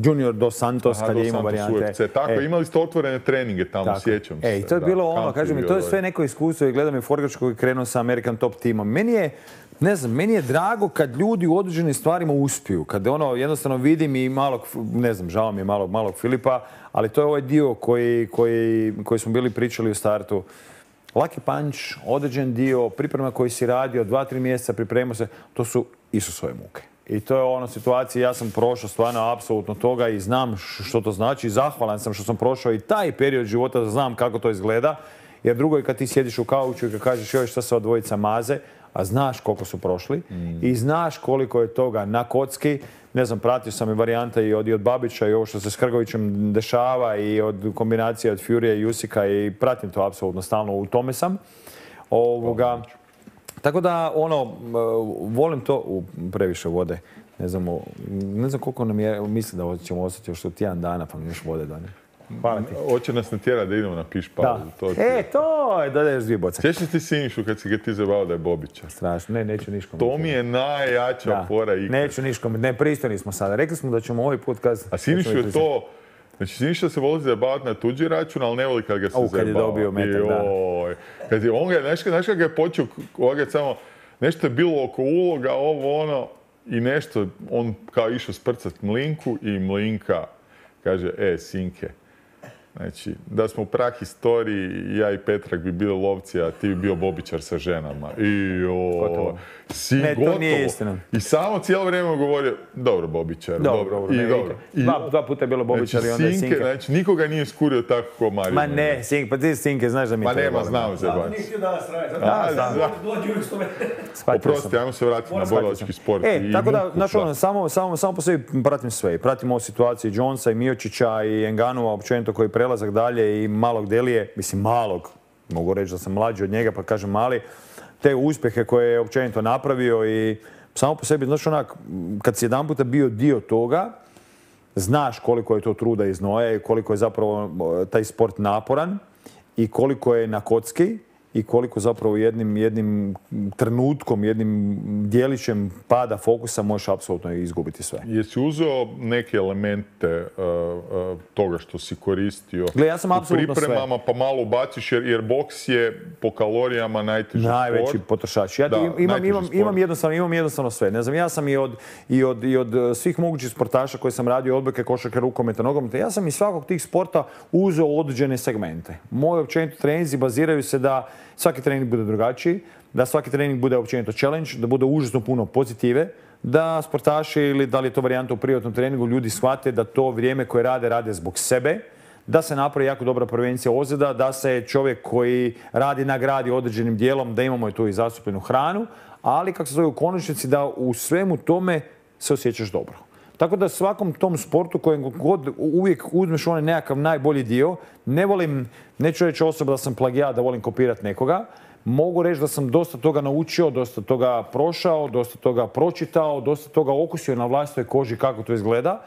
Junior Dos Santos, Aha, kad Dos je imao Santos varijante. U F C. Tako, E, imali ste otvorene treninge tamo, tako. sjećam se. E, i to je da, bilo ono, kamp kažem mi, bio to je ovaj. sve neko iskustvo i gledam i Forgač koji je krenuo sa American Top timom. Meni je, ne znam, meni je drago kad ljudi u određenim stvarima uspiju. Kad ono, jednostavno vidim i malog, ne znam, žao mi je malog, malog Filipa, ali to je ovaj dio koji, koji, koji smo bili pričali u startu. Lucky punch, određen dio, priprema koji si radio, dva, tri mjeseca pripremao se, to su Isusove muke. I to je ono situacija, ja sam prošao stvarno apsolutno toga i znam što to znači. Zahvalan sam što sam prošao i taj period života da znam kako to izgleda. Jer drugo je kad ti sjediš u kauču i kad kažeš joj šta se od dvojica maze, a znaš koliko su prošli mm. i znaš koliko je toga na kocki. Ne znam, pratio sam i varijante i od, i od Babića i ovo što se s Hrgovićem dešava i od kombinacije od Furija i Jusika i pratim to apsolutno stalno, u tome sam. Ovoga, tako da, ono, volim to, u, previše vode. Ne znam, ne znam koliko nam je, mislim da ćemo ostati još tjedan dana pa mi još vode dane. Hvala ti. Hoće nas natjerati da idemo na piš pauzu. Da. E, to je, dodaješ dvije boce. Sjećaš ti Sinišu kad si ga ti zabavao da je Bobića? Strašno, ne, neću niškom. To mi je najjača da. fora ikad. Neću niškom, ne, pristojni smo sada. Rekli smo da ćemo ovaj put kazati. A Sinišu je to, znači Siniša se voli zabavati na tuđi račun, ali ne voli kad ga se zabava. Kad je dobio metak, da. Kad je, on ga, znaš, znaš kad ga je počeo, ovoga samo, nešto je bilo oko uloga, ovo ono, i nešto, on kao išao sprcat Mlinku i Mlinka kaže, e, sinke, znači, da smo u prahistoriji, ja i Petrak bi bili lovci, a ti bi bio Bobičar sa ženama. I o, si ne, gotovo. To nije istina. I samo cijelo vrijeme govorio, dobro Bobičar, dobro. dobro. I, ne, dobro. I, dva, dva puta je bilo Bobičar znači, i onda je Sinke. Znači, nikoga nije skurio tako kao Mario. Ma ne, Sinke, pa ti Sinke, znaš da mi Ma to je nema, znamo se. Zato nije htio danas raditi. Da, da. Oprosti, ajmo se vratiti na borilački sport. E, tako da, znaš ono, samo, samo, samo po sebi pratim sve. Pratim ovu situaciju Jonesa i Miočića i Enganova, općenito koji prelazak dalje i malog Delije, mislim malog, mogu reći da sam mlađi od njega pa kažem mali, te uspjehe koje je općenito napravio i samo po sebi, znaš onak, kad si jedan puta bio dio toga, znaš koliko je to truda i znoja i koliko je zapravo taj sport naporan i koliko je na kocki i koliko zapravo jednim, jednim trenutkom, jednim dijelićem pada fokusa možeš apsolutno izgubiti sve. Jesi uzeo neke elemente uh, uh, toga što si koristio Gle, ja sam u apsolutno pripremama, sve. pa malo ubaciš jer, jer boks je po kalorijama najteži Najveći sport. potrošač. Ja da, imam, imam, imam, jednostavno, imam jednostavno sve. Ne znam, ja sam i od, i od, i od svih mogućih sportaša koje sam radio, odbojke, košarke, rukometa, nogometa, ja sam iz svakog tih sporta uzeo određene segmente. Moji općenito treninzi baziraju se da svaki trening bude drugačiji, da svaki trening bude općenito challenge, da bude užasno puno pozitive, da sportaši ili da li je to varijanta u privatnom treningu, ljudi shvate da to vrijeme koje rade, rade zbog sebe, da se napravi jako dobra prevencija ozljeda, da se čovjek koji radi nagradi određenim dijelom, da imamo i tu i zastupljenu hranu, ali kako se zove u konačnici da u svemu tome se osjećaš dobro. Tako da svakom tom sportu kojem god uvijek uzmeš onaj nekakav najbolji dio, ne volim, neću reći osoba da sam plagijat, da volim kopirati nekoga, mogu reći da sam dosta toga naučio, dosta toga prošao, dosta toga pročitao, dosta toga okusio na vlastitoj koži kako to izgleda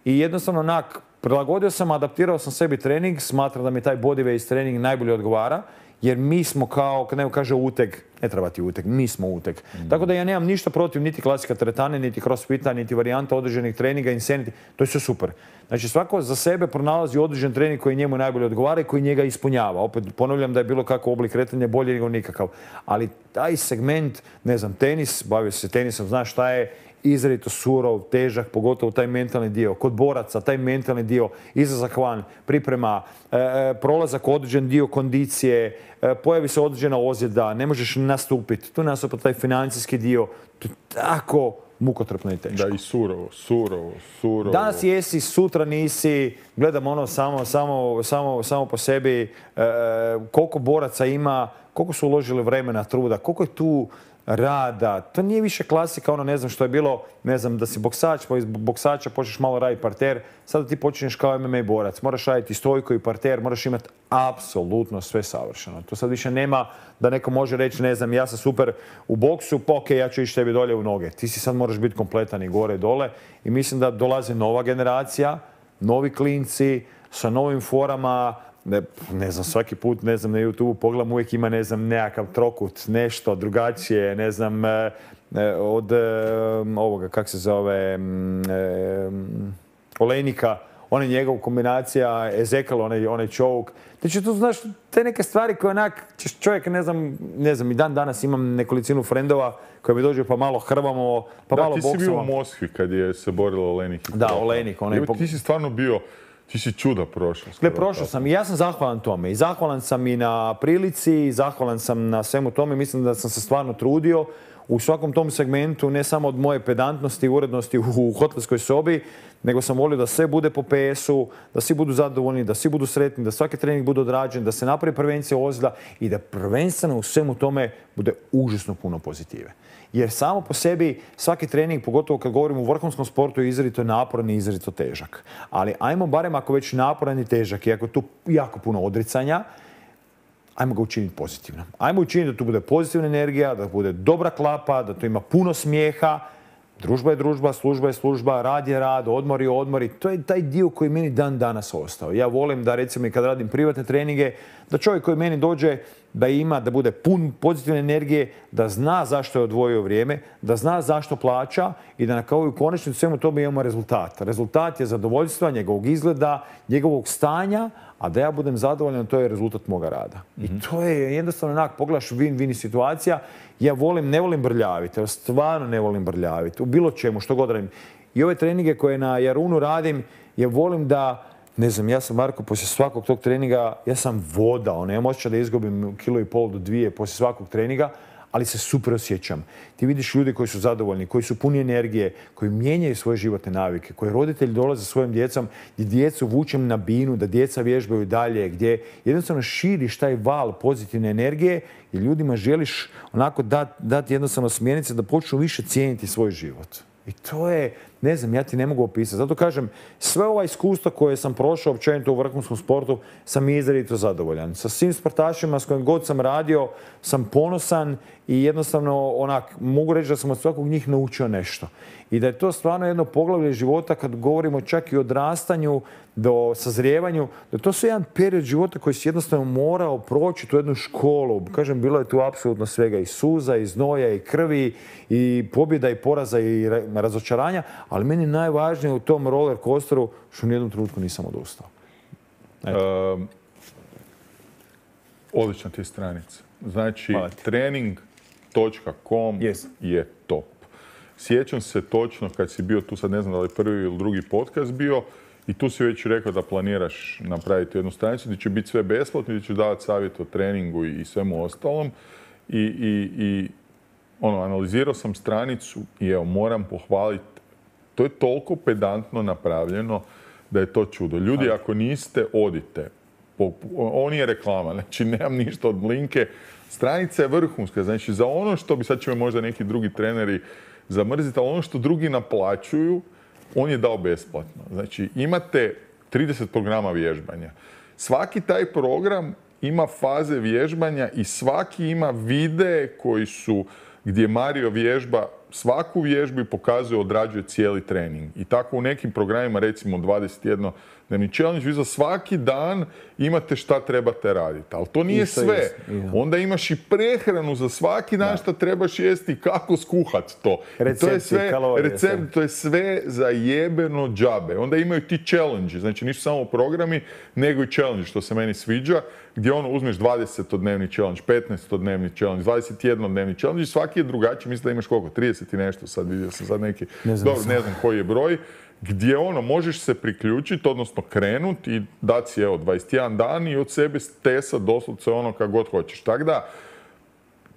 i jednostavno onak, prilagodio sam, adaptirao sam sebi trening, smatram da mi taj bodyweight trening najbolje odgovara, jer mi smo kao, kad neko kaže uteg, ne treba ti uteg, mi smo uteg. Mm. Tako da ja nemam ništa protiv niti klasika teretane, niti crossfita, niti varijanta određenih treninga, insanity, to je sve super. Znači svako za sebe pronalazi određen trening koji njemu najbolje odgovara i koji njega ispunjava. Opet ponavljam da je bilo kakav oblik kretanja bolje nego nikakav. Ali taj segment, ne znam, tenis, bavio se tenisom, znaš šta je, izrazito surov, težak, pogotovo taj mentalni dio. Kod boraca, taj mentalni dio, izlazak van, priprema, e, prolazak određen dio kondicije, e, pojavi se određena ozljeda, ne možeš nastupiti. Tu nastupa taj financijski dio. To je tako mukotrpno i teško. Da, i surovo, surovo, surovo. Danas jesi, sutra nisi, gledam ono samo, samo, samo, samo po sebi, e, koliko boraca ima, koliko su uložili vremena, truda, koliko je tu rada. To nije više klasika, ono ne znam što je bilo, ne znam, da si boksač, pa iz boksača počneš malo raditi parter, sada ti počinješ kao M M A borac. Moraš raditi stojku i parter, moraš imati apsolutno sve savršeno. To sad više nema da neko može reći, ne znam, ja sam super u boksu, pa ok, ja ću ići tebi dolje u noge. Ti si sad moraš biti kompletan i gore i dole i mislim da dolazi nova generacija, novi klinci sa novim forama, ne, ne znam, svaki put, ne znam, na YouTube pogledam, uvijek ima, ne znam, nekakav trokut, nešto drugačije, ne znam, e, od e, ovoga, kak se zove, e, Olejnika, ona njegov kombinacija, Ezekiel, onaj, onaj čovuk. Znači, tu znaš, te neke stvari koje onak, čovjek, ne znam, ne znam, i dan danas imam nekolicinu frendova koji mi dođu pa malo hrvamo, pa da, malo boksamo. Da, ti si bio u Moskvi kad je se borilo Olejnik. Da, Olejnik. Onaj Evo, ti si stvarno bio, ti si čuda prošao. Gle, prošao sam i ja sam zahvalan tome. I zahvalan sam i na prilici, i zahvalan sam na svemu tome. Mislim da sam se stvarno trudio u svakom tom segmentu, ne samo od moje pedantnosti i urednosti u hotelskoj sobi, nego sam volio da sve bude po pe esu, da svi budu zadovoljni, da svi budu sretni, da svaki trening bude odrađen, da se napravi prevencija ozljeda i da prvenstveno u svemu tome bude užasno puno pozitive. Jer samo po sebi svaki trening, pogotovo kad govorimo o vrhunskom sportu, je izrazito naporan i izrazito težak. Ali ajmo barem ako već naporan i težak i ako je tu jako puno odricanja, ajmo ga učiniti pozitivno. Ajmo učiniti da tu bude pozitivna energija, da bude dobra klapa, da tu ima puno smijeha. Družba je družba, služba je služba, rad je rad, odmor je odmor i to je taj dio koji meni dan danas ostao. Ja volim da, recimo, i kad radim privatne treninge, da čovjek koji meni dođe da ima, da bude pun pozitivne energije, da zna zašto je odvojio vrijeme, da zna zašto plaća i da na kao i u konačnici svemu tome imamo rezultat. Rezultat je zadovoljstva, njegovog izgleda, njegovog stanja, a da ja budem zadovoljan, to je rezultat moga rada. Mm-hmm. I to je jednostavno onak, pogledaš win-win situacija. Ja volim, ne volim brljaviti, ja stvarno ne volim brljaviti, u bilo čemu, što god radim. I ove treninge koje na Jarunu radim, ja volim da, ne znam, ja sam, Marko, poslije svakog tog treninga, ja sam voda, ono, ja imam osjećaj da izgubim kilo i pol do dvije poslije svakog treninga, ali se super osjećam. Ti vidiš ljude koji su zadovoljni, koji su puni energije, koji mijenjaju svoje životne navike, koji roditelji dolaze sa svojim djecom, gdje djecu vučem na binu, da djeca vježbaju dalje, gdje jednostavno širiš taj val pozitivne energije i ljudima želiš onako dati dat jednostavno smjernice da počnu više cijeniti svoj život. I to je, ne znam, ja ti ne mogu opisati. Zato kažem, sve ova iskustva koje sam prošao općenito u vrhunskom sportu sam izrazito zadovoljan. Sa svim sportašima s kojim god sam radio sam ponosan i jednostavno onak, mogu reći da sam od svakog njih naučio nešto. I da je to stvarno jedno poglavlje života kad govorimo čak i o odrastanju do sazrijevanju, da to su jedan period života koji si jednostavno morao proći tu jednu školu. Kažem, bilo je tu apsolutno svega i suza, i znoja, i krvi, i pobjeda, i poraza, i razočaranja, ali meni najvažnije u tom roller coasteru što u nijednom trenutku nisam odustao. Um, odlična ti je stranica. Znači, trening točka com yes. je top. Sjećam se točno kad si bio tu, sad ne znam da li prvi ili drugi podcast bio, i tu si već rekao da planiraš napraviti jednu stranicu gdje će biti sve besplatno, gdje ćeš davati savjet o treningu i svemu ostalom. I, i, i ono, analizirao sam stranicu i evo, moram pohvaliti. To je toliko pedantno napravljeno da je to čudo. Ljudi, ako niste, odite. Ovo nije reklama, znači nemam ništa od linke. Stranica je vrhunska, znači za ono što bi, sad će me možda neki drugi treneri zamrziti, ali ono što drugi naplaćuju, on je dao besplatno. Znači, imate trideset programa vježbanja. Svaki taj program ima faze vježbanja i svaki ima videe koji su, gdje Mario vježba svaku vježbu i pokazuje, odrađuje cijeli trening. I tako u nekim programima, recimo dvadeset jedan dnevni challenge, vi za svaki dan imate šta trebate raditi. Ali to nije Isto sve. Jest. Onda imaš i prehranu za svaki dan šta trebaš jesti i kako skuhati to. Recepti, to je sve, kalorije, recept, sve. to je sve za jebeno džabe. Onda imaju ti challenge, znači nisu samo programi, nego i challenge, što se meni sviđa, gdje ono uzmeš dvadesetodnevni challenge, petnaestodnevni challenge, dvadeset jednodnevni challenge i svaki je drugačiji. Mislim da imaš koliko? trideset i nešto, sad vidio sam sad neki, ne znam, dobro, ne znam koji je broj, gdje ono, možeš se priključiti, odnosno krenuti i dati si, evo, dvadeset jedan dan i od sebe stesa doslovce ono kako god hoćeš. Tako da,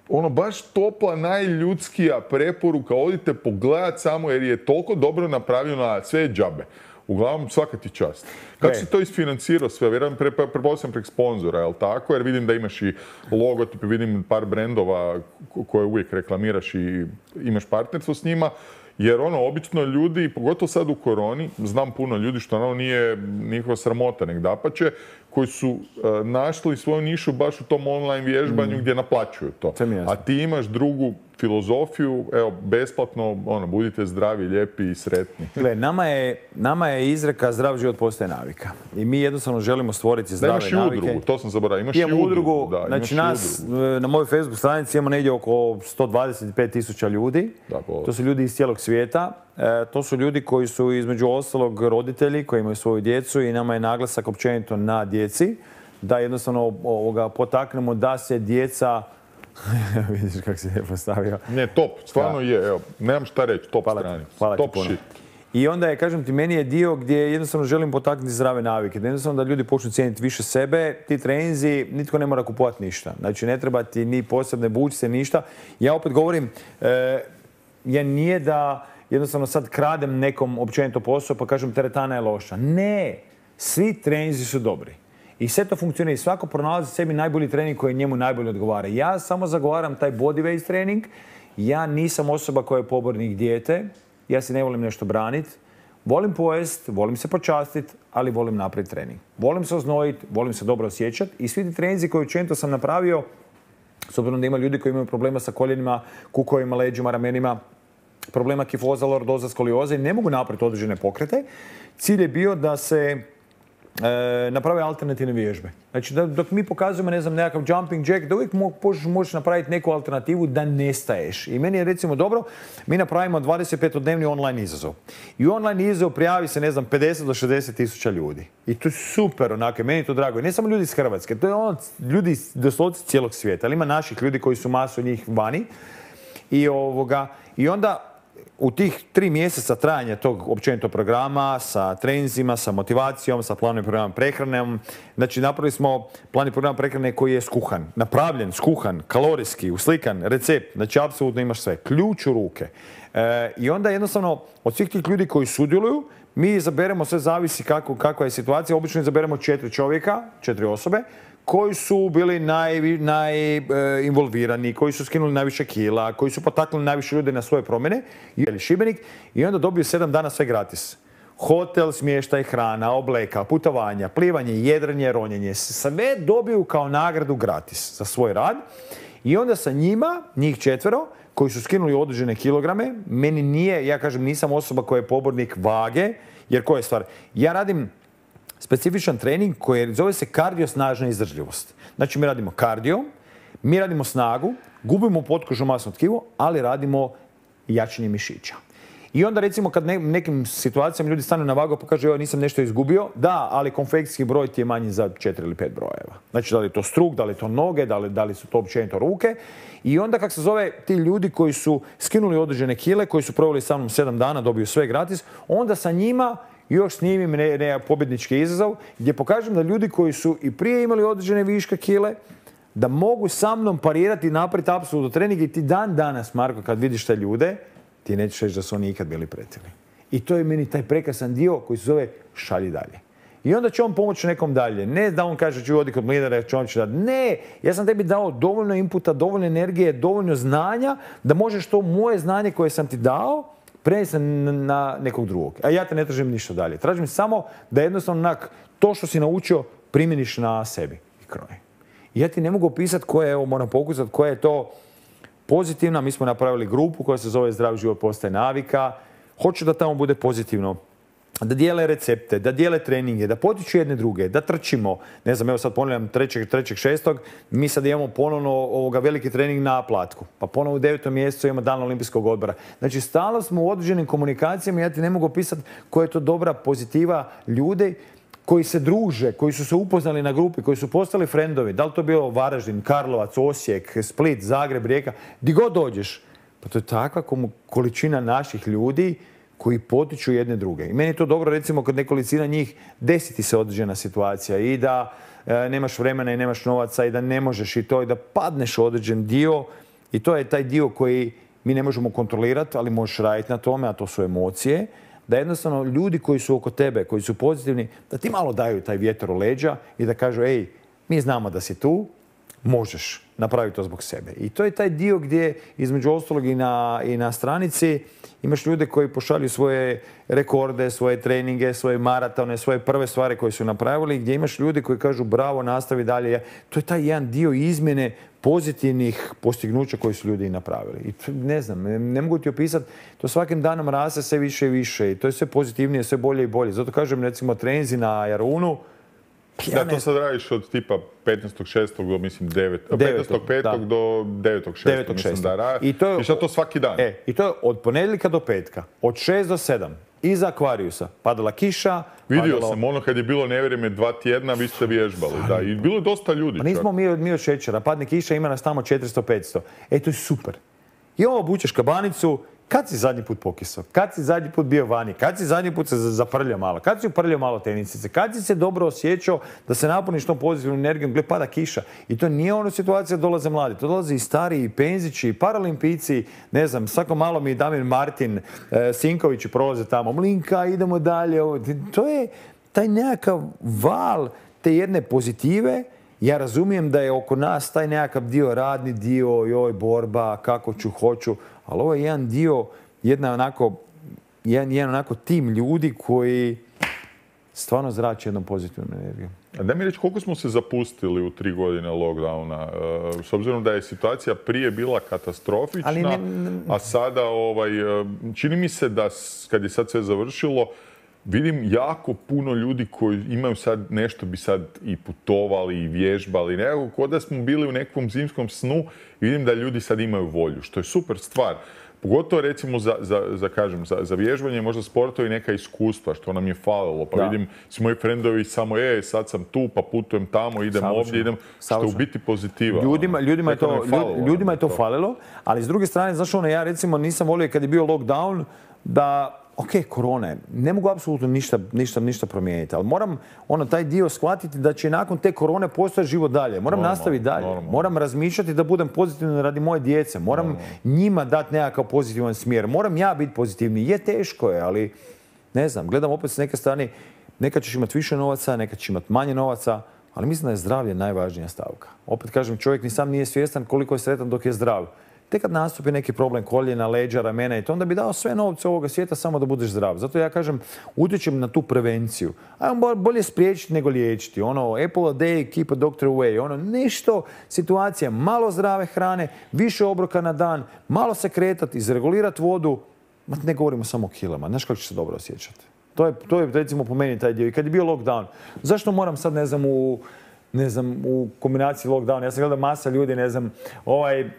ono, baš topla, najljudskija preporuka, odite pogledat samo jer je toliko dobro napravljeno, a sve je džabe. Uglavnom, svaka ti čast. Kako si to isfinancirao sve? Vjerujem, prepostavljam prek sponzora, jel tako? Jer vidim da imaš i logotipe, vidim par brendova koje uvijek reklamiraš i imaš partnerstvo s njima. Jer ono, obično ljudi, pogotovo sad u koroni, znam puno ljudi što ono nije njihova sramota, nek dapače, koji su uh, našli svoju nišu baš u tom online vježbanju mm. gdje naplaćuju to. A ti imaš drugu filozofiju, evo, besplatno, ono, budite zdravi, lijepi i sretni. Gle, nama je, nama je izreka zdrav život postaje navika. I mi jednostavno želimo stvoriti zdrave navike. Da, imaš i udrugu, to sam zaboravio. Imaš i udrugu. udrugu da, znači nas, udrugu. Na mojoj Facebook stranici imamo negdje oko sto dvadeset pet tisuća ljudi. Da, to su ljudi iz cijelog svijeta. E, to su ljudi koji su između ostalog roditelji, koji imaju svoju djecu i nama je naglasak općenito na djeci. Da jednostavno ovoga, potaknemo da se djeca... Vidiš kako se je postavio. Ne, top, stvarno je, evo, nemam šta reći, top stranica. Hvala top ti puno. Shit. I onda je, kažem ti, meni je dio gdje jednostavno želim potaknuti zdrave navike. Da jednostavno da ljudi počnu cijeniti više sebe, ti treninzi, nitko ne mora kupovati ništa. Znači, ne treba ti ni posebne bučice, ništa. Ja opet govorim, e, ja nije da jednostavno sad kradem nekom općenito posao pa kažem teretana je loša. Ne, svi treninzi su dobri. I sve to funkcionira i svako pronalazi sebi najbolji trening koji njemu najbolje odgovara. Ja samo zagovaram taj bodyweight trening. Ja nisam osoba koja je pobornik dijete. Ja se ne volim nešto braniti. Volim pojest, volim se počastiti, ali volim napraviti trening. Volim se oznojiti, volim se dobro osjećati. I svi ti treninzi koje učinito sam napravio, s obzirom da ima ljudi koji imaju problema sa koljenima, kukovima, leđima, ramenima, problema kifoza, lordoza, skolioze i ne mogu napraviti određene pokrete. Cilj je bio da se E, naprave alternativne vježbe. Znači, da, dok mi pokazujemo, ne znam, nekakav jumping jack, da uvijek možeš, možeš napraviti neku alternativu da nestaješ. I meni je recimo dobro, mi napravimo dvadeset petodnevni online izazov. I u online izazov prijavi se, ne znam, pedeset do šezdeset tisuća ljudi. I to je super, onako, meni je to drago. I ne samo ljudi iz Hrvatske, to je ono, ljudi doslovce cijelog svijeta. Ali ima naših ljudi koji su masu njih vani. I, ovoga, i onda u tih tri mjeseca trajanja tog općenito programa sa treninzima, sa motivacijom, sa planom i programom prehranom, znači napravili smo plan i program prehrane koji je skuhan, napravljen, skuhan, kalorijski, uslikan, recept, znači apsolutno imaš sve, ključ u ruke. E, I onda jednostavno od svih tih ljudi koji sudjeluju, mi izaberemo, sve zavisi kako, kakva je situacija, obično izaberemo četiri čovjeka, četiri osobe, koji su bili najinvolvirani, naj, e, koji su skinuli najviše kila, koji su potaknuli najviše ljudi na svoje promjene, ili Šibenik, i onda dobiju sedam dana sve gratis. Hotel, smještaj, hrana, obleka, putovanja, plivanje, jedrenje, ronjenje, sve dobiju kao nagradu gratis za svoj rad. I onda sa njima, njih četvero, koji su skinuli određene kilograme, meni nije, ja kažem, nisam osoba koja je pobornik vage, jer koja je stvar? Ja radim specifičan trening koji zove se kardio snažna izdržljivost. Znači mi radimo kardio, mi radimo snagu, gubimo potkožno masno tkivo, ali radimo jačanje mišića. I onda recimo kad ne, nekim situacijama ljudi stanu na vagu pa kažu, evo nisam nešto izgubio, da, ali konfekcijski broj ti je manji za četiri ili pet brojeva. Znači da li je to struk, da li je to noge, da li, da li su to općenito ruke. I onda kak se zove ti ljudi koji su skinuli određene kile, koji su proveli sa mnom sedam dana, dobiju sve gratis, onda sa njima još snimim ne, ne, pobjednički izazov gdje pokažem da ljudi koji su i prije imali određene viške kile, da mogu sa mnom parirati i napraviti apsolutno trening i ti dan danas, Marko, kad vidiš te ljude, ti nećeš reći da su oni ikad bili pretili. I to je meni taj prekrasan dio koji se zove šalji dalje. I onda će on pomoći nekom dalje. Ne da on kaže ću odi kod lidera, će on će dati. Ne, ja sam tebi dao dovoljno inputa, dovoljno energije, dovoljno znanja da možeš to moje znanje koje sam ti dao prenesti na nekog drugog. A ja te ne tražim ništa dalje. Tražim samo da jednostavno onak, to što si naučio primjeniš na sebi i kroje. I ja ti ne mogu opisati koja je, evo moram pokusati, koja je to pozitivna. Mi smo napravili grupu koja se zove Zdrav život postaje navika. Hoću da tamo bude pozitivno. Da dijele recepte, da dijele treninge, da potiču jedne druge, da trčimo. Ne znam, evo sad ponavljam trećeg šestog mi sad imamo ponovno ovoga veliki trening na Platku. Pa ponovno u devetom mjesecu imamo dan olimpijskog odbora. Znači, stalno smo u određenim komunikacijama, ja ti ne mogu opisati koja je to dobra pozitiva ljudi koji se druže, koji su se upoznali na grupi, koji su postali frendovi. Da li to bilo Varaždin, Karlovac, Osijek, Split, Zagreb, Rijeka, di god dođeš. Pa to je takva količina naših ljudi koji potiču jedne druge. I meni je to dobro, recimo, kad nekolicina njih desiti se određena situacija i da e, nemaš vremena i nemaš novaca i da ne možeš i to i da padneš u određen dio i to je taj dio koji mi ne možemo kontrolirati, ali možeš raditi na tome, a to su emocije, da jednostavno ljudi koji su oko tebe, koji su pozitivni, da ti malo daju taj vjetar u leđa i da kažu, ej, mi znamo da si tu, možeš napraviti to zbog sebe. I to je taj dio gdje, između ostalog i na, i na stranici, imaš ljude koji pošalju svoje rekorde, svoje treninge, svoje maratone, svoje prve stvari koje su napravili, gdje imaš ljude koji kažu bravo, nastavi dalje. To je taj jedan dio izmjene pozitivnih postignuća koje su ljudi i napravili. I to, ne znam, ne, ne mogu ti opisati, to svakim danom raste sve više i više i to je sve pozitivnije, sve bolje i bolje. Zato kažem, recimo, treninzi na Jarunu. Ja da, to sad radiš od tipa petnaestog šestog do, mislim, petnaestog petog do devetog šestog mislim da radiš. I, to je, I šta to svaki dan? E, i to je od ponedjeljka do petka, od šest do sedam, iza Akvariusa. Padala kiša. Vidio padalo... sam, ono kad je bilo nevrijeme dva tjedna, vi ste vježbali, da. I bilo je dosta ljudi. Pa nismo mi od, mi od šećera, padne kiša, ima nas tamo četiristo petsto. E, to je super. I ovo obučeš kabanicu. Kad si zadnji put pokisao? Kad si zadnji put bio vani? Kad si zadnji put se zaprljao malo? Kad si uprljao malo tenisice? Kad si se dobro osjećao da se napuniš tom pozitivnom energijom gdje pada kiša? I to nije ono situacija da dolaze mladi. To dolaze i stariji, i penzići, i paralimpici. Ne znam, svako malo mi Damir Martin, e, Sinkovići prolaze tamo. Mlinka, idemo dalje. To je taj nekakav val te jedne pozitive. Ja razumijem da je oko nas taj nekakav dio, radni dio, joj, borba, kako ću, hoću, ali ovo je jedan dio, jedna onako, jedan, jedan onako tim ljudi koji stvarno zrače jednom pozitivnom energijom. A daj mi reći, koliko smo se zapustili u tri godine lockdowna? E, s obzirom da je situacija prije bila katastrofična, ne, ne, a sada ovaj, čini mi se da kad je sad sve završilo, vidim jako puno ljudi koji imaju sad nešto bi sad i putovali i vježbali. Nekako kod da smo bili u nekom zimskom snu i vidim da ljudi sad imaju volju, što je super stvar. Pogotovo recimo za, za, za, kažem, za, za vježbanje, možda sportovi neka iskustva, što nam je falilo. Pa da. Vidim, svi moji frendovi samo, e, sad sam tu, pa putujem tamo, idem Savršeno. ovdje, idem, što je u biti pozitiva. Ljudima, ljudima, je, to, falilo, ljudima je to falilo, ali s druge strane, znaš ono, ja recimo nisam volio kad je bio lockdown, da ok, korona je, ne mogu apsolutno ništa, ništa, ništa promijeniti, ali moram ono, taj dio shvatiti da će nakon te korone postojati život dalje. Moram normal, nastaviti dalje. Normal. Moram razmišljati da budem pozitivan radi moje djece. Moram normal. njima dati nekakav pozitivan smjer. Moram ja biti pozitivni. Je teško je, ali ne znam, gledam opet s neke strane, nekad ćeš imati više novaca, nekad ćeš imati manje novaca, ali mislim da je zdravlje najvažnija stavka. Opet kažem, čovjek ni sam nije svjestan koliko je sretan dok je zdrav. Tek kad nastupi neki problem koljena, leđa, ramena i to, onda bi dao sve novce ovoga svijeta samo da budeš zdrav. Zato ja kažem, utječem na tu prevenciju. Ajmo bolje spriječiti nego liječiti. Ono, apple a day, keep a doctor away. Ono, nešto, situacija, malo zdrave hrane, više obroka na dan, malo se kretati, izregulirati vodu. Ma ne govorimo samo o kilama. Znaš kako će se dobro osjećati? To je, to je recimo po meni taj dio. I kad je bio lockdown, zašto moram sad, ne znam, u, ne znam, u kombinaciji lockdown? Ja sam gledao masa ljudi, ne znam, ovaj...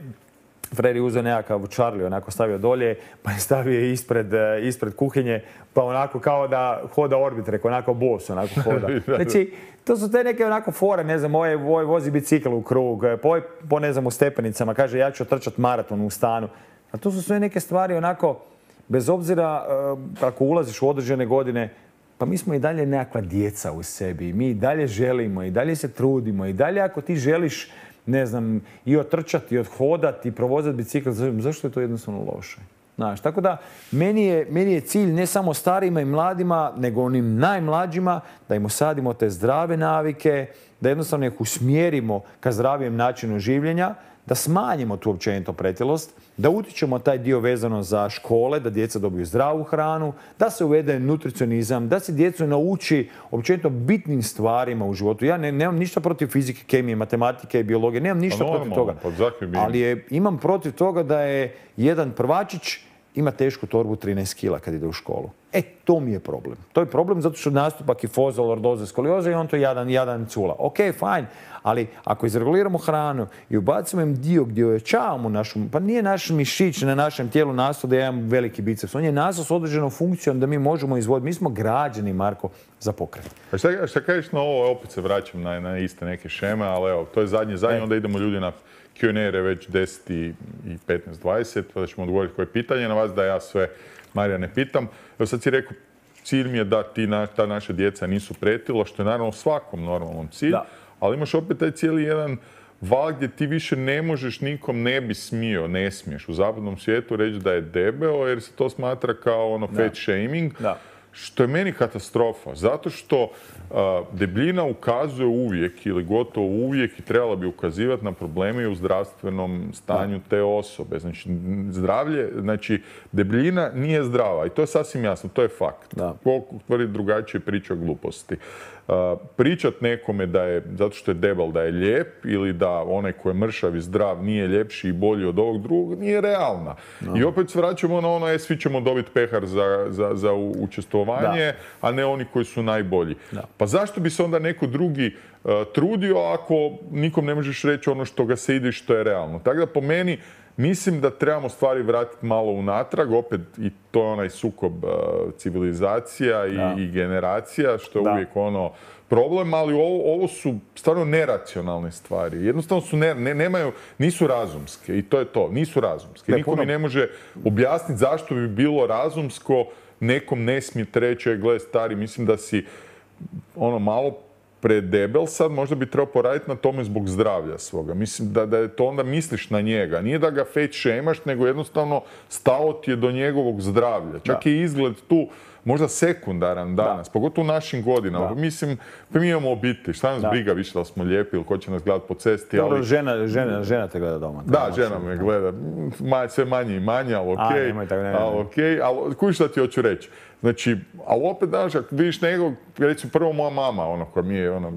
Fred je uzeo nekakav Charlie, onako stavio dolje, pa je stavio ispred, ispred kuhinje, pa onako kao da hoda orbit, reko, onako bos, onako hoda. Znači, to su te neke onako fore, ne znam, ovaj, ovaj vozi bicikl u krug, po, po ne znam, u stepenicama, kaže ja ću trčat maraton u stanu. A to su sve neke stvari onako, bez obzira ako ulaziš u određene godine, pa mi smo i dalje nekakva djeca u sebi, mi i dalje želimo, i dalje se trudimo, i dalje ako ti želiš, ne znam, i otrčati, i odhodati, i provozati bicikl, zašto je to jednostavno loše? Znaš, tako da, meni je, meni je cilj ne samo starima i mladima, nego onim najmlađima, da im osadimo te zdrave navike, da jednostavno ih usmjerimo ka zdravijem načinu življenja, da smanjimo tu općenito pretilost, da utičemo taj dio vezano za škole, da djeca dobiju zdravu hranu, da se uvede nutricionizam, da se djecu nauči općenito bitnim stvarima u životu. Ja ne, nemam ništa protiv fizike, kemije, matematike i biologije, nemam ništa pa protiv toga. Ali je, imam protiv toga da je jedan prvačić ima tešku torbu trinaest kila kad ide u školu. E, to mi je problem. To je problem zato što nastupa kifoza, lordoza, skolioza i on to jadan, jadan cula. Ok, fajn, ali ako izreguliramo hranu i ubacimo im dio gdje ojačavamo našu, pa nije naš mišić na našem tijelu nastao da imam veliki biceps. On je nastao s određenom funkcijom da mi možemo izvoditi. Mi smo građani, Marko, za pokret. A šta, šta kažeš na ovo, opet se vraćam na, na iste neke šeme, ali evo, to je zadnje, zadnje, e. onda idemo ljudi na Q and A već deset i petnaest dvadeset, pa da ćemo odgovoriti koje pitanje na vas, da ja sve Marija ne pitam. Evo sad si rekao, cilj mi je da ti na, ta naša djeca nisu pretila, što je naravno svakom normalnom cilj, da. Ali imaš opet taj cijeli jedan val gdje ti više ne možeš, nikom ne bi smio, ne smiješ u zapadnom svijetu reći da je debeo, jer se to smatra kao ono fat shaming. Da. što je meni katastrofa. Zato što a, debljina ukazuje uvijek ili gotovo uvijek i trebala bi ukazivati na probleme u zdravstvenom stanju da. te osobe. Znači, zdravlje, znači, debljina nije zdrava i to je sasvim jasno, to je fakt. Koliko tvrdi drugačije priča o gluposti. Uh, pričat nekome da je, zato što je debel, da je lijep ili da onaj ko je mršav i zdrav nije ljepši i bolji od ovog drugog, nije realna. No. I opet se vraćamo na ono, e, svi ćemo dobiti pehar za, za, za učestvovanje, da. a ne oni koji su najbolji. Da. Pa zašto bi se onda neko drugi uh, trudio ako nikom ne možeš reći ono što ga se ide i što je realno? Tako da po meni mislim da trebamo stvari vratiti malo unatrag, opet i to je onaj sukob uh, civilizacija i, i generacija, što je da. uvijek ono problem, ali ovo, ovo su stvarno neracionalne stvari. Jednostavno su ne, ne, nemaju, nisu razumske i to je to, nisu razumske. Ne, Niko puno. mi ne može objasniti zašto bi bilo razumsko, nekom ne smijete reći, gle stari, mislim da si ono malo predebel sad, možda bi trebao poraditi na tome zbog zdravlja svoga. Mislim da, da je to onda misliš na njega. Nije da ga fat shamaš, nego jednostavno stao ti je do njegovog zdravlja. Čak da. je izgled tu možda sekundaran danas, da. pogotovo u našim godinama. Da. Mislim, pa mi imamo obitelj, šta nas da. briga više da smo lijepi ili ko će nas gledati po cesti. Dobro, ali... žena, žena, žena te gleda doma. Da, žena me gleda. Ma, sve manje i manje, ali okej. Okay. A, nemoj tako, ne, ne. Ali okej, okay. ali kuj šta ti hoću reći. Znači, ali opet, znaš, ako vidiš nekog, recimo prvo moja mama, ono, koja mi je, ono,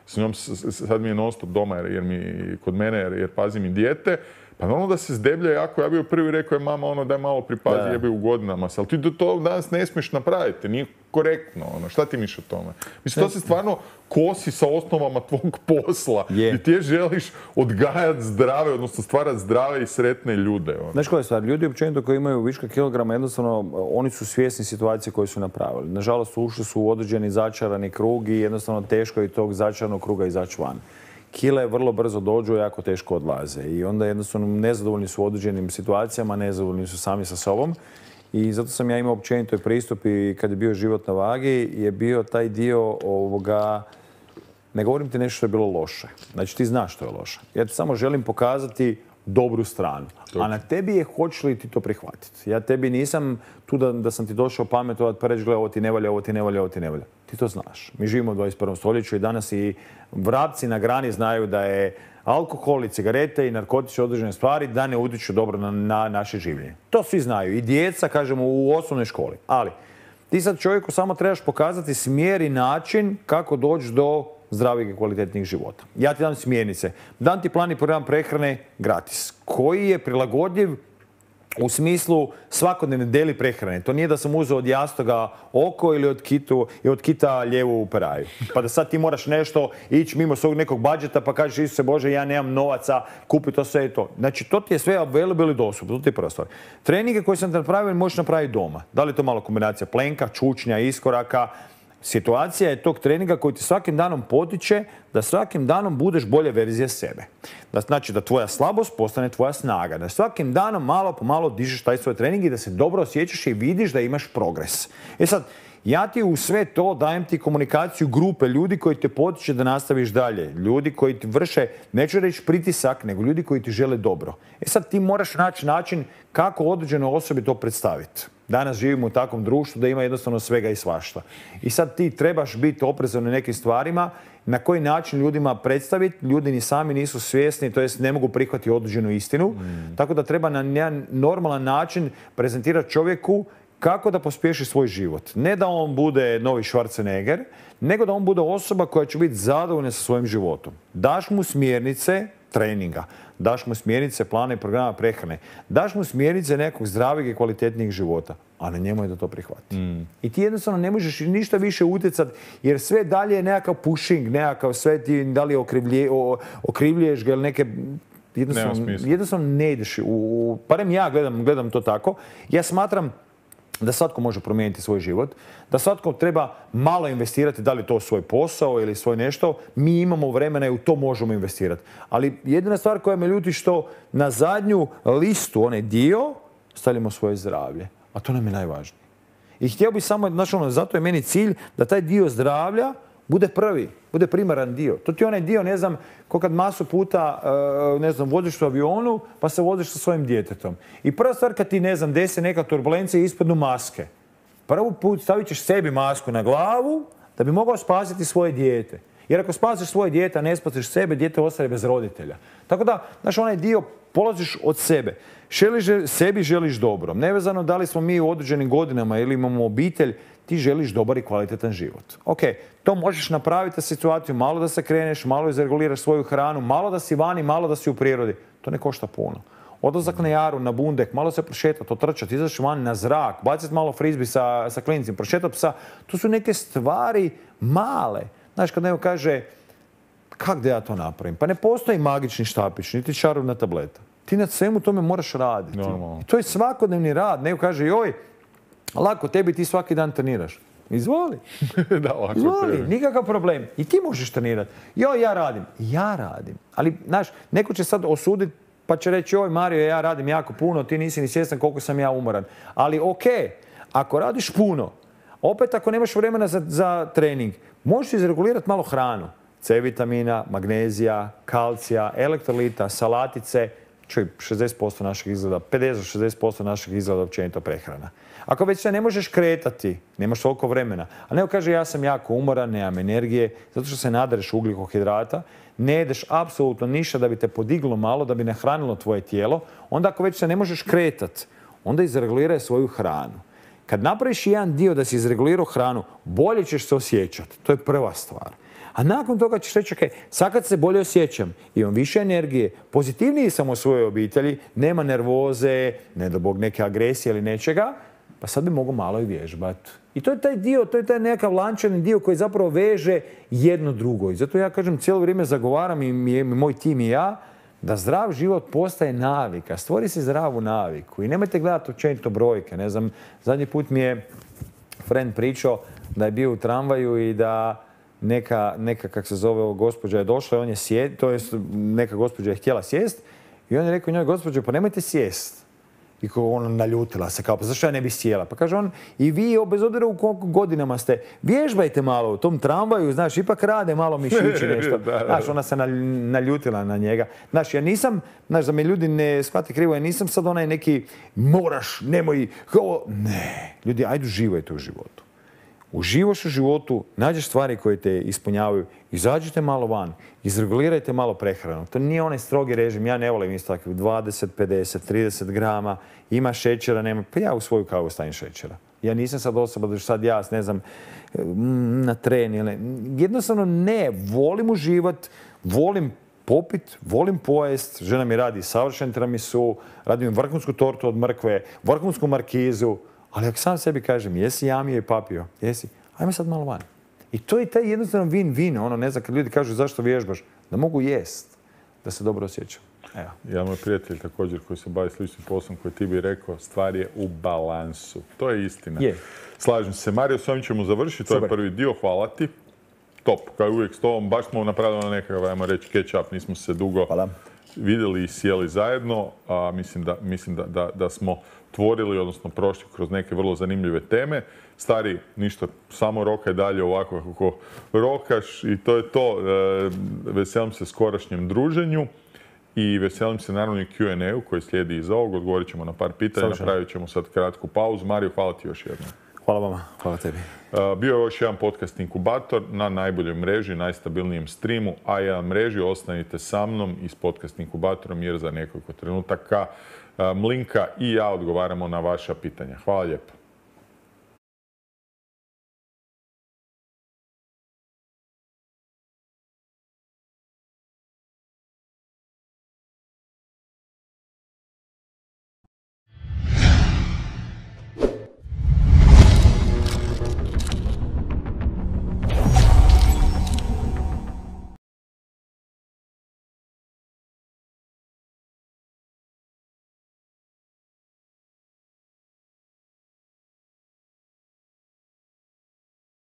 s njom sad mi je non stop doma, jer, jer mi, kod mene, jer, jer pazi mi dijete, pa ono da se zdeblja jako, ja bi joj prvi rekao je mama, ono, daj malo pripazi, jebe u godinama, ali ti to danas ne smiješ napraviti, nije korektno, ono, šta ti misliš o tome? Mislim, to se stvarno kosi sa osnovama tvog posla yeah. i ti želiš odgajati zdrave, odnosno stvarati zdrave i sretne ljude. Ono. Znaš koja je stvar? Ljudi općenito koji imaju viška kilograma, jednostavno, oni su svjesni situacije koje su napravili. Nažalost, ušli su u određeni začarani krug i jednostavno teško je tog začaranog kruga izaći van. Kile vrlo brzo dođu i jako teško odlaze. I onda jednostavno nezadovoljni su u određenim situacijama, nezadovoljni su sami sa sobom. I zato sam ja imao općenito pristup i kad je bio život na vagi, je bio taj dio ovoga, ne govorim ti nešto što je bilo loše. Znači ti znaš što je loše. Ja ti samo želim pokazati dobru stranu. A na tebi je hoćeš li ti to prihvatiti. Ja tebi nisam tu da, da sam ti došao pametovati pa reći, gle, ovo ti ne valja, ovo ti ne valja, ovo ti ne valja. Ti to znaš. Mi živimo u dvadeset prvom stoljeću i danas i vrapci na grani znaju da je alkohol i cigarete i narkotične određene stvari da ne utječu dobro na, na naše življenje. To svi znaju. I djeca, kažemo, u osnovnoj školi. Ali ti sad čovjeku samo trebaš pokazati smjer i način kako doći do zdravih i kvalitetnih života. Ja ti dam smjernice. Dam ti plan i program prehrane gratis, koji je prilagodljiv u smislu svakodnevne deli prehrane. To nije da sam uzeo od jastoga oko ili od, kitu, i od kita lijevu peraju. Pa da sad ti moraš nešto ići mimo svog nekog budžeta pa kažeš, Isuse Bože, ja nemam novaca, kupi to sve i to. Znači, to ti je sve available i dostupno. To ti je prva stvar. Treninge koje sam te napravio možeš napraviti doma. Da li je to malo kombinacija plenka, čučnja, iskoraka? Situacija je tog treninga koji ti svakim danom potiče da svakim danom budeš bolje verzija sebe. Da znači da tvoja slabost postane tvoja snaga. Da svakim danom malo po malo dižeš taj svoj trening i da se dobro osjećaš i vidiš da imaš progres. E sad, ja ti u sve to dajem ti komunikaciju grupe ljudi koji te potiče da nastaviš dalje. Ljudi koji ti vrše, neću reći pritisak, nego ljudi koji ti žele dobro. E sad ti moraš naći način kako određenoj osobi to predstaviti. Danas živimo u takvom društvu da ima jednostavno svega i svašta. I sad ti trebaš biti oprezan na nekim stvarima, na koji način ljudima predstaviti. Ljudi ni sami nisu svjesni, to jest ne mogu prihvatiti određenu istinu. Mm. Tako da treba na jedan normalan način prezentirati čovjeku kako da pospješi svoj život. Ne da on bude novi Schwarzenegger, nego da on bude osoba koja će biti zadovoljna sa svojim životom. Daš mu smjernice treninga, daš mu smjernice plana i programa prehrane, daš mu smjernice nekog zdravih i kvalitetnijeg života, a na njemu je da to prihvati. Mm. I ti jednostavno ne možeš ništa više utjecati, jer sve dalje je nekakav pushing, nekakav sve ti da li okrivlje, okrivljuješ ga ili neke... Jednostavno, jednostavno ne ideš. U, barem ja gledam, gledam to tako. Ja smatram da svatko može promijeniti svoj život, da svatko treba malo investirati, da li to svoj posao ili svoj nešto. Mi imamo vremena i u to možemo investirati. Ali jedina stvar koja me ljuti što na zadnju listu, onaj dio, stavljamo svoje zdravlje. A to nam je najvažnije. I htio bih samo, znači ono, zato je meni cilj da taj dio zdravlja bude prvi, bude primaran dio. To ti je onaj dio, ne znam, ko kad masu puta, ne znam, voziš u avionu, pa se voziš sa svojim djetetom. I prva stvar kad ti, ne znam, desi neka turbulencija i ispadnu maske. Prvi put stavit ćeš sebi masku na glavu da bi mogao spasiti svoje dijete. Jer ako spasiš svoje dijete, a ne spasiš sebe, dijete ostaje bez roditelja. Tako da, znaš, onaj dio polaziš od sebe. Želiš, sebi želiš dobro. Nevezano da li smo mi u određenim godinama ili imamo obitelj, ti želiš dobar i kvalitetan život. Ok, to možeš napraviti situaciju, malo da se kreneš, malo izreguliraš svoju hranu, malo da si vani, malo da si u prirodi. To ne košta puno. Odlazak na jaru, na bundek, malo se prošetati, otrčati, izaći van na zrak, baciti malo frizbi sa, sa klincima, prošetati psa. To su neke stvari male. Znaš, kad neko kaže, kak da ja to napravim? Pa ne postoji magični štapić, niti čarobna tableta. Ti na svemu tome moraš raditi. Normalno. I to je svakodnevni rad. Neko kaže, joj, lako, tebi ti svaki dan treniraš. Izvoli. Da, lako Izvoli, tebi. nikakav problem. I ti možeš trenirati. Joj, ja radim. Ja radim. Ali, znaš, neko će sad osuditi pa će reći, joj Mario, ja radim jako puno, ti nisi ni svjestan koliko sam ja umoran. Ali ok, ako radiš puno, opet ako nemaš vremena za, za trening, možeš izregulirati malo hranu. C vitamina, magnezija, kalcija, elektrolita, salatice. Čuj, šezdeset posto našeg izgleda, pedeset do šezdeset posto našeg izgleda općenito prehrana. Ako već se ne možeš kretati, nemaš toliko vremena, a neko kaže ja sam jako umoran, nemam energije, zato što se nadareš ugljikohidrata, ne jedeš apsolutno ništa da bi te podiglo malo, da bi nahranilo tvoje tijelo, onda ako već se ne možeš kretati, onda izreguliraj svoju hranu. Kad napraviš jedan dio da si izregulirao hranu, bolje ćeš se osjećati. To je prva stvar. A nakon toga ćeš reći, ok, sad kad se bolje osjećam, imam više energije, pozitivniji sam u svojoj obitelji, nema nervoze, ne do Bog neke agresije ili nečega, pa sad bi mogu malo i vježbati. I to je taj dio, to je taj nekakav lančani dio koji zapravo veže jedno drugo. I zato ja kažem, cijelo vrijeme zagovaram i moj tim i ja, da zdrav život postaje navika. Stvori si zdravu naviku. I nemojte gledati općenito brojke. Ne znam, zadnji put mi je friend pričao da je bio u tramvaju i da neka, neka kak se zove, gospođa je došla i on je sjed, to jest neka gospođa je htjela sjest i on je rekao njoj, gospođo, pa nemojte sjest. I ona naljutila se, kao, pa zašto ja ne bi sjela? Pa kaže on, i vi, bez obzira u koliko godinama ste, vježbajte malo u tom tramvaju, znaš, ipak rade malo mišići nešto. Znaš, ona se naljutila na njega. Znaš, ja nisam, znaš, da me ljudi ne shvate krivo, ja nisam sad onaj neki, moraš, nemoj, ne. Ljudi, ajde uživajte u životu. Uživaš u životu, nađeš stvari koje te ispunjavaju, izađite malo van, izregulirajte malo prehranu. To nije onaj strogi režim, ja ne volim isto tako dvadeset, pedeset, trideset grama, ima šećera, nema, pa ja u svoju kavu stavim šećera. Ja nisam sad osoba da ću sad ja, ne znam, na tren ili... Jednostavno ne, volim uživat, volim popit, volim pojest, žena mi radi savršen tiramisu, radim vrhunsku tortu od mrkve, vrhunsku markizu, ali ako sam sebi kažem, jesi jamio i papio, jesi, ajme sad malo van. I to je taj jednostavno win-win, ono, ne znam, kad ljudi kažu zašto vježbaš, da mogu jest, da se dobro osjećam. Evo. Ja, moj prijatelj također koji se bavi sličnim poslom koji ti bi rekao, stvar je u balansu. To je istina. Je. Slažem se. Mario, s ovim ćemo završiti, to je prvi dio, hvala ti. Top, kao i uvijek s tobom, baš smo napravili na nekakav, ajmo reći, catch-up, nismo se dugo hvala. vidjeli i sjeli zajedno, a mislim da, mislim da, da, da smo tvorili, odnosno prošli kroz neke vrlo zanimljive teme. Stari, ništa, samo rokaj dalje ovako kako rokaš i to je to. E, veselim se skorašnjem druženju i veselim se naravno i Q and A-u koji slijedi iza ovog. Odgovorit ćemo na par pitanja, napravit ćemo sad kratku pauzu. Mario, hvala ti još jednom. Hvala vama, hvala tebi. E, bio je još jedan podcast Inkubator na najboljoj mreži, najstabilnijem streamu, a jedan mreži. Ostanite sa mnom i s podcast Inkubatorom jer za nekoliko trenutaka Mlinka i ja odgovaramo na vaša pitanja. Hvala lijepo.